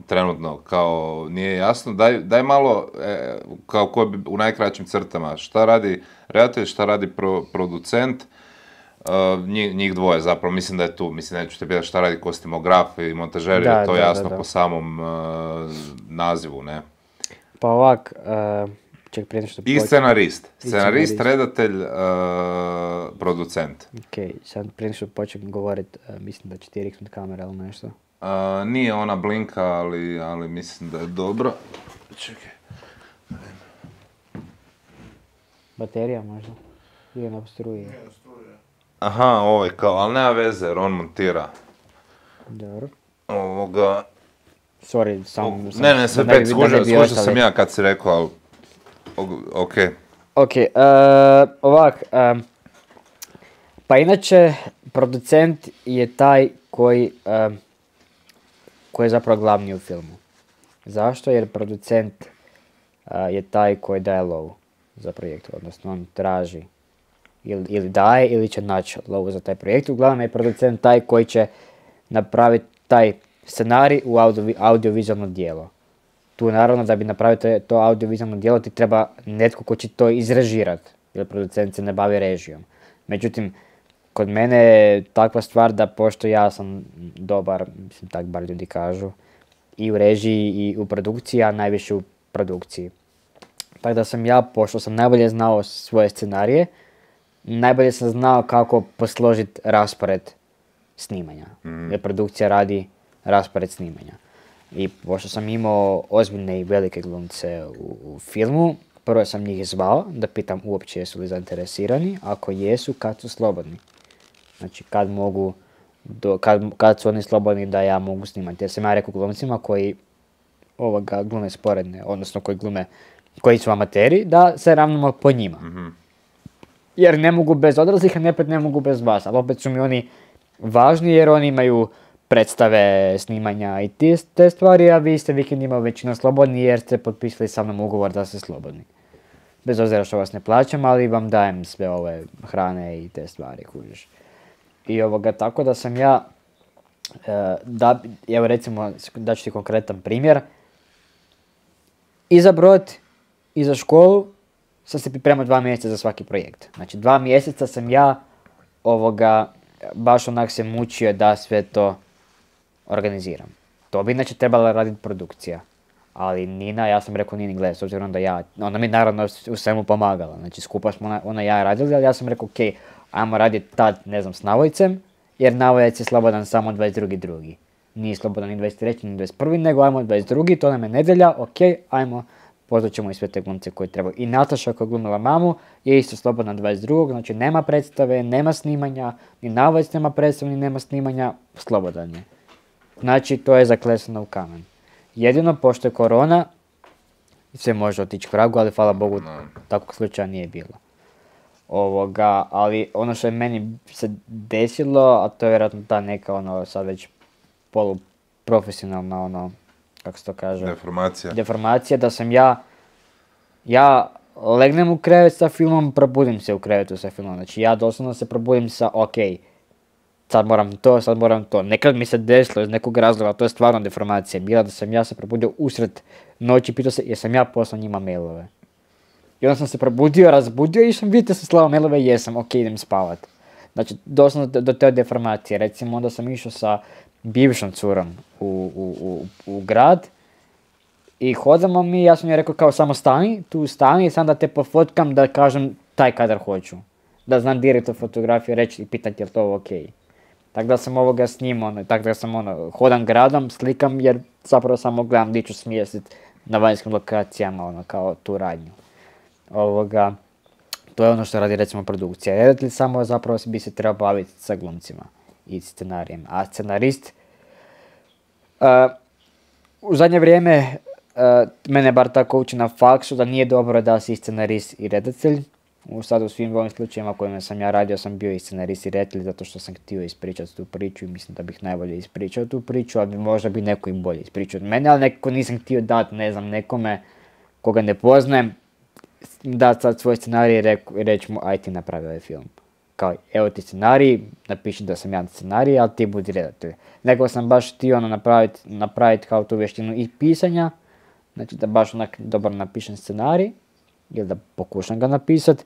Speaker 1: trenutno kao nije jasno, daj, daj malo e, kao ko bi u najkraćim crtama, šta radi redatelj, šta radi pro, producent, uh, njih, njih dvoje zapravo, mislim da je tu, mislim neću te pitati šta radi kostimograf i montažer,
Speaker 2: Da,
Speaker 1: je to
Speaker 2: da,
Speaker 1: jasno
Speaker 2: da, da.
Speaker 1: po samom uh, nazivu, ne?
Speaker 2: Pa ovak, uh, ček prije nešto
Speaker 1: I
Speaker 2: počne-
Speaker 1: scenarist.
Speaker 2: I
Speaker 1: Scenarist,
Speaker 2: scenarist.
Speaker 1: redatelj, uh, producent.
Speaker 2: Ok, sad prije što počnem govorit, uh, mislim da će ti riknut kamera ili nešto.
Speaker 1: Uh, nije ona blinka, ali, ali mislim da je dobro. Čekaj.
Speaker 2: Baterija možda? Ili na struji?
Speaker 1: Aha, ovo je kao, ali nema veze jer on montira
Speaker 2: Dobro.
Speaker 1: ovoga.
Speaker 2: Sorry, sam... sam
Speaker 1: Ne, ne, sve
Speaker 2: da bi-
Speaker 1: pet,
Speaker 2: da ne
Speaker 1: skužio,
Speaker 2: bi
Speaker 1: skužio
Speaker 2: ostali.
Speaker 1: sam ja kad si rekao, ali ok.
Speaker 2: Ok, uh, ovak, um, pa inače, producent je taj koji, um, koji je zapravo glavni u filmu. Zašto? Jer producent uh, je taj koji daje lovu za projekt, odnosno on traži ili, ili daje ili će naći lovu za taj projekt. Uglavnom je producent taj koji će napraviti taj scenarij u audio, audiovizualno djelo. Tu naravno da bi napravio to, to audiovizualno djelo ti treba netko ko će to izrežirati, jer producent se ne bavi režijom. Međutim, kod mene je takva stvar da pošto ja sam dobar, mislim tak bar ljudi kažu, i u režiji i u produkciji, a najviše u produkciji. Tako da sam ja, pošto sam najbolje znao svoje scenarije, najbolje sam znao kako posložiti raspored snimanja.
Speaker 1: Mhm.
Speaker 2: Jer produkcija radi raspored snimanja. I pošto sam imao ozbiljne i velike glumce u, u filmu, prvo sam njih zvao da pitam uopće jesu li zainteresirani, ako jesu, kad su slobodni. Znači kad mogu, do, kad, kad su oni slobodni da ja mogu snimati. Jer sam ja rekao glumcima koji ovoga glume sporedne, odnosno koji glume, koji su amateri, da se ravnamo po njima.
Speaker 1: Mhm.
Speaker 2: Jer ne mogu bez odraslih, a opet ne mogu bez vas. Ali opet su mi oni važni jer oni imaju predstave, snimanja i te, te stvari, a vi ste vikendima većinom slobodni jer ste potpisali sa mnom ugovor da ste slobodni. Bez obzira što vas ne plaćam, ali vam dajem sve ove hrane i te stvari, kužiš. I ovoga, tako da sam ja, e, da, evo recimo, da ću ti konkretan primjer, i za brod, i za školu sam se pripremao dva mjeseca za svaki projekt. Znači dva mjeseca sam ja ovoga, baš onak se mučio da sve to organiziram. To bi inače trebala raditi produkcija. Ali Nina, ja sam rekao Nini, gledaj, s obzirom da ja, ona mi naravno u svemu pomagala. Znači skupa smo ona, ona i ja radili, ali ja sam rekao, ok, ajmo raditi tad, ne znam, s Navojcem, jer Navojac je slobodan samo dvadeset drugi drugi Nije slobodan ni dvadeset treći ni dvadeset prvi nego ajmo dvadeset drugi to nam je nedjelja, ok, ajmo, pozvat ćemo i sve te glumce koji trebaju. I Nataša koja je glumila mamu je isto slobodna dvadeset drugog znači nema predstave, nema snimanja, ni Navojac nema predstave, ni nema snimanja, slobodan je. Znači to je zaklesano u kamen. Jedino, pošto je korona, sve može otići k vragu, ali hvala Bogu, takvog slučaja nije bilo. Ovoga, ali ono što je meni se desilo, a to je vjerojatno ta neka, ono, sad već poluprofesionalna, ono, kako se to kaže?
Speaker 1: Deformacija.
Speaker 2: Deformacija, da sam ja, ja legnem u krevet sa filmom, probudim se u krevetu sa filmom. Znači ja doslovno se probudim sa, ok, sad moram to, sad moram to. Nekad mi se desilo iz nekog razloga, to je stvarno deformacija. Bila da sam ja se probudio usred noći, pitao se jesam ja poslao njima mailove. I onda sam se probudio, razbudio i sam vidite sam slao mailove, jesam, ok, idem spavat. Znači, doslovno do, do te deformacije. Recimo, onda sam išao sa bivšom curom u, u, u, u grad i hodamo mi, ja sam joj rekao kao samo stani, tu stani i sam da te pofotkam da kažem taj kadar hoću. Da znam direktno fotografiju reći i pitati je li to ok. Tako da sam ovoga snimao, ono, tako da sam ono, hodam gradom, slikam jer zapravo samo gledam di ću smjestiti na vanjskim lokacijama, ono, kao tu radnju. Ovoga, to je ono što radi recimo produkcija. Redatelj samo zapravo bi se trebao baviti sa glumcima i scenarijem. A scenarist, uh, u zadnje vrijeme, uh, mene bar tako uči na faksu da nije dobro da si scenarist i redatelj. U sad u svim ovim slučajima kojima sam ja radio sam bio i scenarist i redatelj zato što sam htio ispričati tu priču i mislim da bih najbolje ispričao tu priču, ali možda bi neko i bolje ispričao od mene, ali nekako nisam htio dati, ne znam, nekome koga ne poznajem, dati sad svoj scenarij i reći mu aj ti napravi ovaj film. Kao, evo ti scenarij, napiši da sam ja scenarij, ali ti budi redatelj. Nekako sam baš htio ono napraviti napravit kao tu vještinu i pisanja, znači da baš onak dobro napišem scenarij, ili da pokušam ga napisati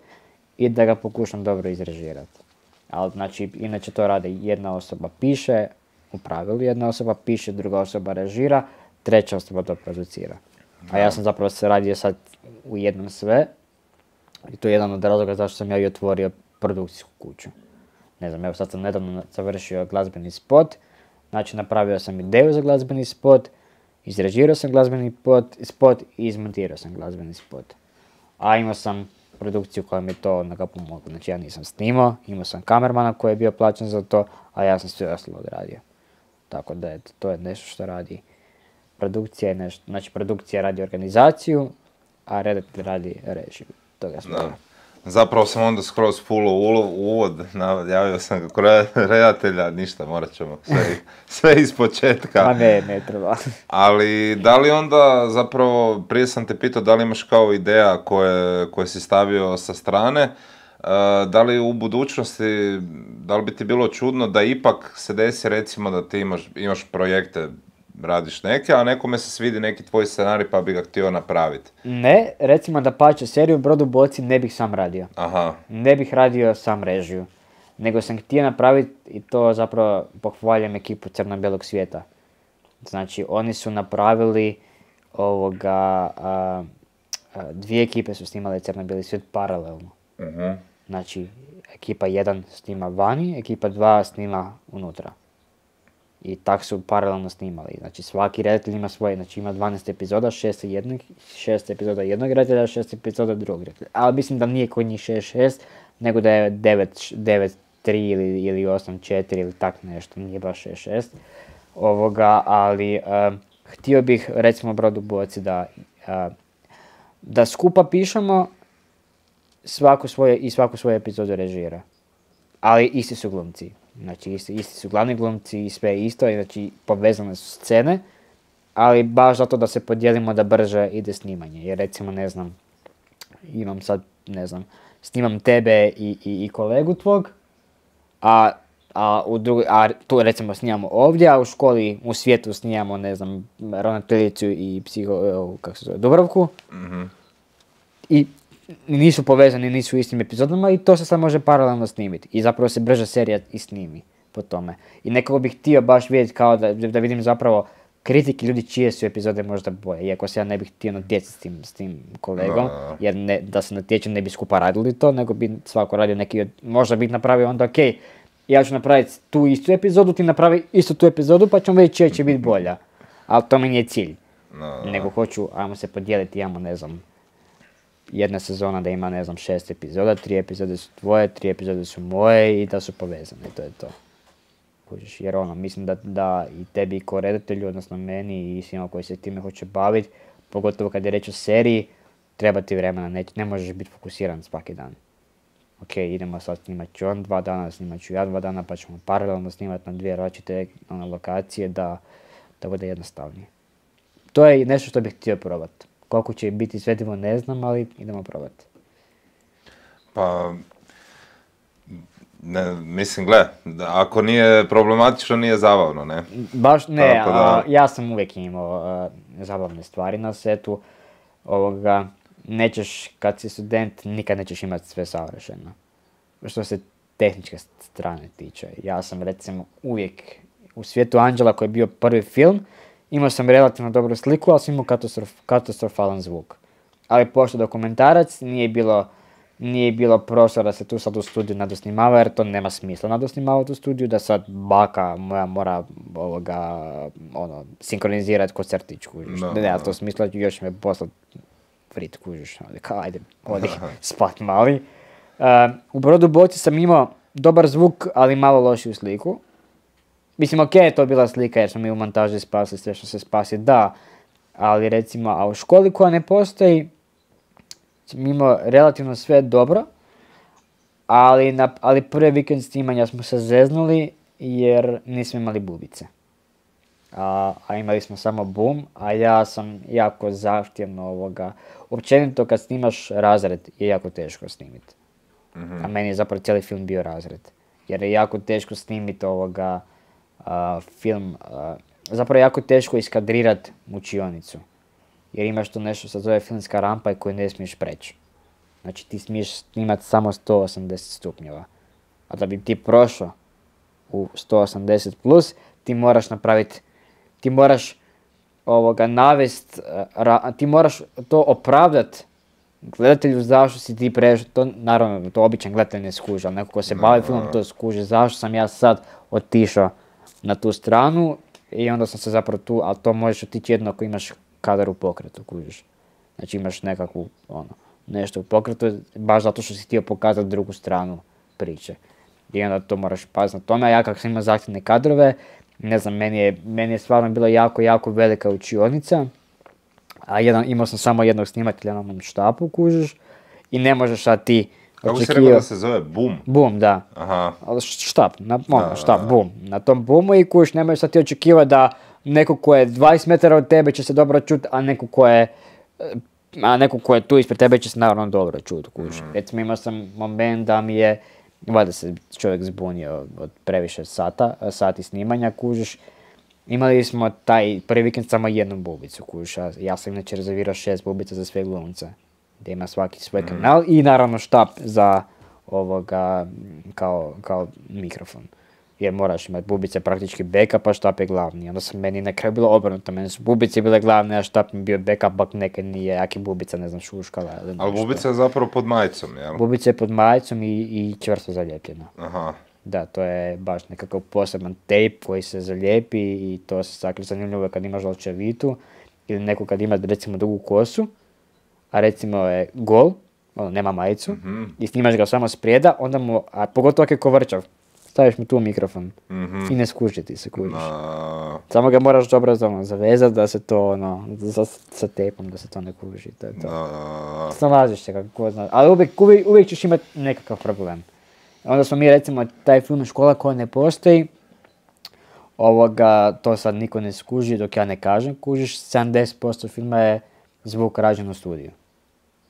Speaker 2: i da ga pokušam dobro izrežirati. Ali znači, inače to radi jedna osoba piše, u pravilu jedna osoba piše, druga osoba režira, treća osoba to producira. A ja sam zapravo se radio sad u jednom sve i to je jedan od razloga zašto sam ja i otvorio produkcijsku kuću. Ne znam, evo sad sam nedavno završio glazbeni spot, znači napravio sam ideju za glazbeni spot, izrežirao sam glazbeni spot, spot i izmontirao sam glazbeni spot. A imao sam produkciju koja mi je to onoga pomogla. Znači ja nisam snimao, imao sam kamermana koji je bio plaćen za to, a ja sam sve ostalo odradio. Tako da eto, to je nešto što radi produkcija je nešto. Znači produkcija radi organizaciju, a redatelj radi režiju. Toga smo.
Speaker 1: Zapravo sam onda skroz full u uvod, javio sam kako redatelja, ništa, morat ćemo sve, sve iz početka.
Speaker 2: Ma ne, ne treba.
Speaker 1: Ali da li onda zapravo, prije sam te pitao da li imaš kao ideja koje, koje si stavio sa strane, uh, da li u budućnosti, da li bi ti bilo čudno da ipak se desi recimo da ti imaš, imaš projekte, radiš neke, a nekome se svidi neki tvoj scenarij pa bi ga htio napraviti.
Speaker 2: Ne, recimo da pače seriju Brodu boci ne bih sam radio.
Speaker 1: Aha.
Speaker 2: Ne bih radio sam režiju. Nego sam htio napraviti i to zapravo pohvaljujem ekipu Crno-bijelog svijeta. Znači oni su napravili ovoga, a, a, dvije ekipe su snimale Crno-bijeli svijet paralelno.
Speaker 1: Uh-huh.
Speaker 2: Znači ekipa jedan snima vani, ekipa dva snima unutra. I tak su paralelno snimali. Znači svaki redatelj ima svoje, znači ima dvanaest epizoda, šest jednog, šest epizoda jednog redatelja, šest epizoda drugog redatelja. Ali mislim da nije kod njih šest šest, nego da je devet tri ili, ili osam četiri ili tak nešto, nije baš šest šest. Ovoga, ali uh, htio bih recimo Brodu boci da, uh, da skupa pišemo svaku svoje, i svaku svoju epizodu režira. Ali isti su glumci. Znači isti, isti su glavni glumci i sve isto, znači povezane su scene, ali baš zato da se podijelimo da brže ide snimanje. Jer recimo, ne znam, imam sad, ne znam, snimam tebe i, i, i kolegu tvog, a, a, u drugi, a tu recimo snimamo ovdje, a u školi, u svijetu snimamo, ne znam, ravnateljicu i psiho, kako se zove, Dubravku.
Speaker 1: Mm-hmm.
Speaker 2: I nisu povezani, nisu u istim epizodama i to se sad može paralelno snimiti. I zapravo se brže serija i snimi po tome. I nekako bih htio baš vidjeti kao da, da vidim zapravo kritike ljudi čije su epizode možda bolje. Iako se ja ne bih htio natjecati s tim, s tim kolegom, no. Jer ne, da se natječem ne bi skupa radili to, nego bi svako radio neki od, možda bih napravio onda ok, ja ću napraviti tu istu epizodu, ti napravi istu tu epizodu pa ćemo vidjeti čija će biti bolja. Ali to mi nije cilj.
Speaker 1: No.
Speaker 2: Nego hoću, ajmo se podijeliti, imamo ne znam, jedna sezona da ima, ne znam, šest epizoda, tri epizode su tvoje, tri epizode su moje i da su povezane, to je to. Kužiš, jer ono, mislim da, da i tebi kao redatelju, odnosno meni i svima koji se time hoće baviti, pogotovo kad je reč o seriji, treba ti vremena, ne, ne možeš biti fokusiran svaki dan. Ok, idemo sad snimat ću on dva dana, snimat ću ja dva dana, pa ćemo paralelno snimati na dvije različite ono, lokacije da, da bude jednostavnije. To je nešto što bih htio probati. Koliko će biti svetivo ne znam, ali idemo probati.
Speaker 1: Pa, ne, mislim, gle, ako nije problematično, nije zabavno, ne?
Speaker 2: Baš ne,
Speaker 1: da...
Speaker 2: a, ja sam uvijek imao a, zabavne stvari na setu. Ovoga, nećeš, kad si student, nikad nećeš imati sve savršeno. Što se tehničke strane tiče. Ja sam, recimo, uvijek u Svijetu anđela, koji je bio prvi film, imao sam relativno dobru sliku, ali sam imao katastrof, katastrofalan zvuk. Ali pošto dokumentarac, nije bilo, nije bilo prostora da se tu sad u studiju nadosnimava, jer to nema smisla nadosnimavati u studiju, da sad baka moja mora ovoga, ono, sinkronizirati ko crtić, kužiš. No, nema to smisla, još me poslati frit, kužiš. Kao, ajde, odi spat mali. Uh, u Brodu boci sam imao dobar zvuk, ali malo lošiju sliku. Mislim, ok, je to bila slika jer smo mi u montaži spasili sve što se spasi, da. Ali recimo, a u školi koja ne postoji, sam imao relativno sve dobro. Ali, na, ali prvi vikend snimanja smo se zeznuli jer nismo imali bubice. A, a imali smo samo bum, a ja sam jako zahtjevno ovoga. Općenito kad snimaš razred je jako teško snimiti. Mm-hmm. A meni je zapravo cijeli film bio razred. Jer je jako teško snimiti ovoga a, film, a, zapravo je jako teško iskadrirati učionicu. Jer imaš tu nešto što se zove filmska rampa i koju ne smiješ preći. Znači ti smiješ snimati samo sto osamdeset stupnjeva. A da bi ti prošao u sto osamdeset plus, ti moraš napraviti, ti moraš ovoga navest, ra, ti moraš to opravdat gledatelju zašto si ti prešao, to naravno to običan gledatelj ne skuži, ali neko ko se bavi filmom to skuži, zašto sam ja sad otišao na tu stranu i onda sam se zapravo tu, ali to možeš otići jedno ako imaš kadar u pokretu, kužiš. Znači imaš nekakvu, ono, nešto u pokretu, baš zato što si htio pokazati drugu stranu priče. I onda to moraš paziti na tome, a ja kako sam imao zahtjevne kadrove, ne znam, meni je, meni je stvarno bila jako, jako velika učionica, a jedan, imao sam samo jednog snimatelja na mom štapu, kužiš, i ne možeš sad ti
Speaker 1: kako si rekao da se zove? Bum?
Speaker 2: Bum, da.
Speaker 1: Aha.
Speaker 2: Štap, na, ono, štap, bum. Na tom bumu i kužiš, ne možeš sad ti očekivati da neko ko je dvadeset metara od tebe će se dobro čuti, a neko ko je a neko ko je tu ispred tebe će se naravno dobro čuti, kužiš. Mm. Recimo imao sam moment da mi je, valjda se čovjek zbunio od previše sata, sati snimanja, kužiš. Imali smo taj prvi vikend samo jednu bubicu, kužiš. Ja sam inače rezervirao šest bubica za sve glumce, gdje ima svaki svoj mm. kanal i naravno štap za ovoga kao, kao mikrofon. Jer moraš imati bubice praktički backup, a štap je glavni. Onda sam meni na kraju bilo obrnuto, meni su bubice bile glavne, a štap mi bio backup, bak nekad nije, jak je bubica, ne znam, šuškala ili nešto.
Speaker 1: Ali bubica je zapravo pod majicom, jel?
Speaker 2: Bubica je pod majicom i, i čvrsto zalijepljena.
Speaker 1: Aha.
Speaker 2: Da, to je baš nekakav poseban tape koji se zalijepi i to se sakri zanimljivo kad imaš žalčevitu ili neko kad ima recimo dugu kosu, a recimo je gol, ono, nema majicu, mm-hmm. i snimaš ga samo sprijeda, onda mu, a pogotovo ako je kovrčav, staviš mu tu mikrofon mm-hmm. i ne skuži ti se, kužiš. No. Samo ga moraš dobro ono, zavezati da se to, ono, za, sa tepom da se to ne kuži, to je to. No. Snalaziš se kako zna, ali uvijek, uvijek, uvijek ćeš imati nekakav problem. Onda smo mi recimo taj film Škola koja ne postoji, ovoga, to sad niko ne skuži dok ja ne kažem, kužiš, sedamdeset posto filma je zvuk rađen u studiju.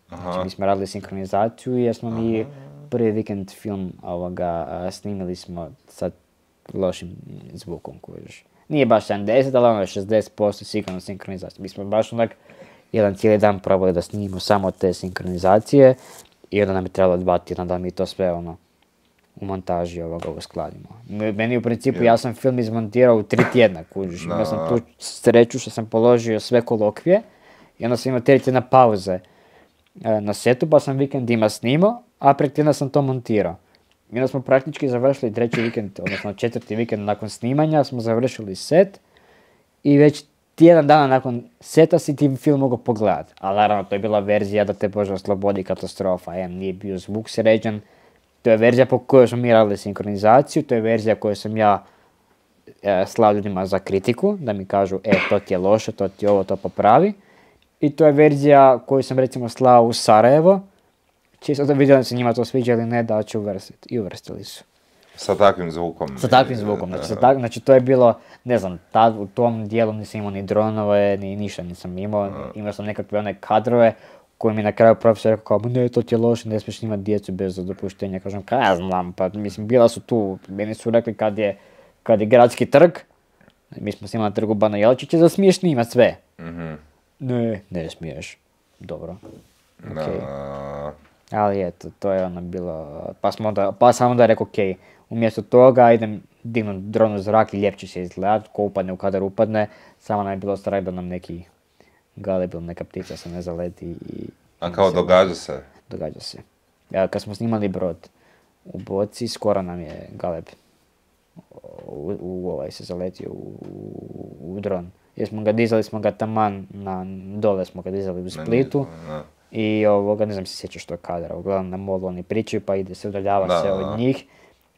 Speaker 2: Aha. Znači mi smo radili sinkronizaciju jer smo mi prvi vikend film ovoga, snimili smo sa lošim zvukom, kužiš. Nije baš sedamdeset, ali ono je šezdeset posto sigurno sinkronizacija. Mi smo baš onak jedan cijeli dan probali da snimimo samo te sinkronizacije i onda nam je trebalo dva tjedna da mi to sve ono u montaži ovoga uskladimo. Meni u principu, yeah. ja sam film izmontirao u tri tjedna, kužiš. Imao sam tu sreću što sam položio sve kolokvije i onda sam imao tri tjedna pauze e, na setu, pa sam vikendima snimao, a prek tjedna sam to montirao. I onda smo praktički završili treći vikend, odnosno četvrti vikend nakon snimanja, smo završili set i već tjedan dana nakon seta si ti film mogao pogledati. Ali naravno, to je bila verzija da te Bože oslobodi katastrofa, jer nije bio zvuk sređen. To je verzija po kojoj smo mi radili sinkronizaciju, to je verzija koju sam ja e, slao ljudima za kritiku, da mi kažu, e, to ti je loše, to ti ovo, to popravi. I to je verzija koju sam recimo slao u Sarajevo, čisto da vidjeli se njima to sviđa ili ne, da će uvrstiti. I uvrstili su.
Speaker 1: Sa takvim zvukom.
Speaker 2: Sa takvim zvukom, znači, sa tak, znači to je bilo, ne znam, tad u tom dijelu nisam imao ni dronove, ni ništa nisam imao, imao sam nekakve one kadrove, koji mi na kraju profesor rekao kao, ne, to ti je loše, ne smiješ imati djecu bez dopuštenja. Kažem, kaj ja znam, pa mislim, bila su tu, meni su rekli kad je, kad je gradski trg, mi smo snimali na trgu Bana Jelačića, da smiješ snimati sve. Mm-hmm. Ne, ne smiješ. Dobro. Okay. No. Ali eto, to je ono bilo, pa, smo onda, pa sam onda rekao, ok, umjesto toga idem dignuti dron u zrak i ljepće se izgledati, ko upadne u kadar upadne, samo nam je bilo strah da nam neki galebil, neka ptica se ne zaleti i...
Speaker 1: A kao se događa se?
Speaker 2: Događa se. Ja, kad smo snimali Brod u Boci, skoro nam je galeb u, u ovaj se zaletio u, u, u dron. Jer smo ga dizali, smo ga taman na dole, smo ga dizali u Splitu. Ne, ne. I ovoga, ne znam se sjećaš tog kadra, uglavnom na molu oni pričaju pa ide se udaljava
Speaker 1: Da,
Speaker 2: se
Speaker 1: da,
Speaker 2: od
Speaker 1: da.
Speaker 2: njih.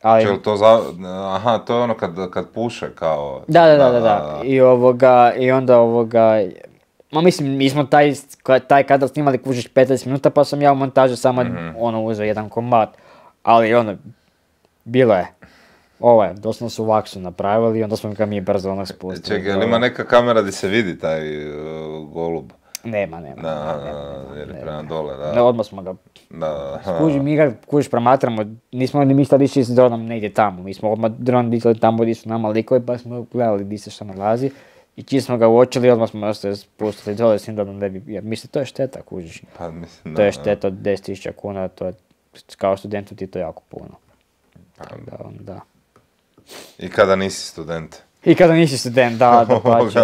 Speaker 2: Ali...
Speaker 1: Čel to za... Aha, to je ono kad, kad puše kao...
Speaker 2: Da, da, da, da, da. I ovoga, i onda ovoga... Ma mislim, mi smo taj, taj kadar snimali kužiš petnaest minuta pa sam ja u montaži samo mm-hmm. ono uzeo jedan komad. Ali ono, bilo je. Ovo je, doslovno su vaksu napravili i onda smo ga mi brzo ono spustili.
Speaker 1: Čekaj, ali ima neka kamera gdje se vidi taj uh, golub?
Speaker 2: Nema, nema.
Speaker 1: Da,
Speaker 2: nema, nema,
Speaker 1: jer je
Speaker 2: nema,
Speaker 1: prema
Speaker 2: nema.
Speaker 1: dole, da.
Speaker 2: Ne, odmah smo ga...
Speaker 1: Da,
Speaker 2: Kuži, mi ga kužiš promatramo, nismo ni mi sad išli s dronom negdje tamo, mi smo odmah dron disali tamo gdje su nama likovi pa smo gledali gdje se što nalazi. I čim smo ga uočili, odmah smo se spustili dole s njim da ne bi, jer mislim to je šteta kužiš.
Speaker 1: Pa, mislim, da,
Speaker 2: to je šteta od deset tisuća kuna, to je, kao studentu ti to jako puno.
Speaker 1: Pa,
Speaker 2: da, da.
Speaker 1: I kada nisi student?
Speaker 2: I kada nisi student, da, da pađe.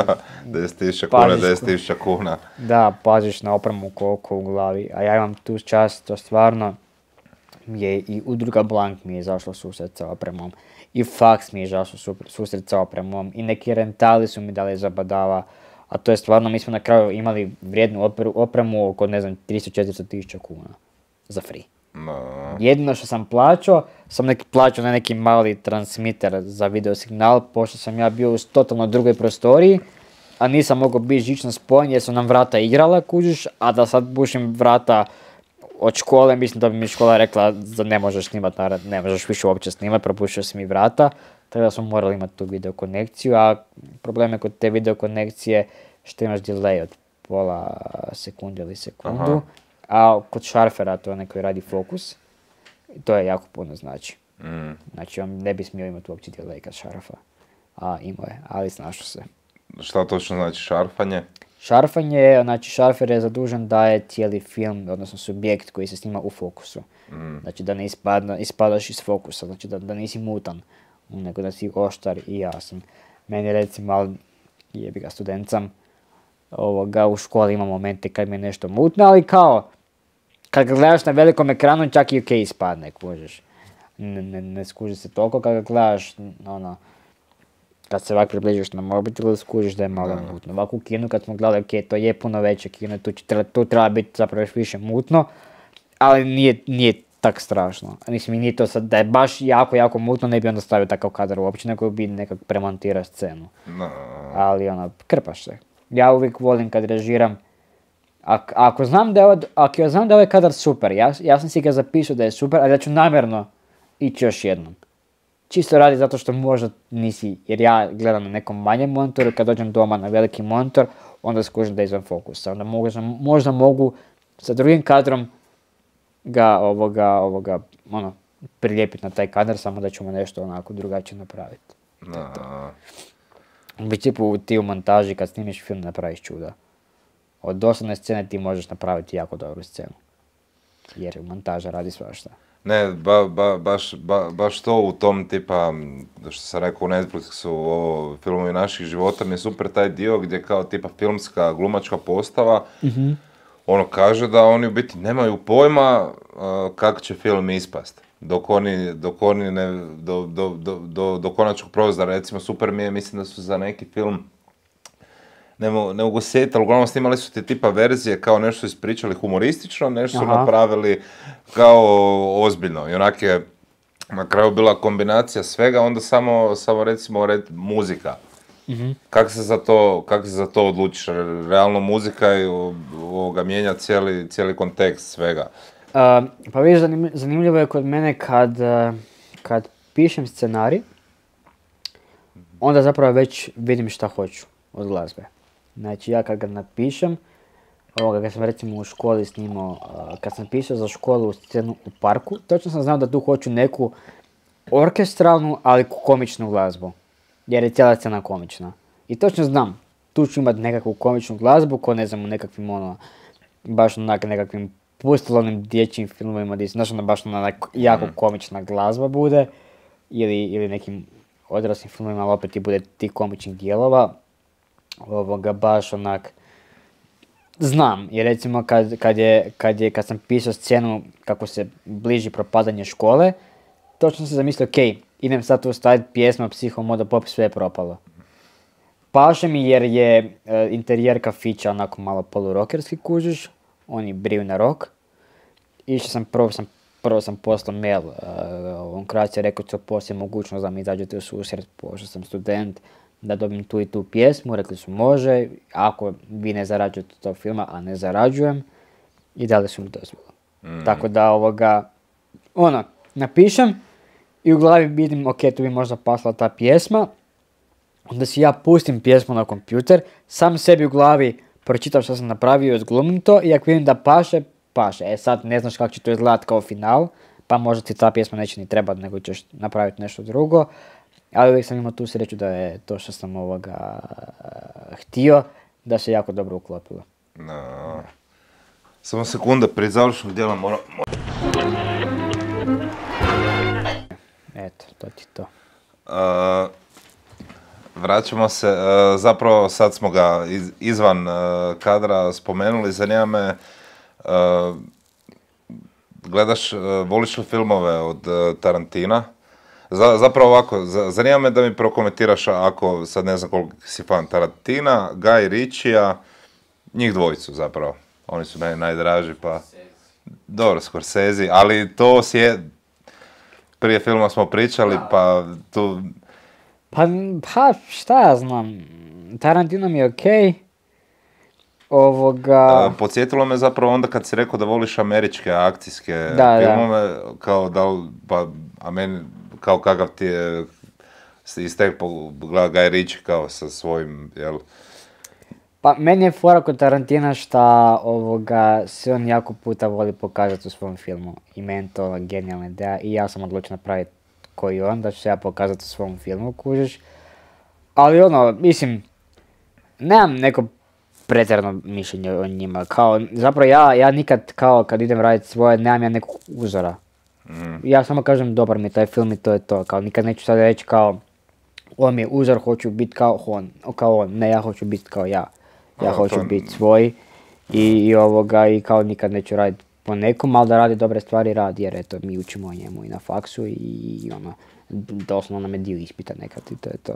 Speaker 1: deset tisuća kuna, deset tisuća kuna.
Speaker 2: Da, paziš na opremu koliko u glavi, a ja imam tu čast, to stvarno je i udruga Blank mi je izašla susret sa opremom, i Fax mi je izašla susret sa opremom, i neki rentali su mi dali zabadava, a to je stvarno, mi smo na kraju imali vrijednu operu, opremu oko, ne znam, tristo do četiristo tisuća kuna za free.
Speaker 1: No.
Speaker 2: Jedino što sam plaćao, sam neki plaćao na neki mali transmitter za video signal, pošto sam ja bio u totalno drugoj prostoriji, a nisam mogao biti žično spojen jer su nam vrata igrala, kužiš, a da sad bušim vrata od škole, mislim da bi mi škola rekla da ne možeš snimat, ne možeš više uopće snimat, propuštio si mi vrata, tako da smo morali imati tu video konekciju, a problem je kod te video konekcije što imaš delay od pola sekunde ili sekundu. Aha. A kod šarfera, to je onaj koji radi fokus, to je jako puno znači. Mm. Znači on ne bi smio imati uopće delay kad šarfa, a imao je, ali snašao se.
Speaker 1: Šta točno znači šarfanje?
Speaker 2: Šarfanje, znači šarfer je zadužen da je cijeli film, odnosno subjekt koji se snima u fokusu. Mm. Znači da ne ispadna, ispadaš iz fokusa, znači da, da nisi mutan, nego da si oštar i jasan. Meni recimo, ali jebi ga student sam, ovoga, u školi ima momente kad mi je nešto mutno, ali kao, kad ga gledaš na velikom ekranu, čak i ok ispadne, kužiš. Ne, ne, ne skuži se toliko kad ga gledaš, ono, kad se ovak približiš na mobitelu, skužiš da je malo no. mutno. Ovako u kinu kad smo gledali, ok, to je puno veće kino, tu, treba, tu treba biti zapravo još više mutno, ali nije, nije tak strašno. Mislim, nije to sad, da je baš jako, jako mutno, ne bi onda stavio takav kadar uopće, nego bi nekak premontirao scenu.
Speaker 1: No.
Speaker 2: Ali ono, krpaš se. Ja uvijek volim kad režiram, Ak, ako znam da je, od, ako ja znam da je ovaj kadar super, ja, ja sam si ga zapisao da je super, ali ja ću namjerno ići još jednom. Čisto radi zato što možda nisi, jer ja gledam na nekom manjem monitoru, kad dođem doma na veliki monitor, onda skužim da je izvan fokusa. Onda možda, možda mogu sa drugim kadrom ga ovoga, ovoga, ono, prilijepiti na taj kadar, samo da ćemo nešto onako drugačije napraviti.
Speaker 1: No.
Speaker 2: U principu ti u montaži kad snimiš film napraviš čuda. Od dosadne scene ti možeš napraviti jako dobru scenu. Jer montaža radi svašta.
Speaker 1: Ne, ba, ba, baš, ba, baš to u tom tipa, što sam rekao u Netflixu, ovo filmovi naših života, mi je super taj dio gdje kao tipa filmska glumačka postava, mm-hmm. ono kaže da oni u biti nemaju pojma uh, kako će film ispast. Dok oni, dok oni ne, do, do, do, do, do konačnog prozora, recimo super mi je, mislim da su za neki film, ne mogu, ne mogu sjetiti, ali uglavnom snimali su te tipa verzije kao nešto su ispričali humoristično, nešto su Aha. napravili kao ozbiljno. I onak je na kraju bila kombinacija svega, onda samo, samo recimo red, muzika. Mm-hmm. Kako se za to, kak se za to odlučiš? Realno muzika i ovoga mijenja cijeli, cijeli kontekst svega.
Speaker 2: Uh, pa vidiš, zanimljivo je kod mene kad, kad pišem scenarij, onda zapravo već vidim šta hoću od glazbe. Znači ja kad ga napišem, ovoga, kad sam recimo u školi snimao, uh, kad sam pisao za školu scenu u parku, točno sam znao da tu hoću neku orkestralnu, ali komičnu glazbu. Jer je cijela scena komična. I točno znam, tu ću imati nekakvu komičnu glazbu, ko ne znam u nekakvim ono, baš onak nekakvim pustolovnim dječjim filmovima, gdje znaš ono baš ona jako komična glazba bude, ili, ili nekim odraslim filmovima, ali opet i bude tih komičnih dijelova. Ovoga baš onak znam, jer recimo kad, kad, je, kad, je, kad sam pisao scenu kako se bliži propadanje škole, točno sam se zamislio, ok, idem sad tu staviti pjesmu Psihomoda Pop, sve je propalo. Paše mi jer je e, interijer kafića onako malo polurokerski kužiš, oni briju na rok. Išao sam, prvo sam, prvo sam poslao mail, uh, on Croatia rekao to poslije mogućnost da mi izađete u susret, pošto sam student, da dobijem tu i tu pjesmu, rekli su može, ako vi ne zarađujete tog filma, a ne zarađujem, i dali su mi dozvolu. Mm. Tako da ovoga, ono, napišem i u glavi vidim, ok, tu bi možda pasla ta pjesma, onda si ja pustim pjesmu na kompjuter, sam sebi u glavi pročitam što sam napravio, odglumim to i ako vidim da paše, paše. E sad ne znaš kako će to izgledati kao final, pa možda ti ta pjesma neće ni trebati, nego ćeš napraviti nešto drugo. Ali uvijek sam imao tu sreću da je to što sam ovoga htio, da se jako dobro uklopilo.
Speaker 1: No. Samo sekunda, prije završnog dijela moram...
Speaker 2: Eto, to ti to.
Speaker 1: Uh, vraćamo se, uh, zapravo sad smo ga iz, izvan uh, kadra spomenuli, zanima me, uh, gledaš, uh, voliš li filmove od uh, Tarantina? Za, zapravo ovako, za, zanima me da mi prokomentiraš ako, sad ne znam koliko si fan Tarantina, Guy Ritchija, njih dvojicu zapravo, oni su meni najdraži pa... Dobro, Scorsese, ali to si je... Prije filma smo pričali, pa tu...
Speaker 2: Pa, pa šta ja znam, Tarantino mi je okej. Ovoga...
Speaker 1: Uh, podsjetilo me zapravo onda kad si rekao da voliš američke akcijske
Speaker 2: da,
Speaker 1: filmove,
Speaker 2: da.
Speaker 1: Kao da li, pa, a meni, kao kakav ti je iz teg pogleda Guy Ritchie kao sa svojim, jel?
Speaker 2: Pa meni je fora kod Tarantina šta ovoga se on jako puta voli pokazati u svom filmu. I meni to genijalna ideja i ja sam odlučio napraviti koji on, da ću se ja pokazati u svom filmu, kužiš. Ali ono, mislim, nemam neko pretjerano mišljenje o njima. Kao, zapravo ja, ja nikad kao kad idem raditi svoje, nemam ja nekog uzora. Mm. Ja samo kažem dobar mi je taj film i to je to. Kao nikad neću sad reći kao on mi je uzor, hoću biti kao on. Kao on, ne, ja hoću biti kao ja. Ja hoću to... biti svoj i, i ovoga i kao nikad neću raditi po nekom, ali da radi dobre stvari radi, jer eto mi učimo o njemu i na faksu i, i ono, doslovno nam je dio ispita nekad i to je to.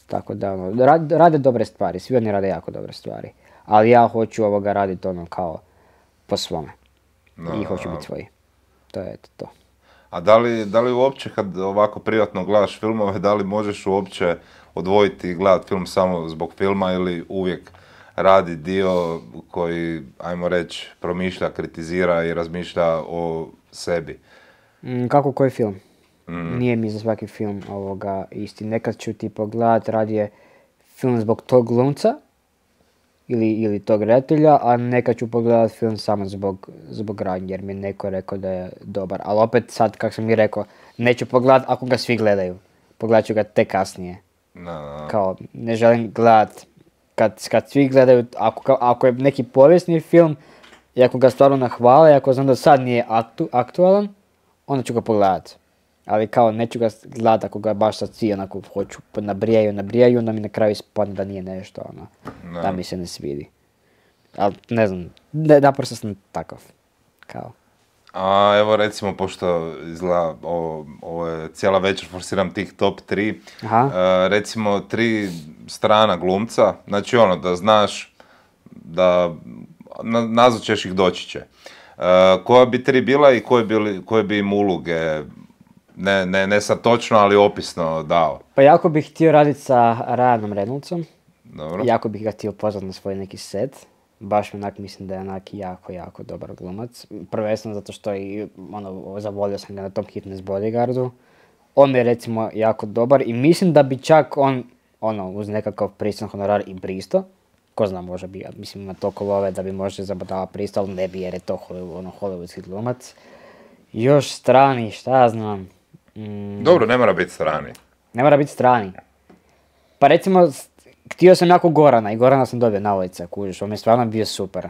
Speaker 2: Tako da ono, rade, rade dobre stvari, svi oni rade jako dobre stvari, ali ja hoću ovoga raditi ono kao po svome no, i hoću biti svoj. To je eto to.
Speaker 1: A da li, da li uopće kad ovako privatno gledaš filmove, da li možeš uopće odvojiti i gledati film samo zbog filma ili uvijek radi dio koji, ajmo reći, promišlja, kritizira i razmišlja o sebi?
Speaker 2: Mm, kako koji film? Mm. Nije mi za svaki film ovoga isti. Nekad ću ti pogledat radije film zbog tog glumca ili, ili tog redatelja, a nekad ću pogledat film samo zbog, zbog radnje, jer mi je neko rekao da je dobar. Ali opet sad, kako sam mi rekao, neću pogledat ako ga svi gledaju. Pogledat ću ga tek kasnije.
Speaker 1: No, no.
Speaker 2: Kao, ne želim gledat Kad, kad svi gledaju, ako, ako je neki povijesni film i ako ga stvarno nahvale, ako znam da sad nije aktu, aktualan, onda ću ga pogledat. Ali kao neću ga gledat ako ga baš sad svi onako hoću, nabrijaju, nabrijaju, onda mi na kraju ispadne da nije nešto, ono, no. Da mi se ne svidi. Ali ne znam, ne, naprosto sam takav, kao.
Speaker 1: A evo recimo, pošto izgleda, ovo, ovo je cijela večer, forsiram tih top tri, uh, recimo tri strana glumca, znači ono da znaš da na, nazvat ćeš ih doći će. Uh, koja bi tri bila i koje, bili, koje bi im uloge, ne, ne, ne sad točno, ali opisno dao?
Speaker 2: Pa jako bih htio raditi sa Ryanom Reynoldsom.
Speaker 1: Dobro.
Speaker 2: Jako bih ga htio pozvati na svoj neki set. Baš mi onak mislim da je onak jako, jako dobar glumac. Prvenstveno zato što i ono, zavolio sam ga na tom Hitness Bodyguardu. On mi je recimo jako dobar i mislim da bi čak on, ono, uz nekakav pristojan honorar i pristo. Ko zna, može bi, mislim ima toliko love da bi možda zabadava pristo, ali ne bi jer je to ono, hollywoodski glumac. Još strani, šta ja znam. Mm,
Speaker 1: Dobro, ne mora biti strani.
Speaker 2: Ne mora biti strani. Pa recimo, htio sam jako Gorana i Gorana sam dobio na ulica, kužiš, on je stvarno bio super.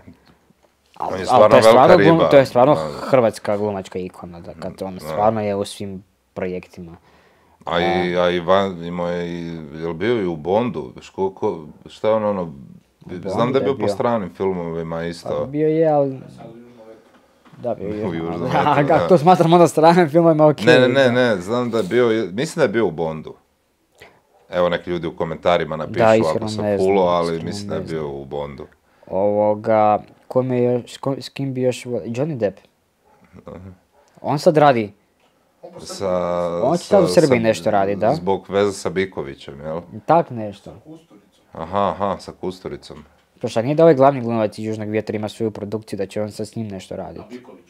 Speaker 1: On je stvarno velika riba.
Speaker 2: Glum, to je stvarno hrvatska glumačka ikona, da kad on stvarno je u svim projektima.
Speaker 1: A i, a i van, imao je i, je li bio i u Bondu? Ško, ko, šta je ono, ono, znam da je bio po stranim filmovima isto.
Speaker 2: Pa bio je, ali... Da, bio je. Kako to smatram onda stranim filmovima, okej.
Speaker 1: Ne, ne, ne, ne, znam da je bio, mislim da je bio u Bondu. Evo neki ljudi u komentarima napišu da, ako sam fulo, ali mislim da je bio u Bondu.
Speaker 2: Ovoga, kome je još, s, ko- s kim bi još volio? Johnny Depp. On sad radi.
Speaker 1: Sa,
Speaker 2: On će sad u
Speaker 1: sa-
Speaker 2: Srbiji
Speaker 1: sa-
Speaker 2: nešto radi, da?
Speaker 1: Zbog veze sa Bikovićem, jel?
Speaker 2: Tak nešto.
Speaker 3: Kusturicom.
Speaker 1: Aha, aha, sa Kusturicom.
Speaker 2: Pa šta nije da ovaj glavni glumac iz Južnog vjetra ima svoju produkciju, da će on sad s njim nešto
Speaker 3: A
Speaker 2: raditi?
Speaker 3: Biković.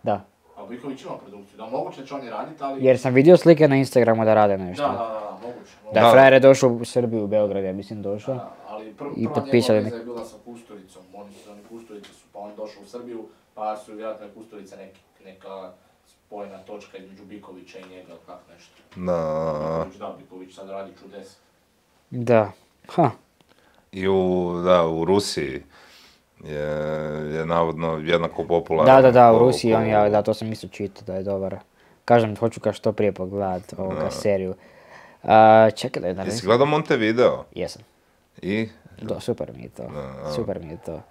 Speaker 2: Da.
Speaker 3: A Biković ima produkciju, da moguće da će oni raditi, ali...
Speaker 2: Jer sam vidio slike na Instagramu da rade nešto.
Speaker 3: Da, da, da, moguće.
Speaker 2: Da
Speaker 1: Da.
Speaker 2: je frajer je došao u Srbiju, u Beograd, ja mislim došao.
Speaker 3: Da, ali pr-
Speaker 2: I
Speaker 3: prva
Speaker 2: potpisali
Speaker 3: njegova veza
Speaker 2: nek-
Speaker 3: je bila sa Kusturicom, oni su, oni Kusturice su, pa on došao u Srbiju, pa su vjerojatno je Kusturica neki, neka spojena točka između Bikovića i njega, ili kak nešto.
Speaker 1: Na,
Speaker 3: Biković, da, Biković sad radi čudes.
Speaker 2: Da. Ha.
Speaker 1: I u, da, u Rusiji je, je navodno jednako popularan.
Speaker 2: Da, da, da, u
Speaker 1: ko-
Speaker 2: Rusiji on
Speaker 1: ko-
Speaker 2: je, da, to sam isto čitao da je dobar. Kažem, hoću ga što prije pogledat ovoga
Speaker 1: Da.
Speaker 2: seriju. A, čekaj da je da
Speaker 1: Jesi gledao Montevideo?
Speaker 2: Jesam.
Speaker 1: I?
Speaker 2: Do, super mi je to.
Speaker 1: Da, da.
Speaker 2: Super mi je to.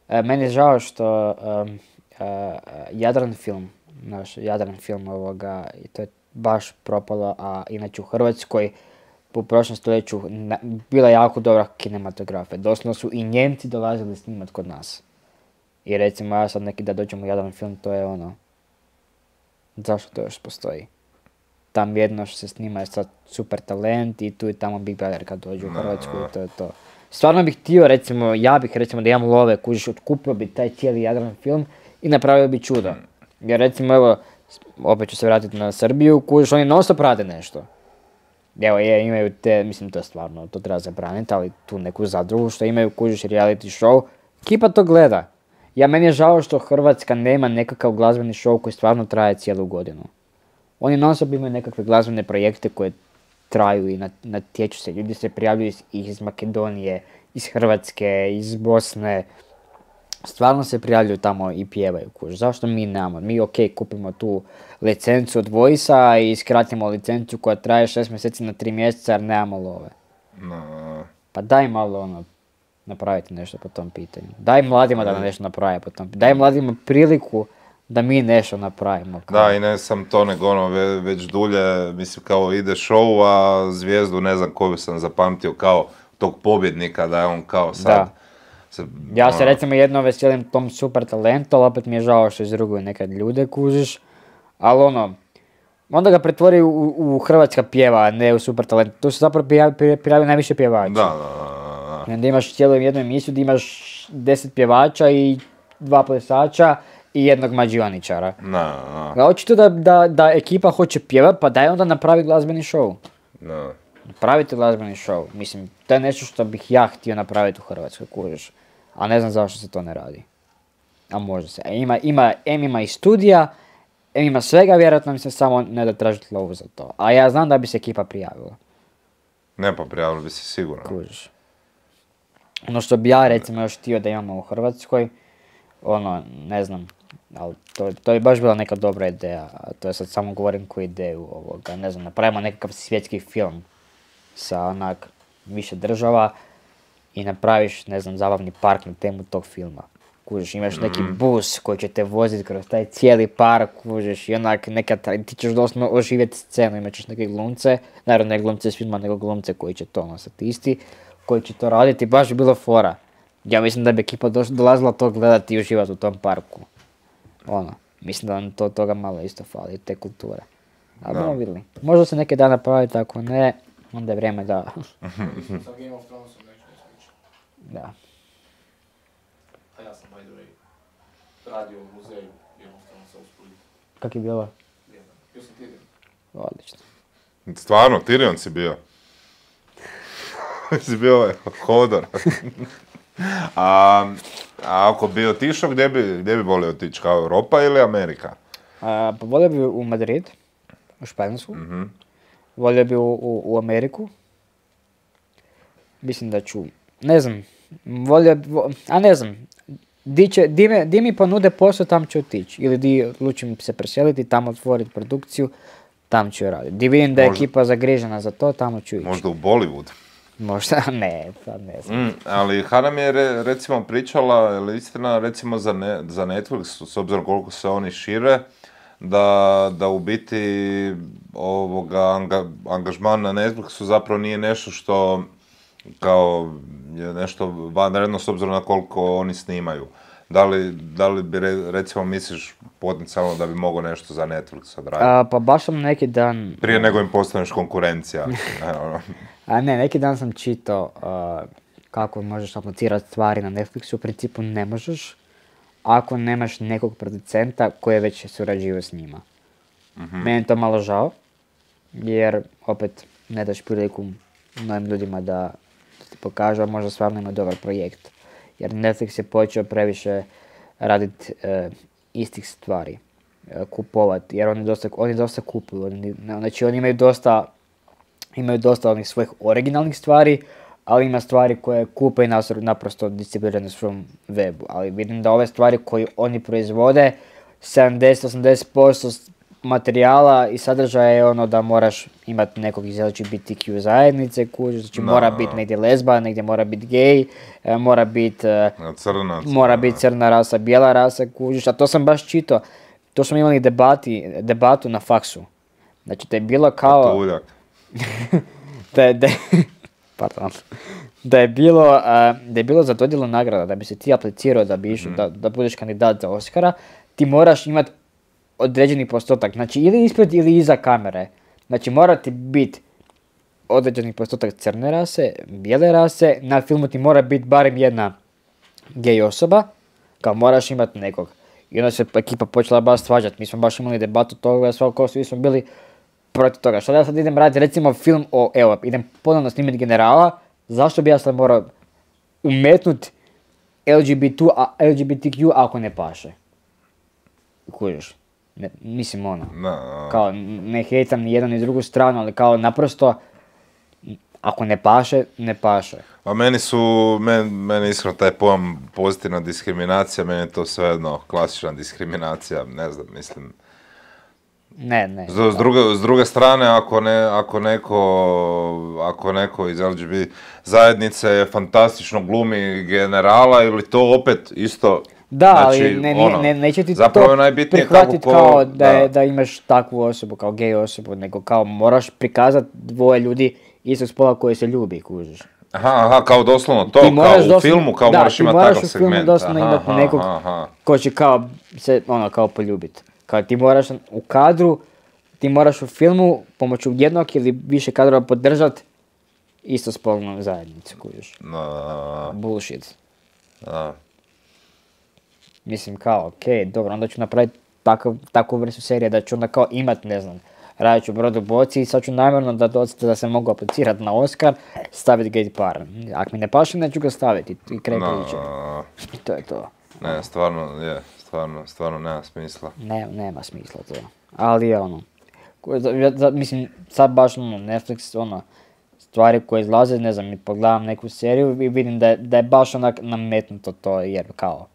Speaker 2: E, meni je žao što um, e, Jadran film, naš Jadran film ovoga, i to je baš propalo, a inače u Hrvatskoj u prošlom stoljeću na- bila jako dobra kinematografija. Doslovno su i Njemci dolazili snimat kod nas. I recimo ja sad neki da dođem u Jadran film, to je ono, zašto to još postoji? Tam jedno što se snima je sad super talent i tu i tamo Big Brother kad dođu u Hrvatsku i to je to. Stvarno bih htio, recimo, ja bih recimo da imam love, kužiš, otkupio bi taj cijeli Jadran film i napravio bi čudo. Jer recimo, evo, s- opet ću se vratiti na Srbiju, kužiš, oni non stop rade nešto. Evo, je, imaju te, mislim, to je stvarno, to treba zabraniti, ali tu neku zadrugu što imaju, kužiš, reality show, ekipa to gleda. Ja, meni je žao što Hrvatska nema nekakav glazbeni show koji stvarno traje cijelu godinu. Oni non stop imaju nekakve glazbene projekte koje traju i nat- natječu se. Ljudi se prijavljuju iz, iz Makedonije, iz Hrvatske, iz Bosne. Stvarno se prijavljuju tamo i pjevaju, kuž. Zašto mi nemamo? Mi ok, kupimo tu licencu od Voice-a i skratimo licencu koja traje šest mjeseci na tri mjeseca jer nemamo love.
Speaker 1: Na,
Speaker 2: Pa daj malo ono, napraviti nešto po tom pitanju. Daj mladima da nešto naprave po tom pitanju. Daj mladima priliku da mi nešto napravimo.
Speaker 1: da, i ne sam to, nego ono, ve- već dulje, mislim, kao ide show, a zvijezdu, ne znam koju sam zapamtio, kao tog pobjednika, da je on kao sad...
Speaker 2: Da.
Speaker 1: se,
Speaker 2: Ja se
Speaker 1: ono,
Speaker 2: recimo jedno veselim tom super talentu, ali opet mi je žao što izruguju nekad ljude, kužiš. Ali ono, onda ga pretvori u, u hrvatska pjeva, a ne u super talent. Tu se zapravo prijavi, pri- prijavi najviše pjevača.
Speaker 1: Da, da, da, da.
Speaker 2: I onda imaš cijelu jednu emisiju gdje imaš deset pjevača i dva plesača i jednog mađioničara.
Speaker 1: Da, da,
Speaker 2: A očito da, da, da ekipa hoće pjevat, pa daj onda napravi glazbeni show.
Speaker 1: da.
Speaker 2: Napravite glazbeni show. Mislim, to je nešto što bih ja htio napraviti u Hrvatskoj, kužiš. A ne znam zašto se to ne radi. A može se. E, Ima, ima, em ima i studija, em ima svega, vjerojatno mi se samo ne da tražiti lovu za to. A ja znam da bi se ekipa prijavila,
Speaker 1: Ne, pa prijavili bi se sigurno.
Speaker 2: kužiš. Ono što bi ja recimo još htio da imamo u Hrvatskoj, ono, ne znam, ali to, to je baš bila neka dobra ideja. A to je sad samo govorim koju ideju ovoga, ne znam, napravimo nekakav svjetski film sa onak više država i napraviš, ne znam, zabavni park na temu tog filma. Kužiš, imaš neki bus koji će te voziti kroz taj cijeli park, kužiš, i onak neka, tra- ti ćeš doslovno oživjeti scenu, imat ćeš neke glumce, naravno ne glumce s filma, nego glumce koji će to ono statisti, koji će to raditi, baš bi bilo fora. Ja mislim da bi ekipa doš- dolazila to gledati i uživati u tom parku. Ono, mislim da nam to toga malo isto fali, te kulture. Ali
Speaker 1: Da.
Speaker 2: budemo vidjeli. Možda se neki dan napraviti, ako ne, onda je vrijeme da...
Speaker 3: Sa Game of Thronesom neću ne sličiti.
Speaker 2: da.
Speaker 3: A ja sam, by the way, radio u muzeju Game of Thronesa u Splitu.
Speaker 2: Kak je bilo?
Speaker 3: Jedan. Bio sam Tyrion.
Speaker 2: Odlično.
Speaker 1: Stvarno, Tyrion si bio. si bio ovaj Hodor. a, a ako bi otišao, gdje bi, gdje bi volio otići? Kao Europa ili Amerika?
Speaker 2: A, pa volio bi u Madrid, u Španjolsku.
Speaker 1: Mhm.
Speaker 2: Volio bi u, u, u Ameriku. Mislim da ću, ne znam, volio bi, vo- a ne znam, di, će, di, me, di mi ponude posao, tam ću otići. Ili di odlučim se preseliti, tamo otvoriti produkciju, tam ću je raditi. Di vidim da je
Speaker 1: Možda-
Speaker 2: ekipa zagrižena za to, tamo ću ići.
Speaker 1: Možda u Bollywood.
Speaker 2: Možda, ne, sad ne znam.
Speaker 1: Mm, ali Hana mi je re- recimo pričala, je li istina, recimo za, ne, za Netflix, s obzirom koliko se oni šire, da, da u biti ovoga anga, angažman na Netflixu zapravo nije nešto što kao je nešto vanredno s obzirom na koliko oni snimaju. Da li, da li bi, re, recimo, misliš potencijalno da bi mogao nešto za Netflix odraditi?
Speaker 2: A, pa baš sam neki dan...
Speaker 1: Prije nego im postaneš konkurencija.
Speaker 2: A ne, neki dan sam čitao uh, kako možeš aplicirati stvari na Netflixu. U principu ne možeš ako nemaš nekog producenta koji je već surađivao s njima. Mm-hmm. Meni je to malo žao, jer opet ne daš priliku novim ljudima da, da ti pokažu, a možda stvarno ima dobar projekt. Jer Netflix je počeo previše raditi uh, istih stvari, uh, kupovati, jer oni dosta, oni dosta kupuju. Oni, znači oni imaju dosta, imaju dosta onih svojih originalnih stvari, ali ima stvari koje kupe i naprosto distribuirane na svom webu. Ali vidim da ove stvari koje oni proizvode, sedamdeset do osamdeset posto materijala i sadržaja je ono da moraš imati nekog iz L G B T Q zajednice, kuži, znači no. mora biti negdje lezba, negdje mora biti gej, mora biti
Speaker 1: crna,
Speaker 2: mora biti crna rasa, bijela rasa, kužiš, a to sam baš čitao, to smo imali debati, debatu na faksu. Znači da je bilo kao... da je, da je, pardon, da je bilo, uh, da je bilo za dodjelu nagrada, da bi se ti aplicirao da bi išao, mm-hmm. da, da budeš kandidat za Oscara, ti moraš imati određeni postotak, znači ili ispred ili iza kamere. Znači mora ti biti određeni postotak crne rase, bijele rase, na filmu ti mora biti barem jedna gej osoba, kao moraš imati nekog. I onda se ekipa počela baš svađati, mi smo baš imali debatu toga, svako svi smo bili protiv toga. Što da ja sad idem raditi recimo film o, evo, idem ponovno snimiti Generala, zašto bi ja sad morao umetnuti L G B T, L G B T Q ako ne paše? Kužiš? Ne, mislim ono, no. kao ne hejtam ni jednu ni drugu stranu, ali kao naprosto, ako ne paše, ne paše.
Speaker 1: A meni su, men, meni iskreno taj pojam pozitivna diskriminacija, meni je to svejedno klasična diskriminacija, ne znam, mislim.
Speaker 2: Ne, ne.
Speaker 1: S, s, druge, s druge strane, ako, ne, ako, neko, ako neko iz L G B T zajednice fantastično glumi Generala ili to opet isto...
Speaker 2: Da,
Speaker 1: znači,
Speaker 2: ali ne,
Speaker 1: ono,
Speaker 2: ne, neće ti
Speaker 1: to
Speaker 2: prihvatiti
Speaker 1: ko,
Speaker 2: kao da,
Speaker 1: da.
Speaker 2: Je, da imaš takvu osobu, kao gej osobu, nego kao moraš prikazati dvoje ljudi istog spola koji se ljubi, kužiš.
Speaker 1: Aha, aha, kao doslovno to, kao u doslovno, filmu, kao
Speaker 2: da,
Speaker 1: moraš imati takav segment. Da, ti moraš u filmu
Speaker 2: doslovno
Speaker 1: aha,
Speaker 2: imati nekog aha, aha. ko će kao se, ono, kao poljubiti. Kao ti moraš u kadru, ti moraš u filmu pomoću jednog ili više kadrova podržati istospolnu zajednicu, kužiš.
Speaker 1: No.
Speaker 2: Bullshit.
Speaker 1: No.
Speaker 2: Mislim kao, okej, okay, dobro, onda ću napraviti takav, takvu vrstu serije da ću onda kao imat, ne znam, radit ću Brodu boci i sad ću namjerno da, da se mogu aplicirati na Oscar, staviti gay par. Ako mi ne paše, neću ga staviti i kraj
Speaker 1: no,
Speaker 2: priče. To je to.
Speaker 1: Ne, stvarno, je, stvarno, stvarno nema smisla.
Speaker 2: Ne, nema smisla to. Ali je ono, mislim, sad baš ono, Netflix, ono, stvari koje izlaze, ne znam, mi pogledam neku seriju i vidim da je, da je baš onak nametnuto to, jer kao,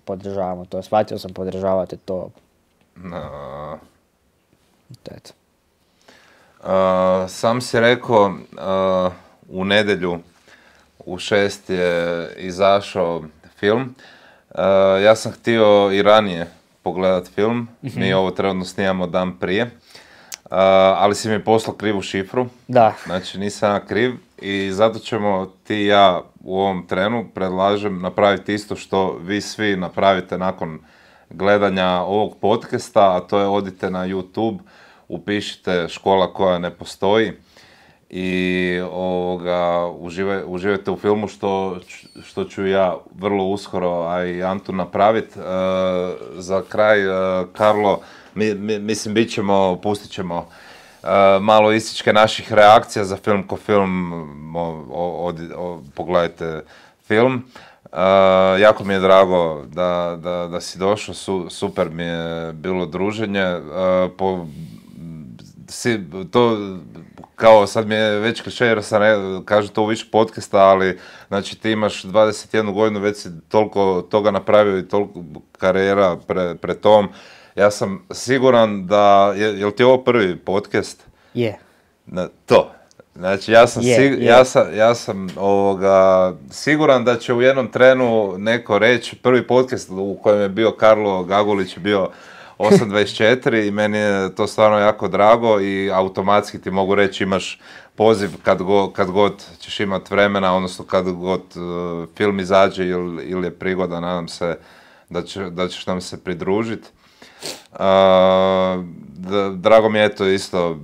Speaker 2: podržavamo to, shvatio sam podržavate to.
Speaker 1: No.
Speaker 2: To je to.
Speaker 1: Uh, sam si rekao, uh, u nedjelju u šest je izašao film. Uh, ja sam htio i ranije pogledat film, mm-hmm. mi ovo trenutno snimamo dan prije, uh, ali si mi poslao krivu šifru.
Speaker 2: Da.
Speaker 1: Znači nisam ja kriv i zato ćemo ti i ja u ovom trenu predlažem napraviti isto što vi svi napravite nakon gledanja ovog podcasta, a to je odite na YouTube, upišite Škola koja ne postoji i ovoga, uživaj, uživajte u filmu što, što ću ja vrlo uskoro, a i Antu napraviti. E, za kraj, e, Karlo, mi, mi, mislim, bit ćemo, pustit ćemo e, malo ističke naših reakcija za film ko film, o, o, o, pogledajte film. Uh, jako mi je drago da, da, da si došao, Su, super mi je bilo druženje. Uh, po, si, to, kao sad mi je već kliše jer sam ne, kažu to u više podcasta, ali znači ti imaš dvadeset jednu godinu, već si toliko toga napravio i toliko karijera pre, pre tom. Ja sam siguran da, je, je li ti ovo prvi podcast?
Speaker 2: Je.
Speaker 1: Yeah. To. Znači, ja sam, yeah, sig- yeah. ja sam, ja sam ovoga, siguran da će u jednom trenu neko reći, prvi podcast u kojem je bio Karlo Gagulić bio osam dvadeset četiri i meni je to stvarno jako drago i automatski ti mogu reći imaš poziv kad, go, kad god ćeš imat vremena, odnosno kad god uh, film izađe ili, ili je prigoda, nadam se da, će, da ćeš nam se pridružiti. Uh, drago mi je to isto,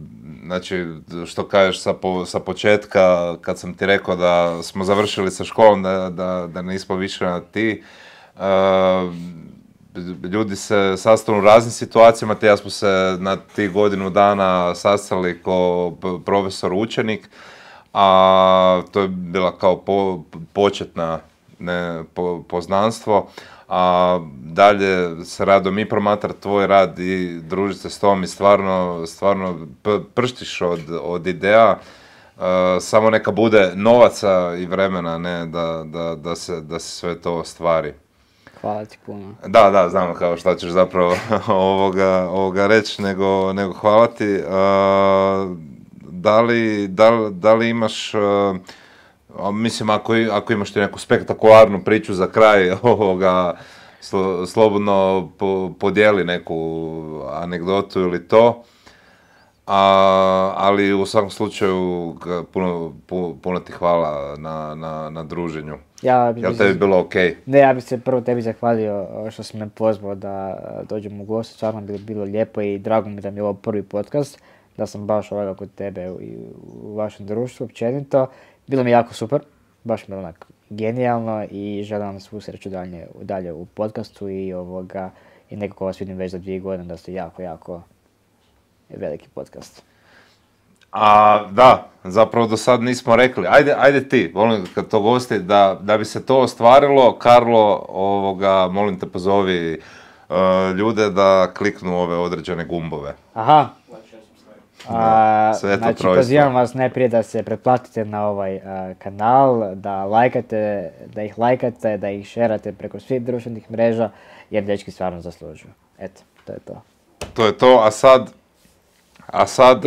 Speaker 1: znači što kažeš sa, po, sa početka kad sam ti rekao da smo završili sa školom, da, da, da nismo više na ti. Uh, ljudi se sastanu u raznim situacijama, te ja smo se na tih godinu dana sastali kao profesor učenik, a to je bila kao po, početna ne, po, poznanstvo. A dalje se rado mi promatrati tvoj rad i družiti se s tom i stvarno, stvarno prštiš od, od ideja. Uh, samo neka bude novaca i vremena, ne, da, da, da, se, da se sve to ostvari.
Speaker 2: Hvala ti puno.
Speaker 1: Da, da, znam kao šta ćeš zapravo ovoga, ovoga reći, nego, nego hvala ti. Uh, da, li, da, li, da li imaš... Uh, Mislim, ako, ako imaš ti neku spektakularnu priču za kraj, ovoga, slo, slobodno po, podijeli neku anegdotu ili to. A, ali u svakom slučaju puno, puno, puno ti hvala na, na, na druženju.
Speaker 2: Ja bi
Speaker 1: Jel tebi
Speaker 2: se,
Speaker 1: bilo okej? Okay?
Speaker 2: Ne, ja bih se prvo tebi zahvalio što si me pozvao da dođem u gostu, stvarno bi bilo lijepo i drago mi da mi je ovo prvi podcast, da sam baš ovoga kod tebe u, u vašem društvu općenito. Bilo mi jako super, baš mi je onak genijalno i želim vam svu sreću dalje, dalje u podcastu i ovoga i nekako vas vidim već za dvije godine da ste jako, jako veliki podcast.
Speaker 1: A da, zapravo do sad nismo rekli, ajde, ajde ti, volim kad to gosti, da, da bi se to ostvarilo, Karlo, ovoga, molim te pozovi uh, ljude da kliknu ove određene gumbove.
Speaker 2: Aha. A,
Speaker 1: Sve
Speaker 2: znači,
Speaker 1: trojstvo.
Speaker 2: pozivam vas najprije da se pretplatite na ovaj a, kanal, da lajkate, da ih lajkate, da ih šerate preko svih društvenih mreža, jer dečki stvarno zaslužuju. Eto, to je to.
Speaker 1: To je to, a sad, a sad...